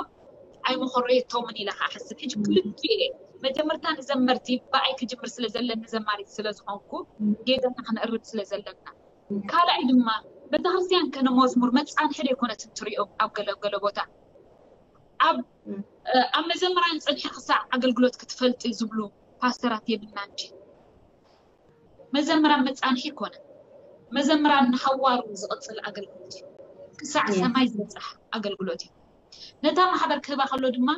ኣይመኸረየቶምን ኢለ ከዓ ሓስብ። ሕጂ ክልቲኡ እየ መጀመርታ ንዘመርቲ ብኣይ ክጅምር ስለ ዘለኒ ዘማሪት ስለ ዝኾንኩ ጌጋና ክነእርም ስለ ዘለና ካልኣይ ድማ ቤተክርስትያን ከነ መዝሙር መፃንሒ ደይኮነትን ትሪኦ ኣብ ገለ ገለ ቦታ ኣብ ኣብ መዘምራን ፀንሒ ክሳዕ ኣገልግሎት ክትፈልጢ ዝብሉ ፓስተራት የብልና እንጂ መዘምራን መፃንሒ ይኮነ መዘምራን ንሃዋሩ ዝቕፅል ኣገልግሎት እዩ። ክሳዕ ሰማይ ዝበፅሕ ኣገልግሎት እዩ። ነታ ማሕበር ክህባ ከሎ ድማ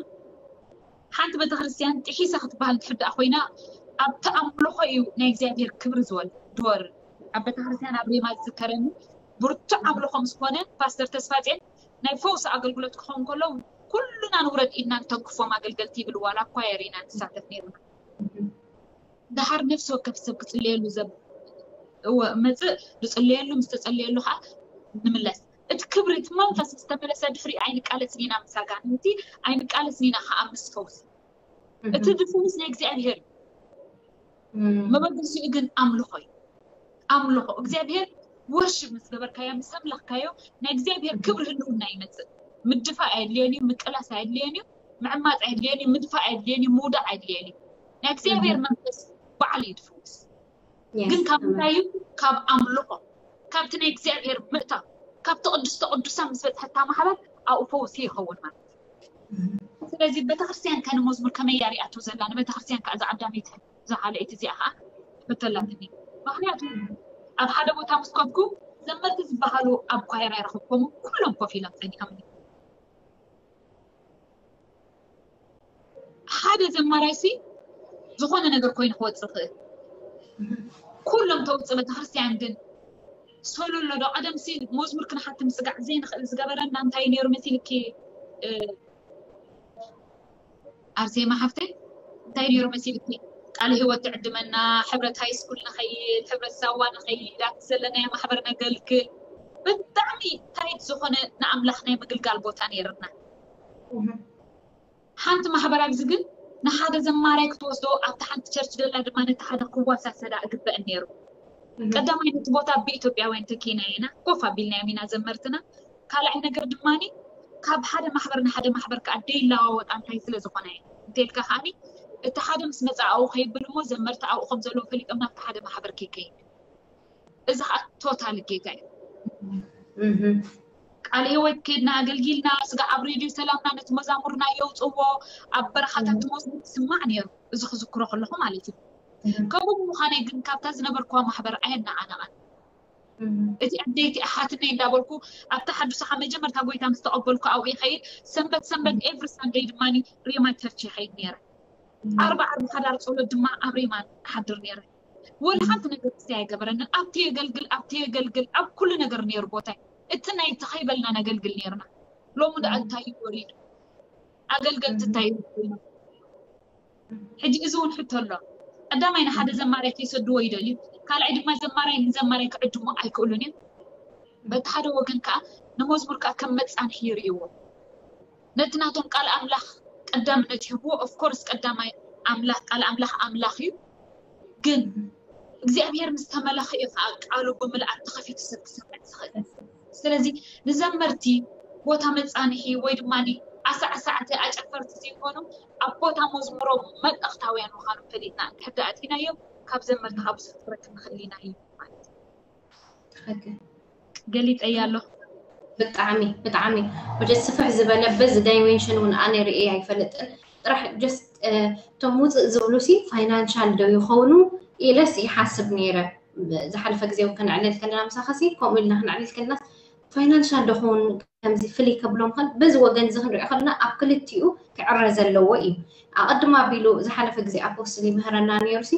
ሓንቲ ቤተክርስትያን ጥሒሳ ክትበሃል ትሕዳእ ኮይና ኣብቲ ኣምልኾ እዩ ናይ እግዚኣብሔር ክብሪ ዝወርድ። ኣብ ቤተክርስትያን ኣብ ሬማ ዝዝከረኒ ብርቱዕ ኣምልኾ ምስ ኮነ ፓስተር ተስፋፅዮን ናይ ፈውሲ ኣገልግሎት ክኸውን ከሎ ኩሉና ንውረድ ኢድና ንተንክፎም ኣገልገልቲ ይብል ዋላ ኳየር ኢና ንሳተፍ ነርና። ደሓር ነፍሲ ወከፍ ሰብ ክፅለየሉ ዘብ እወ መፅእ ዝፅለየሉ ምስ ተፀለየሉ ከዓ ንምለስ እቲ ክብሪ እቲ መንፈስ ዝተመለሰ ድሕሪ ኣይንቃለስን ኢና ምስ ኣጋንንቲ ኣይንቃለስን ኢና ከዓ ምስ ፈውሲ እቲ ድፍውስ ናይ እግዚኣብሔር እዩ መበገሲኡ ግን ኣምልኾ እዩ ኣምልኾ እግዚኣብሔር ወርሽብ ምስ ገበርካዮ ምስ ኣምላኽካዮ ናይ እግዚኣብሔር ክብሪ ህልውና ይመፅእ ምድፋእ ኣየድልዮን እዩ ምቅላስ ኣየድልዮን እዩ ምዕማፅ ኣየድልዮን እዩ ምድፋእ ኣየድልዮን እዩ ምውዳቕ ኣየድልዮን እዩ ናይ እግዚኣብሔር መንፈስ በዓል እዩ ድፍውስ ግን ካብ ምንታይ እዩ ካብ ኣምልኾ ካብቲ ናይ እግዚኣብሔር ምእታው ካብቲ ቅዱስተ ቅዱሳን ምስ በፅሐታ ማሕበር ኣብኡ ፈውሲ ይኸውን ማለት እዩ ስለዚ ቤተክርስትያን ከ ንመዝሙር ከመይ እያ ሪኣቶ ዘላ ንቤተክርስትያን ከዓ እዛ ቀዳመይቲ እዛ ካልኣይቲ እዚኣ ከዓ ትሕተላትኒ ምክንያቱ ኣብ ሓደ ቦታ ምስ ከድኩ ዘመርቲ ዝበሃሉ ኣብ ኳየር ኣይረኸብኮም ኩሎም ኮፍ ኢሎም ፀኒሖም ሓደ ዘማራይሲ ዝኾነ ነገር ኮይኑ ክወፅእ ክእል ኩሎም ተውፅእ ቤተክርስትያን ግን ሶሎ ኣሎ ዶ ቀደምሲ መዝሙር ክንሓቲ ምስጋዕ ዘይንኽእል ዝገበረና እንታይ ነይሩ መሲልኪ ኣርሴማ ሓፍተይ እንታይ ነይሩ መሲልኪ ቃል ህይወት ትዕድመና ሕብረት ሃይስኩል ንኸይድ ሕብረት ሳዋ ንኸይድ ኣብቲ ዘለናዮ ማሕበር ነገልግል ብጣዕሚ ታይት ዝኾነ ንኣምላኽ ናይ ምግልጋል ቦታ ነይርና ሓንቲ ማሕበር ኣብዚ ግን ንሓደ ዘማራይ ክትወስዶ ኣብቲ ሓንቲ ቸርች ደላ ድማ ነቲ ሓደ ክዋሳሰዳ እግበአን ነይሩ ቀዳማይ ነቲ ቦታ ብኢትዮጵያውያን ተኪና ኢና ኮፍ ኣቢልናዮም ኢና ዘመርትና ካልኣይ ነገር ድማ ካብ ሓደ ማሕበር ንሓደ ማሕበር ከዓ ደይለዋወጣ እንታይ ስለ ዝኾነ እንተልካ ከዓኒ እቲ ሓደ ምስ መፃ ኣብኡ ከይብል እሞ ዘመርቲ ኣብኡ ከም ዘለዉ ፈሊጦም ናብቲ ሓደ ማሕበር ከይከይድ እዚ ከዓ ቶታል ጌጋ እዩ ቃል ህይወት ኬድና ኣገልጊልና ስጋ ኣብ ሬድዮ ሰላምና ነቲ መዛሙርና የውፅዎ ኣብ በረኻታት መዝሙር ትስማዕ ነይሩ እዚ ክዝክሮ ከለኹ ማለት እዩ ከምኡ ብምዃነይ ግን ካብታ ዝነበርኩዋ ማሕበር ኣየናዓነቐን እቲ ኣደይቲ ኣሓትነይ እንዳበልኩ ኣብታ ሓዱሳኻ መጀመርታ ጎይታ ምስ ተቐበልኩ ኣብኡ ይኸይድ ሰንበት ሰንበት ኤቭሪ ሳንደይ ድማ ሬማ ቸርች ይኸይድ ነይረ ዓርቢ ዓርቢ ሓዳር ፀሎት ድማ ኣብ ሬማ ሓድር ነይረ ወላ ሓንቲ ነገር ክስቲ ኣይገበረንን ኣብቲ የገልግል ኣብቲ የገልግል ኣብ ኩሉ ነገር ነይሩ ቦታይ እቲ ናይ ተኸይበልና ነገልግል ነይርና ሎሚ ደኣ እንታይ እዩ ወሪዱ ኣገልገልቲ እንታይ እዩ ሕጂ እዚ እውን ሕቶ ኣሎ ቀዳማይ ንሓደ ዘማራይ ከይሰድዎ ይደልዩ ካልኣይ ድማ ዘማራይ ንዘማራይ ክዕድሞ ኣይክእሉን እዮም በቲ ሓደ ወገን ከዓ ንመዝሙር ከዓ ከም መፃንሒ ይርእይዎ ነቲ ናቶም ቃል ኣምላኽ ቀዳምነት ይህብዎ ኦፍኮርስ ቀዳማይ ኣምላኽ ቃል ኣምላኽ ኣምላኽ እዩ ግን እግዚኣብሔር ምስ ተመለኸ እዩ ከዓ ቃሉ ብምልኣት ተኸፊቱ ሰብ ክሰምዕ ዝኽእል ስለዚ ንዘመርቲ ቦታ መፃንሒ ወይ ድማ ኣሳዕሳዕቲ ኣጨፈርቲ ዘይኮኑ ኣብ ቦታ መዝሙሮም መልእኽታውያን ምዃኖም ፈሊጥና እንድሕር ደኣ ኣቲናዮም ካብ ዘመርቲ ካብ ብዙሕ ክረክብ ንኽእል ኢና እዩ ማለት እዩ ገሊፀያ ኣለኹ ብጣዕሚ ብጣዕሚ ወደ ስፍሕ ዝበለ በዚ ዳይሜንሽን እውን ኣነ ርእየ ኣይፈልጥን ጥራሕ ጀስት እቶም ውፅእ ዝብሉ ሲ ፋይናንሻል ዶ ይኸውን ኢለስ ይሓስብ ነይረ ዝሓለፈ ግዜ እውን ከነዕልል ከለና ምሳኻ ሲ ከምኡ ኢልና ከነዕልል ከለና ፋይናንሻል ዶ ኸውን ከምዚ ፍልይ ከብሎም ኸል በዚ ወገን እዚ ክንሪኦ ከለና ኣብ ክልቲኡ ክዕረ ዘለዎ እዩ ኣቐድም ኣቢሉ ዝሓለፈ ግዜ ኣፖስትል ይምህረና ነይሩ ሲ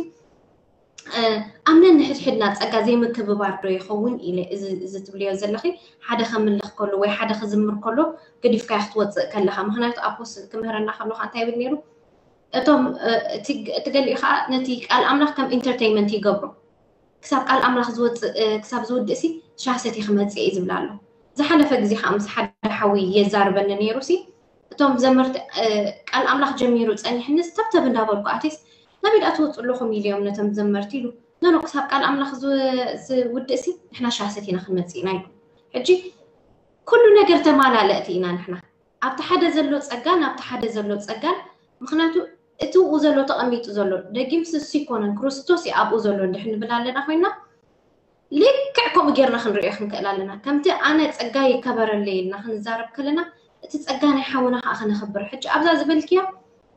ኣብ ነንሕድሕድና ጸጋ ዘይምክብባር ዶ ይኸውን ኢለ እዚ ትብልዮ ዘለኺ ሓደ ከምልኽ ከሎ ወይ ሓደ ክዝምር ከሎ ገዲፍካዮ ክትወፅእ ከለኻ ምክንያቱ ኣፖስትል ክምህረና ከለኻ እንታይ ይብል ነይሩ እቶም እቲ ገሊኡ ከዓ ነቲ ቃል ኣምላኽ ከም ኢንተርቴይንመንት ይገብሮ ክሳብ ቃል ኣምላኽ ዝወፅእ ክሳብ ዝውድእ ሲ ሻሰቲ ክመፅእ እዩ ዝብል ኣሎ ዝሓለፈ ግዜ ከዓ ምስ ሓደ ሓዊ የዛርበኒ ነይሩ ሲ እቶም ዘመርቲ ቃል ኣምላኽ ጀሚሩ ጸኒሕኒ ስተብተብ እንዳበልኩ ኣቴስ ናበይ ደኣ ትወፁ ኣለኹም ኢሉ እዮም ነቶም ዘመርቲ ኢሉ ኖኖ ክሳብ ቃል ኣምላኽ ዝውድእ ሲ ንሕና ሻሰት ኢና ክንመፅእ ኢና ኢሉ ሕጂ ኩሉ ነገር ተማላለእቲ ኢና ንሕና ኣብቲ ሓደ ዘሎ ጸጋን ኣብቲ ሓደ ዘሎ ጸጋን ምክንያቱ እቲ ኡ ዘሎ ተቐሚጡ ዘሎ ደጊም ስስ ይኮነን ክርስቶስ እዩ ኣብኡ ዘሎ እንድሕ ንብል ኣለና ኮይና ልክዕ ከምኡ ጌርና ክንሪኦ ክንክእል ኣለና ከምቲ ኣነ ጸጋ ይከበረለይ ኢልና ክንዛረብ ከለና እቲ ጸጋ ናይ ሓውና ከዓ ከነኽብር ሕጂ ኣብዛ ዝበልክያ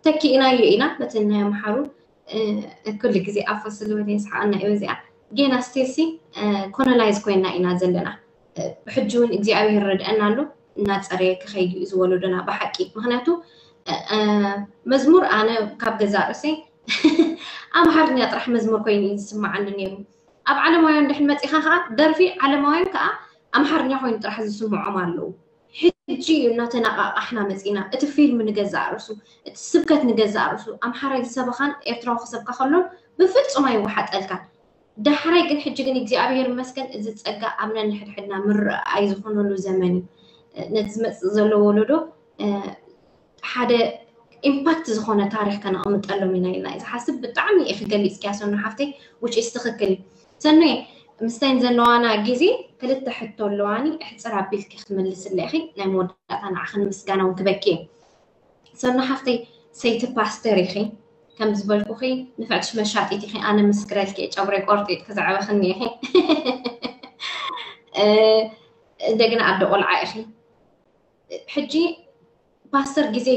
ተኪእናዮ ኢና በቲ ናይ ኣምሓሩ ኩሉ ግዜ ኣፎ ስልወደ ይስሓቀና እዩ እዚኣ ጌና ስቴሲ ኮሎናይዝ ኮይና ኢና ዘለና ብሕጂ እውን እግዚኣብሔር ረድአና ኣሎ እናፀረየ ክኸይድ እዩ ዝወለዶና ብሓቂ ምክንያቱ መዝሙር ኣነ ካብ ገዛ ርእሰይ ኣምሓርኛ ጥራሕ መዝሙር ኮይኑ እዩ ዝስምዓኒ ነይሩ ኣብ ዓለማውያን ድሕን መፂኻ ከዓ ደርፊ ዓለማውያን ከዓ ኣምሓርኛ ኮይኑ ጥራሕ ዝስምዖም ኣለዉ ሕጂ እዩ እናተነቃቃሕና መፂና እቲ ፊልም ንገዛእ ርእሱ እቲ ስብከት ንገዛእ ርእሱ ኣምሓራይ ዝሰበኻን ኤርትራዊ ክሰብካ ከሎን ብፍፁም ኣይወሓጠልካን ዳሕራይ ግን ሕጂ ግን እግዚኣብሔር ይመስገን እዚ ጸጋ ኣብ ነንሕድሕድና ምርኣይ ዝኾነሉ ዘመን እዩ። ነቲ ዝመጽእ ዘሎ ወለዶ ሓደ ኢምፓክት ዝኾነ ታሪኽ ከነቕምጠሎም ኢና ኢልና እዩ ዝሓስብ። ብጣዕሚ ኢኺ ገሊፅኪያ ሰኑ ሓፍተይ፣ ውጪ ትኽክል እዩ። ሰኑየ፣ ምስታይን ዘለዋና ግዜ ክልተ ሕቶ ኣለዋኒ፣ እሕፅር ኣቢልኪ ክትምልስለ ኢኺ። ናይ መወዳእታ ንዓኽን ምስጋና እውን ክበኪ እዩ። ሰኑ ሓፍተይ፣ ሰይቲ ፓስተር ኢኺ፣ ከም ዝበልኩኺ ንፍዕትሽ መሻጢት ኢኺ። ኣነ ምስክረልኪ እየ፣ ጨጉረይ ቆርጢጥኪ ዘዕበኽኒ ኢኺ። እንደገና ኣደ ቆልዓ ኢኺ። ሕጂ ፓስተር ግዜ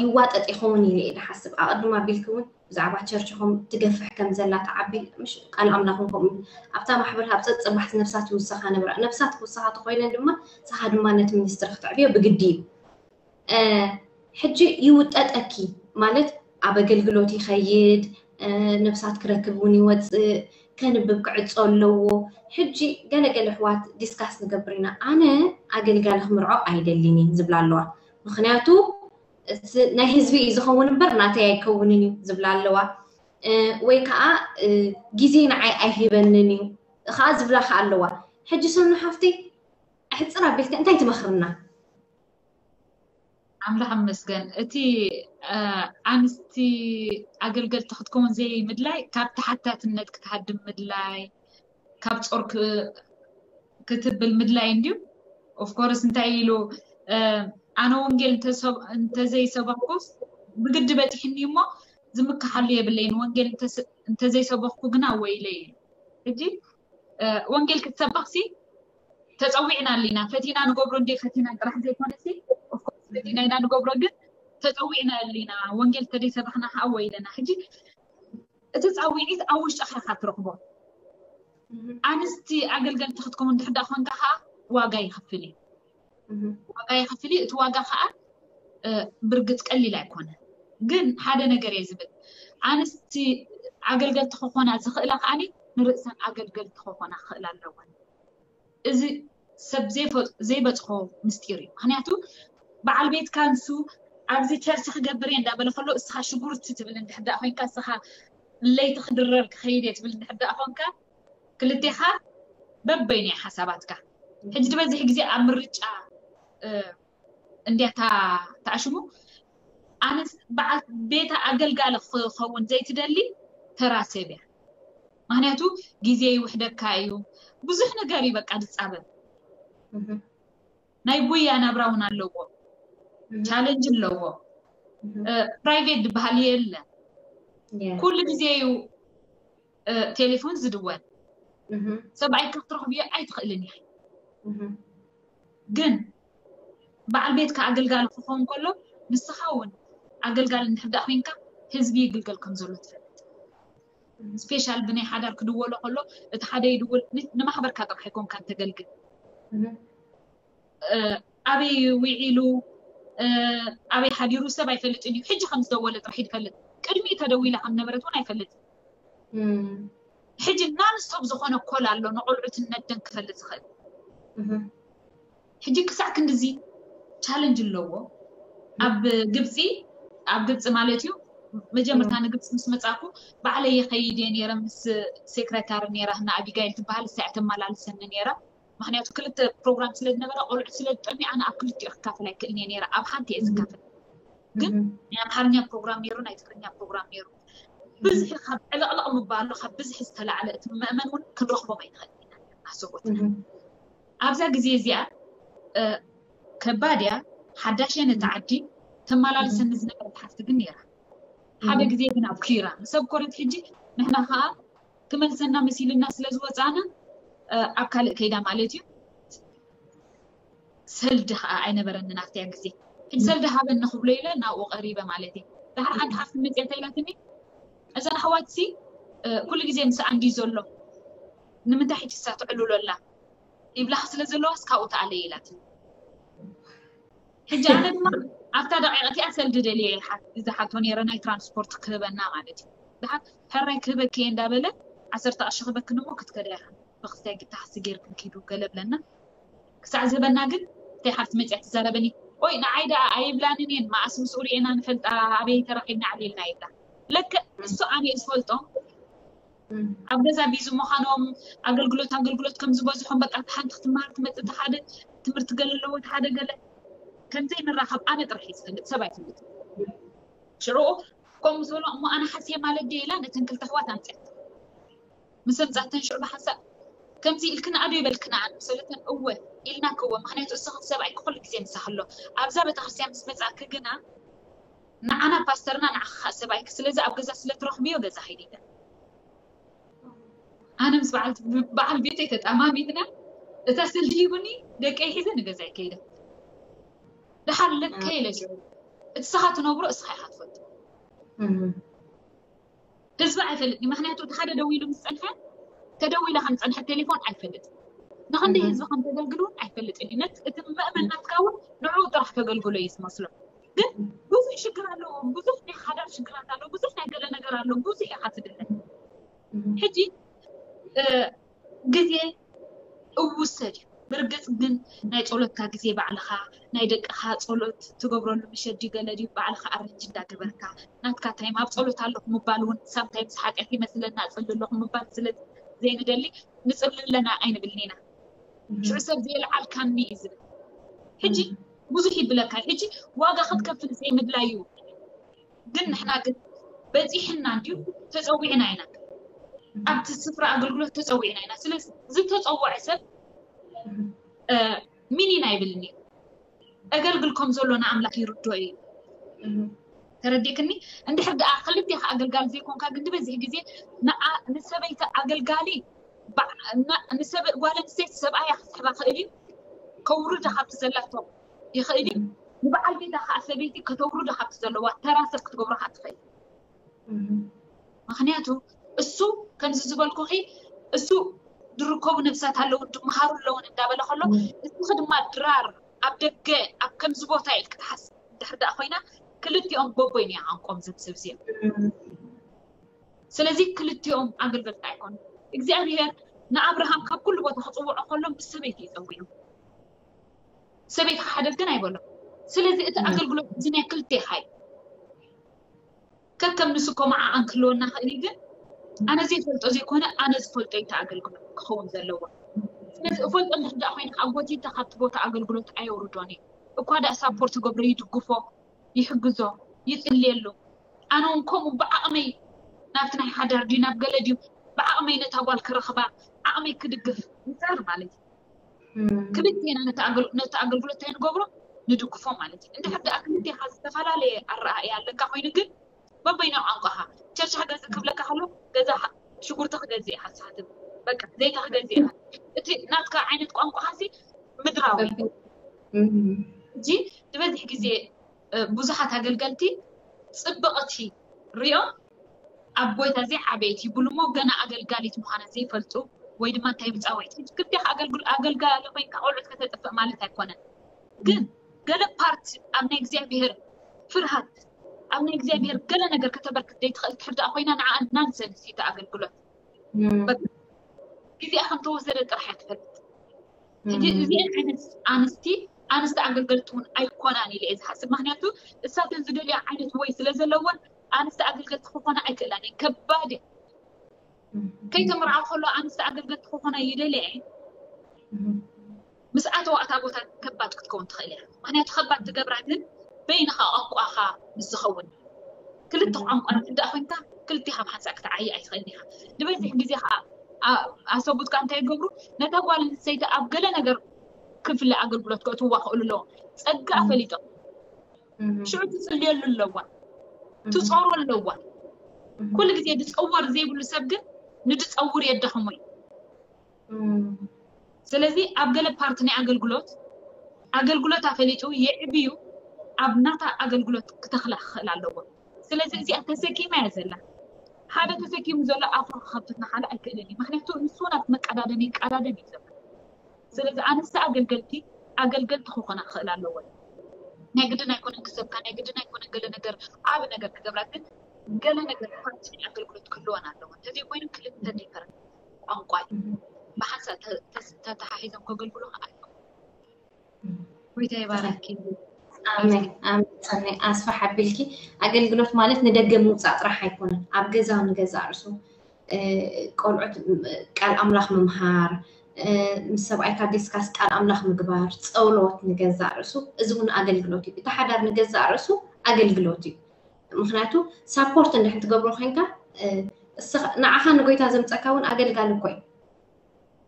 ይዋጠጥ ይኸውን ኢለ እየ ዝሓስብ። ኣቐድም ኣቢልኪ እውን ብዛዕባ ቸርችኹም ትገፍሕ ከም ዘላ ትዓቢ፣ ምሽ ቃል ኣምላኽን ከምኡ ኣብታ ማሕበር ካብ ጸጽባሕ ነፍሳት ይውሰኻ ነበራ። ነፍሳት ክውሰኻ ተኾይነን ድማ ንስኻ ድማ ነቲ ሚኒስትሪ ክትዕብዮ ብግዲ እዩ። ሕጂ ይውጠጠኪ ማለት ኣብ ኣገልግሎት ይኸይድ፣ ነፍሳት ክረክብ እውን ይወፅእ፣ ከንብብ ክዕጾ ኣለዎ። ሕጂ ገለገለ ኣሕዋት ዲስካስ ንገብር ኢና። ኣነ ኣገልጋሊ ክምርዖ ኣይደልን እየ ዝብላ ኣለዋ። ምኽንያቱ ናይ ህዝቢ እዩ ዝኸውን እምበር ናተይ ኣይከውንን እዩ ዝብላ ኣለዋ። ወይ ከዓ ግዜ ንዓይ ኣይህበንን እዩ ከዓ ዝብላ ከዓ ኣለዋ። ሕጂ ሰኑ ሓፍተይ ኣሕፅር ኣቢልካ እንታይ ትመኽርና? ኣምላኽ ይመስገን። እቲ ኣንስቲ ኣገልገልቲ ክትከውን ዘይምድላይ ካብ ተሓታትነት ክትሃድም ምድላይ፣ ካብ ጾር ክትብል ምድላይ እንድዩ። ኦፍኮርስ እንታይ ኢሉ ኣነ ወንጌል እንተዘይሰበኩስ ብግዲ በፂሕኒ እሞ ዝምክሓሉ የብለይን፣ ወንጌል እንተዘይሰበኩ ግና ወይለይ ኢሉ። ሕጂ ወንጌል ክትሰበኽሲ ተፀዊዕና ኣሊና፣ ፈቲና ንገብሮ እንደ ፈቲና ጥራሕ ዘይኮነሲ ኦፍኮርስ ፈቲና ኢና ንገብሮ፣ ግን ተፀዊዕና ኣሊና። ወንጌል ተደይሰበኽና ከዓ ወይለና። ሕጂ እቲ ፃውዒት ኣብ ውሽጥኻ ኢኻ ትረኽቦ። ኣንስቲ ኣገልገልቲ ክትከውን እንድሕር ደኣ ኮንካ ከዓ ዋጋ ይኸፍል እዩ። ዋጋ ይኸፍል እዩ። እቲ ዋጋ ከዓ ብርግፅ ቀሊል ኣይኮነ። ግን ሓደ ነገር እየ ዝብል፣ ኣንስቲ ኣገልገልቲ ክኾና ዝኽእላ ከዓ ንርእሰን ኣገልገልቲ ክኾና ክኽእላ ኣለወን። እዚ ሰብ ዘይበፅሖ ምስጢር እዩ። ምክንያቱ በዓል ቤትካ ንሱ ኣብዚ ቸርች ክገብር እየ እንዳበለ ከሎ እስኻ ሽጉርቲ ትብል እንድሕር ደኣ ኮይንካ፣ እስኻ ለይቲ ክድረር ክኸይድ እየ ትብል እንድሕር ደኣ ኮንካ፣ ክልቴኻ በበይኑ እዩ ሓሳባትካ። ሕጂ ዝበዝሕ ግዜ ኣብ ምርጫ እንድያ ተኣሽሙ። ኣነስ በዓል ቤታ ኣገልጋሊ ክኸውን ዘይትደሊ ተራ ሰብ እያ። ምክንያቱ ግዜ ይውሕደካ እዩ፣ ብዙሕ ነገር እዩ በቃ ዝፃበብ። ናይ ጉያ ናብራ እውን ኣለዎ፣ ቻለንጅ ኣለዎ። ፕራይቬት ዝበሃል የለ፣ ኩሉ ግዜ እዩ ቴሌፎን ዝድወል። ሰብኣይካ ክትረኽብዮ ኣይትኽእልን ኢኺ። ግን በዓል ቤትካ ኣገልጋሊ ክኸውን ከሎ ንስኻ እውን ኣገልጋሊ እንድሕር ደኣ ኮይንካ ህዝቢ ይግልገል ከም ዘሎ ትፈልጥ። ስፔሻል ብናይ ሓዳር ክድወሎ ከሎ እቲ ሓደ ይድውል፣ ንማሕበርካ ጥራሕ ኣይኮንካን ተገልግል። ኣበይ ውዒሉ ኣበይ ሓዲሩ ሰብ ኣይፈልጥን እዩ። ሕጂ ከም ዝደወለ ጥራሕ እዩ ዝፈልጥ። ቅድሚ ተደዊላ ከም ነበረት እውን ኣይፈልጥን። ሕጂ ናንስቶፕ ዝኾነ ኮል ኣሎ ንቆልዑትን ነደን ክፈልጥ ዝኽእል። ሕጂ ክሳዕ ክንድዚ ቻለንጅ ኣለዎ። ኣብ ግብፂ ኣብ ግብፂ ማለት እዩ። መጀመርታ ንግብፂ ምስ መፃኩ ባዕለይ ይኸይድ እየ ነይረ፣ ምስ ሴክረታሪ ነይራ፣ እና ኣቢጋይል ትበሃል፣ እሳ እያ ተመላልሰኒ ነይራ። ምክንያቱ ክልተ ፕሮግራም ስለ ዝነበረ ቆልዑት ስለ ዝጠምዩ ኣነ ኣብ ክልቲኡ ክካፈል ኣይክእልን እየ ነይረ፣ ኣብ ሓንቲ እየ ዝካፈል። ግን ናይ ኣምሓርኛ ፕሮግራም ነይሩ፣ ናይ ትግርኛ ፕሮግራም ነይሩ። ብዝሒ ካብ ዕልቕልቕ ምባሉ ካብ ብዝሒ ዝተላዕለ እቲ መእመን እውን ክንረኽቦም ኣይንኽእል ኢና ኣሰቦትና። ኣብዛ ግዜ እዚኣ ከባድ እያ፣ ሓዳሽ እያ ነቲ ዓዲ። ተመላልሰኒ ዝነበረት ሓፍቲ ግን ነይራ። ሓደ ግዜ ግን ኣብ ኪራ ሰብ ኮረት ሕጂ ንሕና ከዓ ክመልሰና መሲልና ስለ ዝወፃና ኣብ ካልእ ከይዳ ማለት እዩ። ሰልዲ ከዓ ኣይነበረንን ኣብቲያ ግዜ። ሕጂ ሰልዲ ሃበኒ ክብሎ ኢለ ናብኡ ቀሪበ ማለት እዩ። ድሓር ሓንቲ ሓፍቲ መፅያ እንታይ ኢላትኒ፣ እዘን ኣሕዋትሲ ኩሉ ግዜ ምስኣ እንድዩ ዘሎ፣ ንምንታይ ሕጂ እሳ ትዕልሎ ኣላ ይብላኻ ስለ ዘለዋስ ካብኡ ተኣለየ ኢላትኒ። ሕጂ ኣነ ድማ ኣብታ ደቂቕ እቲኣ ሰልዲ ደልየ ዝሓቶ ነይረ፣ ናይ ትራንስፖርት ክህበና ማለት እዩ። ድሓር ሕራይ ክህበኪ እየ እንዳበለ ዓሰርተ ቅርሺ ክህበክን እሞ ክትከዳ ኢኽን፣ ብክስታይ ግታሕሲ ጌርክን ኪዱ ገለ ብለና። ክሳዕ ዝህበና ግን እተይ ሓፍቲ መፅያ ትዛረበኒ፣ ኦይ ንዓይ ደኣ ኣይብላንን እየን፣ መኣስ ምስኡ ርኤና ንፈልጣ፣ ኣበይ ተራኺብና ዓሊልና ይብላ። ለክዕ እሱ ኣነ ዝፈልጦ ኣብ ገዛ ቢዚ ምዃኖም ኣገልግሎት ኣገልግሎት ከም ዝበዝሖም በቃ ሓንቲ ክትመሃር ትመፅእ ሓደ ትምህርቲ ገለ ኣለዎ ሓደ ገለ ከምዘይ ንራኸብ ኣነ ጥራሕ ይዝፈልጥ ሰብ ኣይፈልጥ ሽዑ ከምኡ ዝበሎ እሞ ኣነ ሓስየ ማለት ድየ ኢላ ነተን ክልተ ኣሕዋት ኣምፅኣት ምስ ኣምፃተን ሽዑ ብሓንሳእ ከምዚ ኢልክን ኣዶ ይበልክና ኣነ ምሰለተን እወ ኢልና ክወ ምክንያቱ እስኺ ሰብኣይ ክኩሉ ግዜ ምሳኽ ኣሎ ኣብዛ ቤተክርስትያን ምስ መፃእኪ ግና ንዓና ፓስተርና ንዓኻ ሰብኣይኪ ስለዚ ኣብ ገዛ ስለ ትረኽብዮ ገዛ ኸይዲ ኢለን ኣነ ምስ በዓል ቤተይ ተጣማሚትና እታ ስልዲ ሂቡኒ ደቀይ ሒዘ ንገዛይ ከይደ ደሓር ለከ ኢለ ሽዑ እቲ ስኻ ትነብሮ እስኻ ኢኻ ትፈልጦ ህዝቢ ኣይፈልጥ ምክንያቱ እቲ ሓደ ደዊሉ ምስ ፀንሐ ተደዊላ ከም ፀንሐ ቴሌፎን ኣይፈልጥ ንክንደይ ህዝቢ ከም ተገልግሉ እውን ኣይፈልጥ እዩ እቲ መእመን ናትካ እውን ንዕኡ ጥራሕ ከገልግሎ እዩ ዝመስሎ ግን ብዙሕ ሽግር ኣለዎ ብዙሕ ናይ ሓዳር ሽግራት ኣለዎ ብዙሕ ናይ ገለ ነገር ኣለዎ ብዙሕ ኢኻ ትድለ ሕጂ ግዜ እውሰድ እዩ ብርግፅ ግን ናይ ፀሎትካ ግዜ ባዕልኻ ናይ ደቅኻ ፀሎት ትገብረሉ ምሸት ድዩ ገለ ድዩ ባዕልኻ ኣረንጅ እንዳገበርካ ናትካ ታይም ኣብ ፀሎት ኣለኹ ምባል እውን ሳምታይምስ ሓጢኣት ይመስለና እፅሊ ኣለኹ ምባል ስለ ዘይንደሊ ንፅሊ ኣለና ኣይንብልን ኢና ሽዑ ሰብ ዘየልዓልካኒ እዩ ዝብል ሕጂ ብዙሕ ይብለካ ሕጂ ዋጋ ክትከፍል ዘይምድላይ እዩ ግን ንሕና ግን በፂሕና እንድዩ ተፀዊዕና ኢና ኣብቲ ስፍራ ኣገልግሎት ተፀዊዕና ኢና ስለዚ ዝተፀወዐ ሰብ ሚኒን ኣይብልን እዩ እገልግል ከም ዘሎ ንኣምላኽ ይርዶ እዩ ተረዲእክኒ እንድሕር ደኣ ክልቴኻ ኣገልጋሊ ዘይኮንካ ግን ዝበዝሕ ግዜ ንሰበይቲ ኣገልጋሊ ጓል ኣንስተይቲ ሰብኣያ ክስሕባ ክእል እዩ ከውርዳ ካብቲ ዘላቶ ይኽእል እዩ ንበዓል ቤታ ከዓ ሰበይቲ ከተውርዶ ካብቲ ዘለዋ ተራ ሰብ ክትገብሮ ከዓ ትኽእል ምክንያቱ እሱ ከምዚ ዝበልኩኺ እሱ ዝርከቡ ነብሳት ኣለውን ድመሃሩ ኣለውን እንዳበለ ከሎ እስኺ ድማ ድራር ኣብ ደገ ኣብ ከምዚ ቦታ ኢልክ ትሓስ ድሕር ደኣ ኮይና ክልቲኦም በቦይ ንያ ቋንቋም ዘብሰብ እዚኦም ስለዚ ክልቲኦም ኣገልገልቲ ኣይኮኑ እግዚኣብሔር ንኣብርሃም ካብ ኩሉ ቦታ ክፅውዖ ከሎ ምስ ሰበይቲ ይፀውዑ ሰበይቲ ክሓደት ግን ኣይበሎ ስለዚ እቲ ኣገልግሎት እዚ ናይ ክልቴኻ እዩ ከከም ንሱ ኮማዓ ኣንክልወና ክእል ግን ኣነ ዘይፈልጦ ዘይኮነ ኣነ ዝፈልጦ እዩ ኣገልግሎት ክኸውን ዘለዎ ስለዚ እፈልጦ እንድሕር ደኣ ኮይነ ከዓ ጎቲተ ካብቲ ቦታ ኣገልግሎት ኣየውርዶን እዩ እኳ ደኣ ሳፖርት ገብሮ ይድግፎ ይሕግዞ ይፅልየሉ ኣነ እውን ከምኡ ብዓቕመይ ናብቲ ናይ ሓዳር ድዩ ናብ ገለ ድዩ ብዓቕመይ ነታ ጓል ክረኽባ ዓቕመይ ክድግፍ ይፃር ማለት እዩ ክልቴና ነቲ ኣገልግሎት እንታይ ንገብሮ ንድግፎ ማለት እዩ እንድሕር ደኣ ክልቴኻ ዝተፈላለየ ኣረኣእያ ኣለካ ኮይኑ ግን በበይናው ቋንቋኻ ቸርች ክገዝእ ክብለካ ከሎ ገዛ ሽጉርቲ ክገዝእ ኢኻ ትሓትብ በቃ ዘይቲ ክገዝእ ኢኻ እቲ ናትካ ዓይነት ቋንቋኻ ሲ ምድራዊ ሕጂ ዝበዝሕ ግዜ ብዙሓት ኣገልገልቲ ፅብቕቲ ሪኦም ኣብ ጎይታ ዘይዓበየት ይብሉ እሞ ገና ኣገልጋሊት ምዃና ዘይፈልጡ ወይ ድማ እንታይ ብፃወይቲ ክልቴኻ ኣገልጋሊ ኮይንካ ቆልዑት ከተጥፍእ ማለት ኣይኮነን ግን ገለ ፓርት ኣብ ናይ እግዚኣብሄር ፍርሃት ኣብ ናይ እግዚኣብሄር ገለ ነገር ከተበርክት ዘይትኽእል ትሕር ደኣ ኮይና ንዓ ናንሰንስ እዩ ኣገልግሎት ግዜኣ ከም ተወሰደ ጥራሕ እያ ትፈልጥ ሕጂ እዚአን ዓይነት ኣንስቲ ኣንስቲ ኣገልገልቲ እውን ኣይኮናን ኢለ እየ ዝሓስብ ምክንያቱ እሳተን ዝደልያ ዓይነት ወይ ስለ ዘለወን ኣንስቲ ኣገልገልቲ ክኾና ኣይክእላን እየን ከባድ እየ ከይተምርዓ ከሎ ኣንስቲ ኣገልገልቲ ክኾና ይደልያ እየን ምስ ኣተዋ እታ ቦታ ከባድ ክትከውን ትኽእል እያ ምክንያቱ ከባድ ትገብራ ግን በይንኻ ቋንቋኻ ምስ ዝኸውን ክልተ ቋንቋ ንትዳእ ኮይንካ ክልቲኻ ብሓንሳእ ክትዓይ ኣይትኽእልን ኢኻ ዝበዝሕ ግዜ ከዓ ኣሰቡትካ እንታይ ይገብሩ ነታ ጓል ኣንስተይቲ ኣብ ገለ ነገር ክፍለ ኣገልግሎት ከእትዋ ክእሉ ኣለዎም ጸጋ ፈሊጦም ሽዑ ትጽልየሉ ኣለዋ ትጾሮ ኣለዋ ኩሉ ግዜ ድጸወር ዘይብሉ ሰብ ግን ንድጸውር የዳኽሞ እዩ ስለዚ ኣብ ገለ ፓርቲ ናይ ኣገልግሎት ኣገልግሎት ኣፈሊጡ የዕብዩ ኣብ ናታ ኣገልግሎት ክተኽላ ክኽእል ኣለዎ ስለዚ እዚኣ ተሰኪማ እያ ዘላ ሓደ ተሰኪሙ ዘሎ ኣፉ ክኸፍት ንሓደ ኣይክእልን እዩ ምክንያቱ ንሱ ናብ መቀዳደም ይቀዳደም እዩ ዘሎ ስለዚ ኣንስቲ ኣገልገልቲ ኣገልገልቲ ክኾና ክኽእል ኣለዎ ናይ ግድን ኣይኮነን ክሰብካ ናይ ግድን ኣይኮነን ገለ ነገር ዓብ ነገር ክገብራ ግን ገለ ነገር ፓርቲ ናይ ኣገልግሎት ክህልወን ኣለዎ እንተዘይ ኮይኑ ክልተ ዲፈረንት ቋንቋ እዩ። ብሓንሳእ ተተሓሒዞም ከገልግሉ ከዓ ኣይኮኑ። ጎይታ ይባረኪ። ኣሜን ኣሜን። ጸናይ ኣስፋሕ ኣቢልኪ ኣገልግሎት ማለት ንደገ ምውጻእ ጥራሕ ኣይኮነን፣ ኣብ ገዛ ንገዛ ርእሱ ቆልዑት ቃል ኣምላኽ ምምሃር፣ ምስ ሰብኣይካ ዲስካስ ቃል ኣምላኽ ምግባር፣ ጸውሎት ንገዛእ ርእሱ፣ እዚ እውን ኣገልግሎት እዩ። እቲ ሓዳር ንገዛእ ርእሱ ኣገልግሎት እዩ። ምክንያቱ ሳፖርት እንድሕን ትገብሮ ኮንካ ንዓኻ ንጎይታ ዘምፀካ እውን ኣገልጋሊ እኮ እዩ።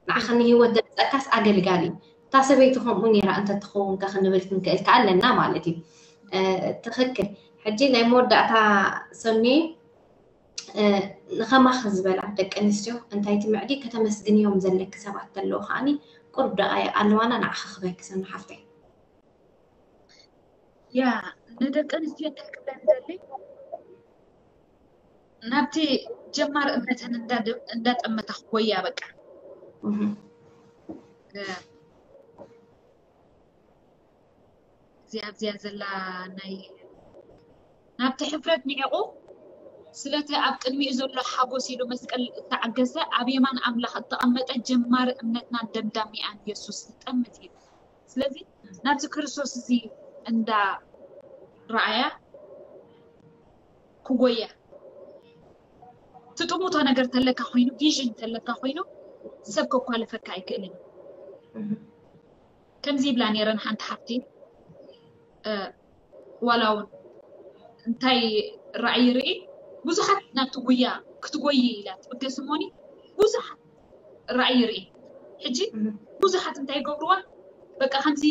ንዓኻ ንህይወት ዘምፀካስ ኣገልጋሊ እዩ። እታ ሰበይቲ ከምኡ ነይራ እንተትኸውን ከ ክንብል ክንክእል ከ ኣለና ማለት እዩ። ትክክል። ሕጂ ናይ መወዳእታ ሰኑየ፣ ንኸማኺ ዝበላ ደቂ ኣንስትዮ እንታይ ትምዕዲ? ከተመስግንዮም ዘለኪ ሰባት ተለዉ ከዓኒ ቁሩብ ደቃይቕ ኣለዋና፣ ንዓኺ ክበኪ ሰኑ ሓፍተይ። ያ ንደቂ ኣንስትዮ እንታይ ክብለን ደሊ ናብቲ ጀማር እምነተን እንዳጠመታ ክጎያ በቃ እዚኣ ኣብዚኣ ዘላ ናይ ናብቲ ሕፍረት ንዒቑ ስለቲ ኣብ ቅድሚኡ ዘሎ ሓጎስ ኢሉ መስቀል እተዓገሰ ኣብ የማን ኣምላኽ እተቐመጠ ጀማሪ እምነትናን ደምዳሚኣን የሱስ ይጠምት እዩ። ስለዚ ናብዚ ክርስቶስ እዚ እንዳ ረኣያ ክጎያ ትጥሙቶ ነገር ተለካ ኮይኑ ቪዥን ተለካ ኮይኑ ሰብ ከኳልፈካ ኣይክእልን። ከምዚ ይብላ ነይረን ሓንቲ ሓፍቲ ዋላ እውን እንታይ ራእይ ርኢ ብዙሓት ናብቲ ጉያ ክትጎይ ኢላ ትብገስ እሞኒ ብዙሓት ራእይ ርኢ ሕጂ ብዙሓት እንታይ ይገብርዋ በቃ ከምዚ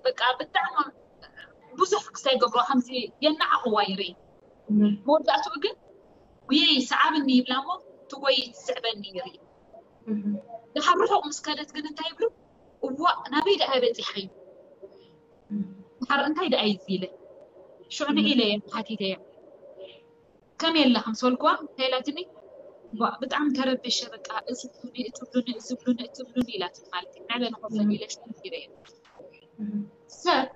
በቃ ብጣዕሚ ብዙሕ ክስታይ ይገብርዋ ከምዚ የናዓቕዋ ይርኢ መወዳእትኡ ግን ጉየይ ሰዓብኒ ይብላ እሞ ትጎይ ትስዕበኒ ይርኢ ድሓር ርሑቕ ምስ ከደት ግን እንታይ ይብሉ እዋእ ናበይ ደኣ በፂሓ እዩ ድሓር እንታይ ደኣ እዩ ኢለ ሽዑ ንዒለ እየ ሓቲተ እየ ከመይ ኣለኻ ምስ በልክዋ እንታይ ኢላትኒ ብጣዕሚ ተረቢሸ በቃ እዚ ብሉኒ እቲ ብሉኒ እዚ ብሉኒ እቲ ብሉኒ ኢላትኒ ማለት እዩ ዕበ ንኸፈል ኢለ ሽዑ ነጊረ እየ ሰብ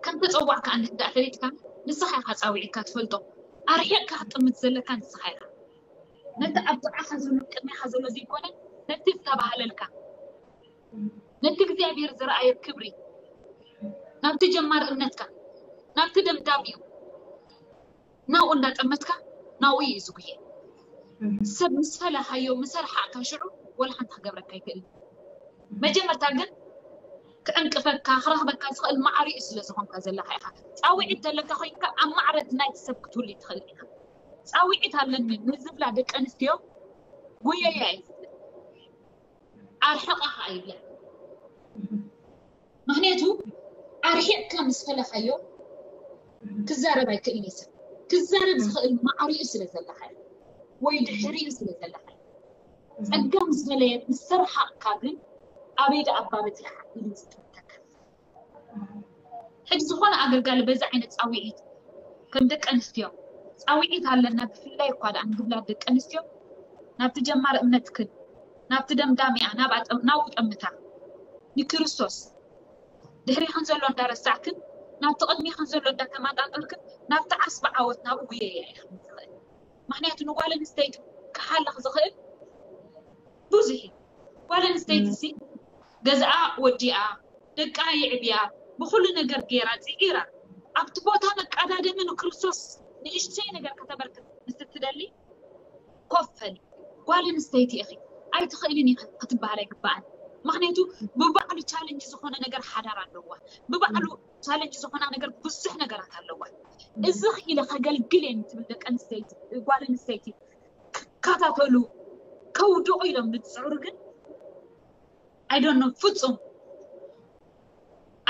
ከም ተፀዋዕካ እንድሕር ደኣ ፈሊጥካ ንስኻ ኢኻ ፃውዒትካ ትፈልጦ ኣርሒቕካ ክትጥምት ዘለካ ንስኻ ኢኻ ነቲ ኣብ ጥቓኻ ዘሎ ቅድሚኻ ዘሎ ዘይኮነ ነቲ ዝተባህለልካ ነቲ እግዚኣብሔር ዝረኣየ ክብሪ ናብቲ ጀማር እምነትካ ናብቲ ደምዳሚኡ ናብኡ እንዳጠመትካ ናብኡ እዩ ዝጉየ ሰብ ምስ ፈለኻዮ ምስ ኣርሓቕካ ሽዑ ወላ ሓንቲ ክገብረካ ኣይክእልን መጀመርታ ግን ክዕንቅፈካ ክረኽበካ ዝኽእል ማዕሪኡ ስለ ዝኾንካ ዘለኻ ኢኻ ፃውዒት ተለካ ኮይንካ ኣብ ማዕረ ናይቲ ሰብ ክትውል ትኽእል ኢኻ ፃውዒት ኣለኒ ንዝብላ ደቂ ኣንስትዮ ጉየያ እየ ኣርሕቐኻ ኣይብለን ምኽንያቱ ኣርሒቕካ ምስ ፈለኻዮ ክዛረብ ኣይክእል እዩ ሰብ ክዛረብ ዝኽእል ማዕሪኡ ስለ ዘለኻ ወይ ድሕሪኡ ስለ ዘለኻ ጸጋ ምስ ፈለየ ምስ ተረሓቕካ ግን ኣበይ ደኣ ኣባበቲኻ ኢሉ ዝጥምተካ ሕጂ ዝኾነ ኣገልጋሊ በዚ ዓይነት ፃውዒት ከም ደቂ ኣንስትዮ ፃውዒት ኣለና ብፍላይ እኳ ደኣ ንብላ ደቂ ኣንስትዮ ናብቲ ጀማር እምነትክን ናብቲ ደምዳሚኣ ናብኡ ጠምታ ንክርስቶስ ድሕሪኽን ዘሎ እንዳረሳዕክን ናብቲ ቅድሚኽን ዘሎ እንዳተማጣጠርክን ናብቲ ዓስቢ ዓወት ናብኡ ጉየያ ኢኽን ዝኽእል ምኽንያቱ ንጓል ኣንስተይቲ ክሓልኽ ዝኽእል ብዙሕ እዩ ጓል ኣንስተይቲ ሲ ገዝኣ ወዲኣ ደቃ የዕብያ ብኹሉ ነገር ገይራ ፅዒራ ኣብቲ ቦታ መቃዳደሚ ንክርስቶስ ንእሽተይ ነገር ከተበርክት ምስ እትደሊ ኮፍ በሊ ጓል ኣንስተይቲ ኢኺ ኣይትኽእልን ኢኺ ክትበሃል ኣይግበኣን ምኽንያቱ ብባዕሉ ቻለንጅ ዝኾነ ነገር ሓዳር ኣለዋ ብባዕሉ ቻለንጅ ዝኾና ነገር ብዙሕ ነገራት ኣለዋ እዚ ኢለ ከገልግል እየ ትብል ደቂ ኣንስተይቲ ጓል ኣንስተይቲ ክከታተሉ ከውድቑ ኢሎም ዝፅዕሩ ግን ኣይዶኖ ፍፁም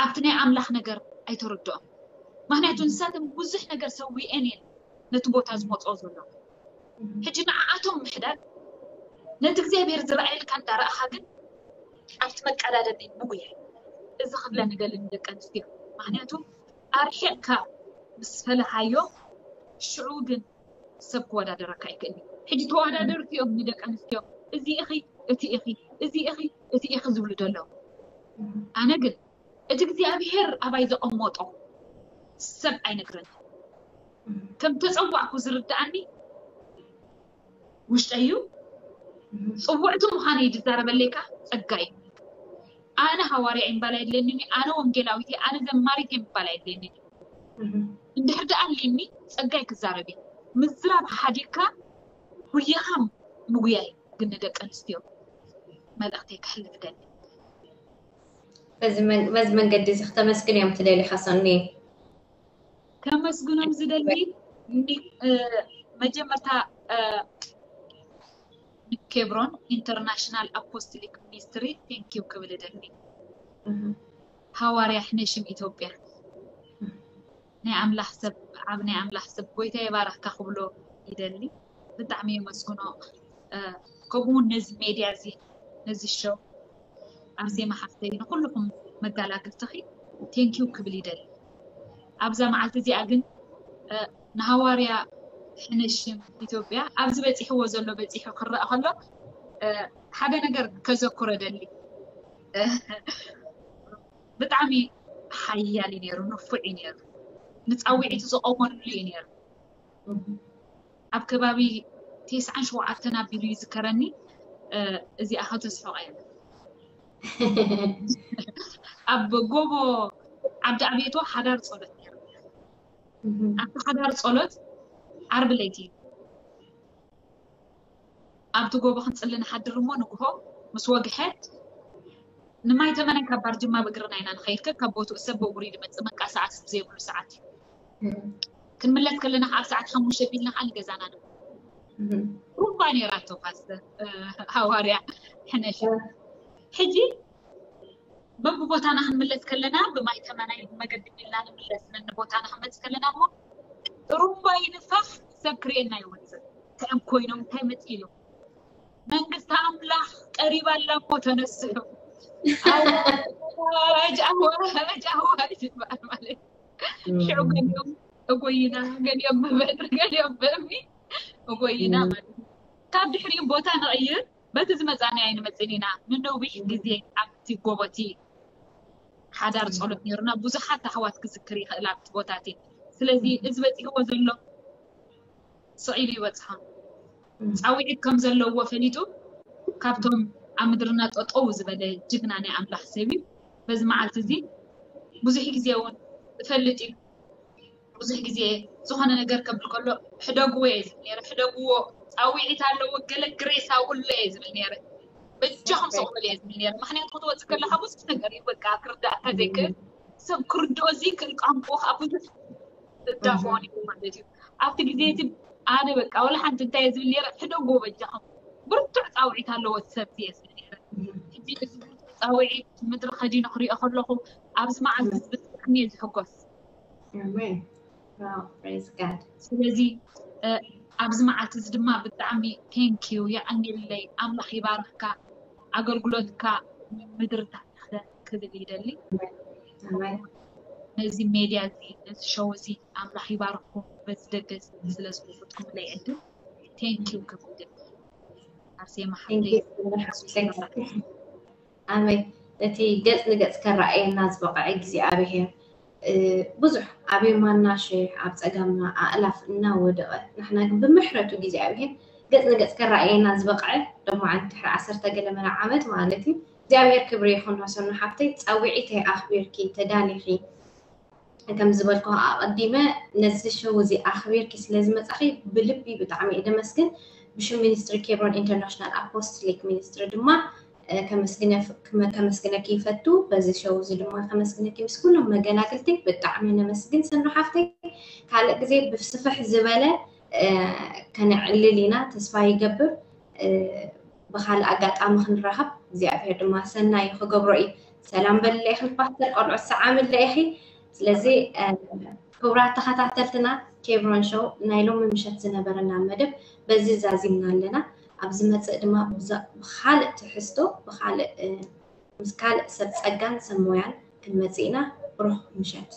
ኣብቲ ናይ ኣምላኽ ነገር ኣይተረድኦም ምክንያቱ ንሳቶም ብዙሕ ነገር ሰዊአን እየን ነቲ ቦታ ዝመፅኦ ዘሎ ሕጂ ንዓኣቶም ምሕዳግ ነቲ እግዚኣብሔር ዝረኣየልካ እንዳረኣኻ ግን ኣብቲ መቀዳደሚ ምጉያይ እዚ ክብለ ንደሊ ንደቂ ኣንስትዮ ምክንያቱ ኣርሒቕካ ምስ ፈለኻዮ ሽዑ ግን ሰብ ክወዳደረካ ኣይክእል እዩ ሕጂ ተወዳደርቲ እዮም ንደቂ ኣንስትዮ እዚ ኢኺ እቲ ኢኺ እዚ ኢኺ እቲ ኢኺ ዝብሉ ዘለዉ ኣነ ግን እቲ እግዚኣብሔር ኣባይ ዘቐመጦ ሰብ ኣይነግረን ከም ተፀዋዕኩ ዝርድኣኒ ውሽጠይ እዩ ፅውዕቲ ምዃነይ ዝዛረበለይካ ፀጋ እዩ ኣነ ሃዋርያ እምባል ኣይድለኒኒ ኣነ ወንጌላዊት ኣነ ዘማሪት እምባል ኣይድለኒኒ እንድሕር ደኣ ኣሊኒ ፀጋይ ክዛረብ እዩ ምዝራብ ሓዲግካ ጉያኻ ምጉያይ ግን ንደቂ ኣንስትዮ መልእኽተይ ከሕልፍ ደሊ። በዚ መንገዲ እዚ ክተመስግን እዮም ትደሊ ከሰኒ? ከመስግኖም ዝደሊ መጀመርታ ንኬብሮን ኢንተርናሽናል ኣፖስቶሊክ ሚኒስትሪ ቴንኪው ክብል እደሊ። ሃዋርያ ሕነሽም ኢትዮጵያ ናይ ኣምላኽ ሰብ ኣብ ናይ ኣምላኽ ሰብ ጎይታ የባረኽካ ክብሎ ይደሊ። ብጣዕሚ የመስግኖ። ከምኡ እውን ነዚ ሜድያ እዚ ነዚ ሸው ኣርሴማ ሓፍተይ ንኩልኹም መጋላግልትኺ ቴንኪው ክብል ይደሊ። ኣብዛ መዓልቲ እዚኣ ግን ንሃዋርያ ሕነሽም ኢትዮጵያ ኣብዚ በፂሕዎ ዘሎ በፂሑ ክረአ ከሎ ሓደ ነገር ከዘክሮ ደሊ። ብጣዕሚ ሓያል እዩ ነይሩ፣ ንፉዕ እዩ ነይሩ፣ ንፃውዒቱ ዝቐመሉ እዩ ነይሩ። ኣብ ከባቢ ተስዓን ሸውዓተን ኣቢሉ ይዝከረኒ። እዚኣ ከተስሕቆ እየ። ኣብ ጎቦ ዓዲ ኣቤቶ ሓዳር ፀሎት ነይሩ። ኣብቲ ሓዳር ፀሎት ዓርቢ ለይቲ ኣብቲ ጎቦ ክንፅሊ ንሓድር እሞ ንግሆ ምስ ወግሐ ንማይ ተመናይ ካብ ባርጅማ ብእግርና ኢና ንኸይድ። ከካብ ቦትኡ ሰብ ብእግሩ እዩ ዝመፅእ፣ መንቀሳቐሲ ብዘይብሉ ሰዓት እዩ። ክንምለስ ከለና ከዓ ኣብ ሰዓት ሓሙሽተ ቢልና ከዓ ንገዛና ንመ ሩባ ነይራቶ ፓስተር ሃዋርያ ሕነሽ። ሕጂ በብቦታና ክንምለስ ከለና ብማይ ተመናይ ብመገዲ ቢልና ንምለስ ነንቦታና ክንመፅእ ከለና እሞ ጥሩምባ ይንፋሕ፣ ሰብ ክርእየና ይወፅእ። እንታይ እዮም ኮይኖም እንታይ መፂ ኢሎም መንግስቲ ኣምላኽ ቀሪባ ኣላ እሞ ተነስሑ። ኣዋጅ ኣዋጅ ኣዋጅ ይበሃል ማለት ሽዑ ገሊኦም እጎይና ገሊኦም ብበትሪ ገሊኦም ብእምኒ እጎይና ማለት እዩ። ካብ ድሕሪኡ ቦታ ንቕይር በቲ ዝመፃና ኣይንመፅን ኢና። ንነዊሕ ግዜ ኣብቲ ጎቦቲ ሓዳር ፀሎት ነይሩና። ብዙሓት ኣሕዋት ክዝክር ይኽእል ኣብቲ ቦታቲ። ስለዚ እዚ በፂሕዎ ዘሎ ስቕ ኢሉ ይበፅሖ። ፃውዒት ከም ዘለዎ ፈሊጡ ካብቶም ኣብ ምድርና ጠጠው ዝበለ ጅግና ናይ ኣምላኽ ሰብ እዩ። በዚ መዓልቲ እዚ ብዙሕ ግዜ እውን እፈልጥ እዩ። ብዙሕ ግዜ ዝኾነ ነገር ከብል ከሎ ሕደግዎ እየ ዝብል ነይረ። ሕደግዎ ፃውዒት ኣለዎ ገለ ግሬስ ኣብሉ እየ ዝብል ነይረ። በጃኹም ስቕ በሉ እየ ዝብል ነይረ። ምክንያቱ ክትወፅእ ከለካ ብዙሕ ነገር እዩ በቃ ክርዳእካ ዘይክእል ሰብ ክርድኦ ዘይክእል ቋንቋ ከዓ ብዙሕ እዳኾን እዩ ማለት እዩ። ኣብቲ ግዜ እቲ ኣነ በቃ ወላ ሓንቲ እንታይ እየ ዝብል ነይረ፣ ሕደጎ በጃኹም ብርቱዕ ፃውዒት ኣለዎ እቲ ሰብ እየ ዝብል ነይረ። ሕጂ እዚ ብርቱዕ ፃውዒት ምድሪ ከዲኑ ክሪኦ ከለኹ ኣብዚ መዓልቲ እዚ ብጣዕሚ እየ ዝሕጎስ። ኣሜን። Wow, praise God። ስለዚ ኣብዚ መዓልቲ እዚ ድማ ብጣዕሚ ቴንኪዩ የቐንየለይ። ኣምላኽ ይባርኽካ፣ ኣገልግሎትካ ምድሪ ታሕተ ክብል ይደሊ። ኣሜን። ነዚ ሜድያ እዚ ነዚ ሸው እዚ ኣምላኽ ይባርኽኩም። በዚ ደገ እዚ ስለ ዝከፈትኩምለይ ዕድል ቴንኪዩ ክብል ይደሊ። ኣርሴማ ሓፍተይ ኣሜን። ነቲ ገጽ ንገጽ ከረኣየና ዝበቕዐ እግዚኣብሄር ብዙሕ ኣብ የማንና ሽሕ ኣብ ጸጋምና ኣእላፍ እናወደቐ ንሕና ግን ብምሕረቱ እግዚኣብሄር ገጽ ንገጽ ከረኣየና ዝበቕዐ ደሞ ዓንድሕሪ ዓሰርተ ገለ መለ ዓመት ማለት እዩ። እግዚኣብሄር ክብሪ ይኹን። ሰኑ ሓፍተይ ጻዊዒተይ ኣኽቢርኪ ተዳሊኺ ከም ዝበልኩ ኣቐዲመ ነዚ ሸው እዚ ኣኽቢርኪ ስለ ዝመጻኺ ብልቢ ብጣዕሚ እየ ደመስግን። ብሽም ሚኒስትሪ ኬብሮን ኢንተርናሽናል ኣፖስትሊክ ሚኒስትሪ ድማ ከመስግነኪ ይፈቱ። በዚ ሸው እዚ ድማ ከመስግነኪ ምስ ኩሎም መገላግልቲ ብጣዕሚ ነመስግን። ሰኑ ሓፍተይ ካልእ ግዜ ብስፍሕ ዝበለ ከነዕልል ኢና ተስፋ ይገብር። ብካልእ ኣጋጣሚ ክንራኸብ እግዚኣብሔር ድማ ሰናይ ክገብሮ እዩ። ሰላም በልለ ኢኺ ፓስተር ቆልዑት ሰዓምለ ኢኺ። ስለዚ ክቡራት ተኸታተልትና ኬብሮን ሾው ናይ ሎሚ ምሸት ዝነበረና መደብ በዚ ዛዚምና ኣለና። ኣብ ዝመፅእ ድማ ብዛ- ብካልእ ትሕዝቶ ብካልእ ምስ ካልእ ሰብ ፀጋን ሰብ ሞያን ክንመፅእ ኢና። ብሩኽ ምሸት።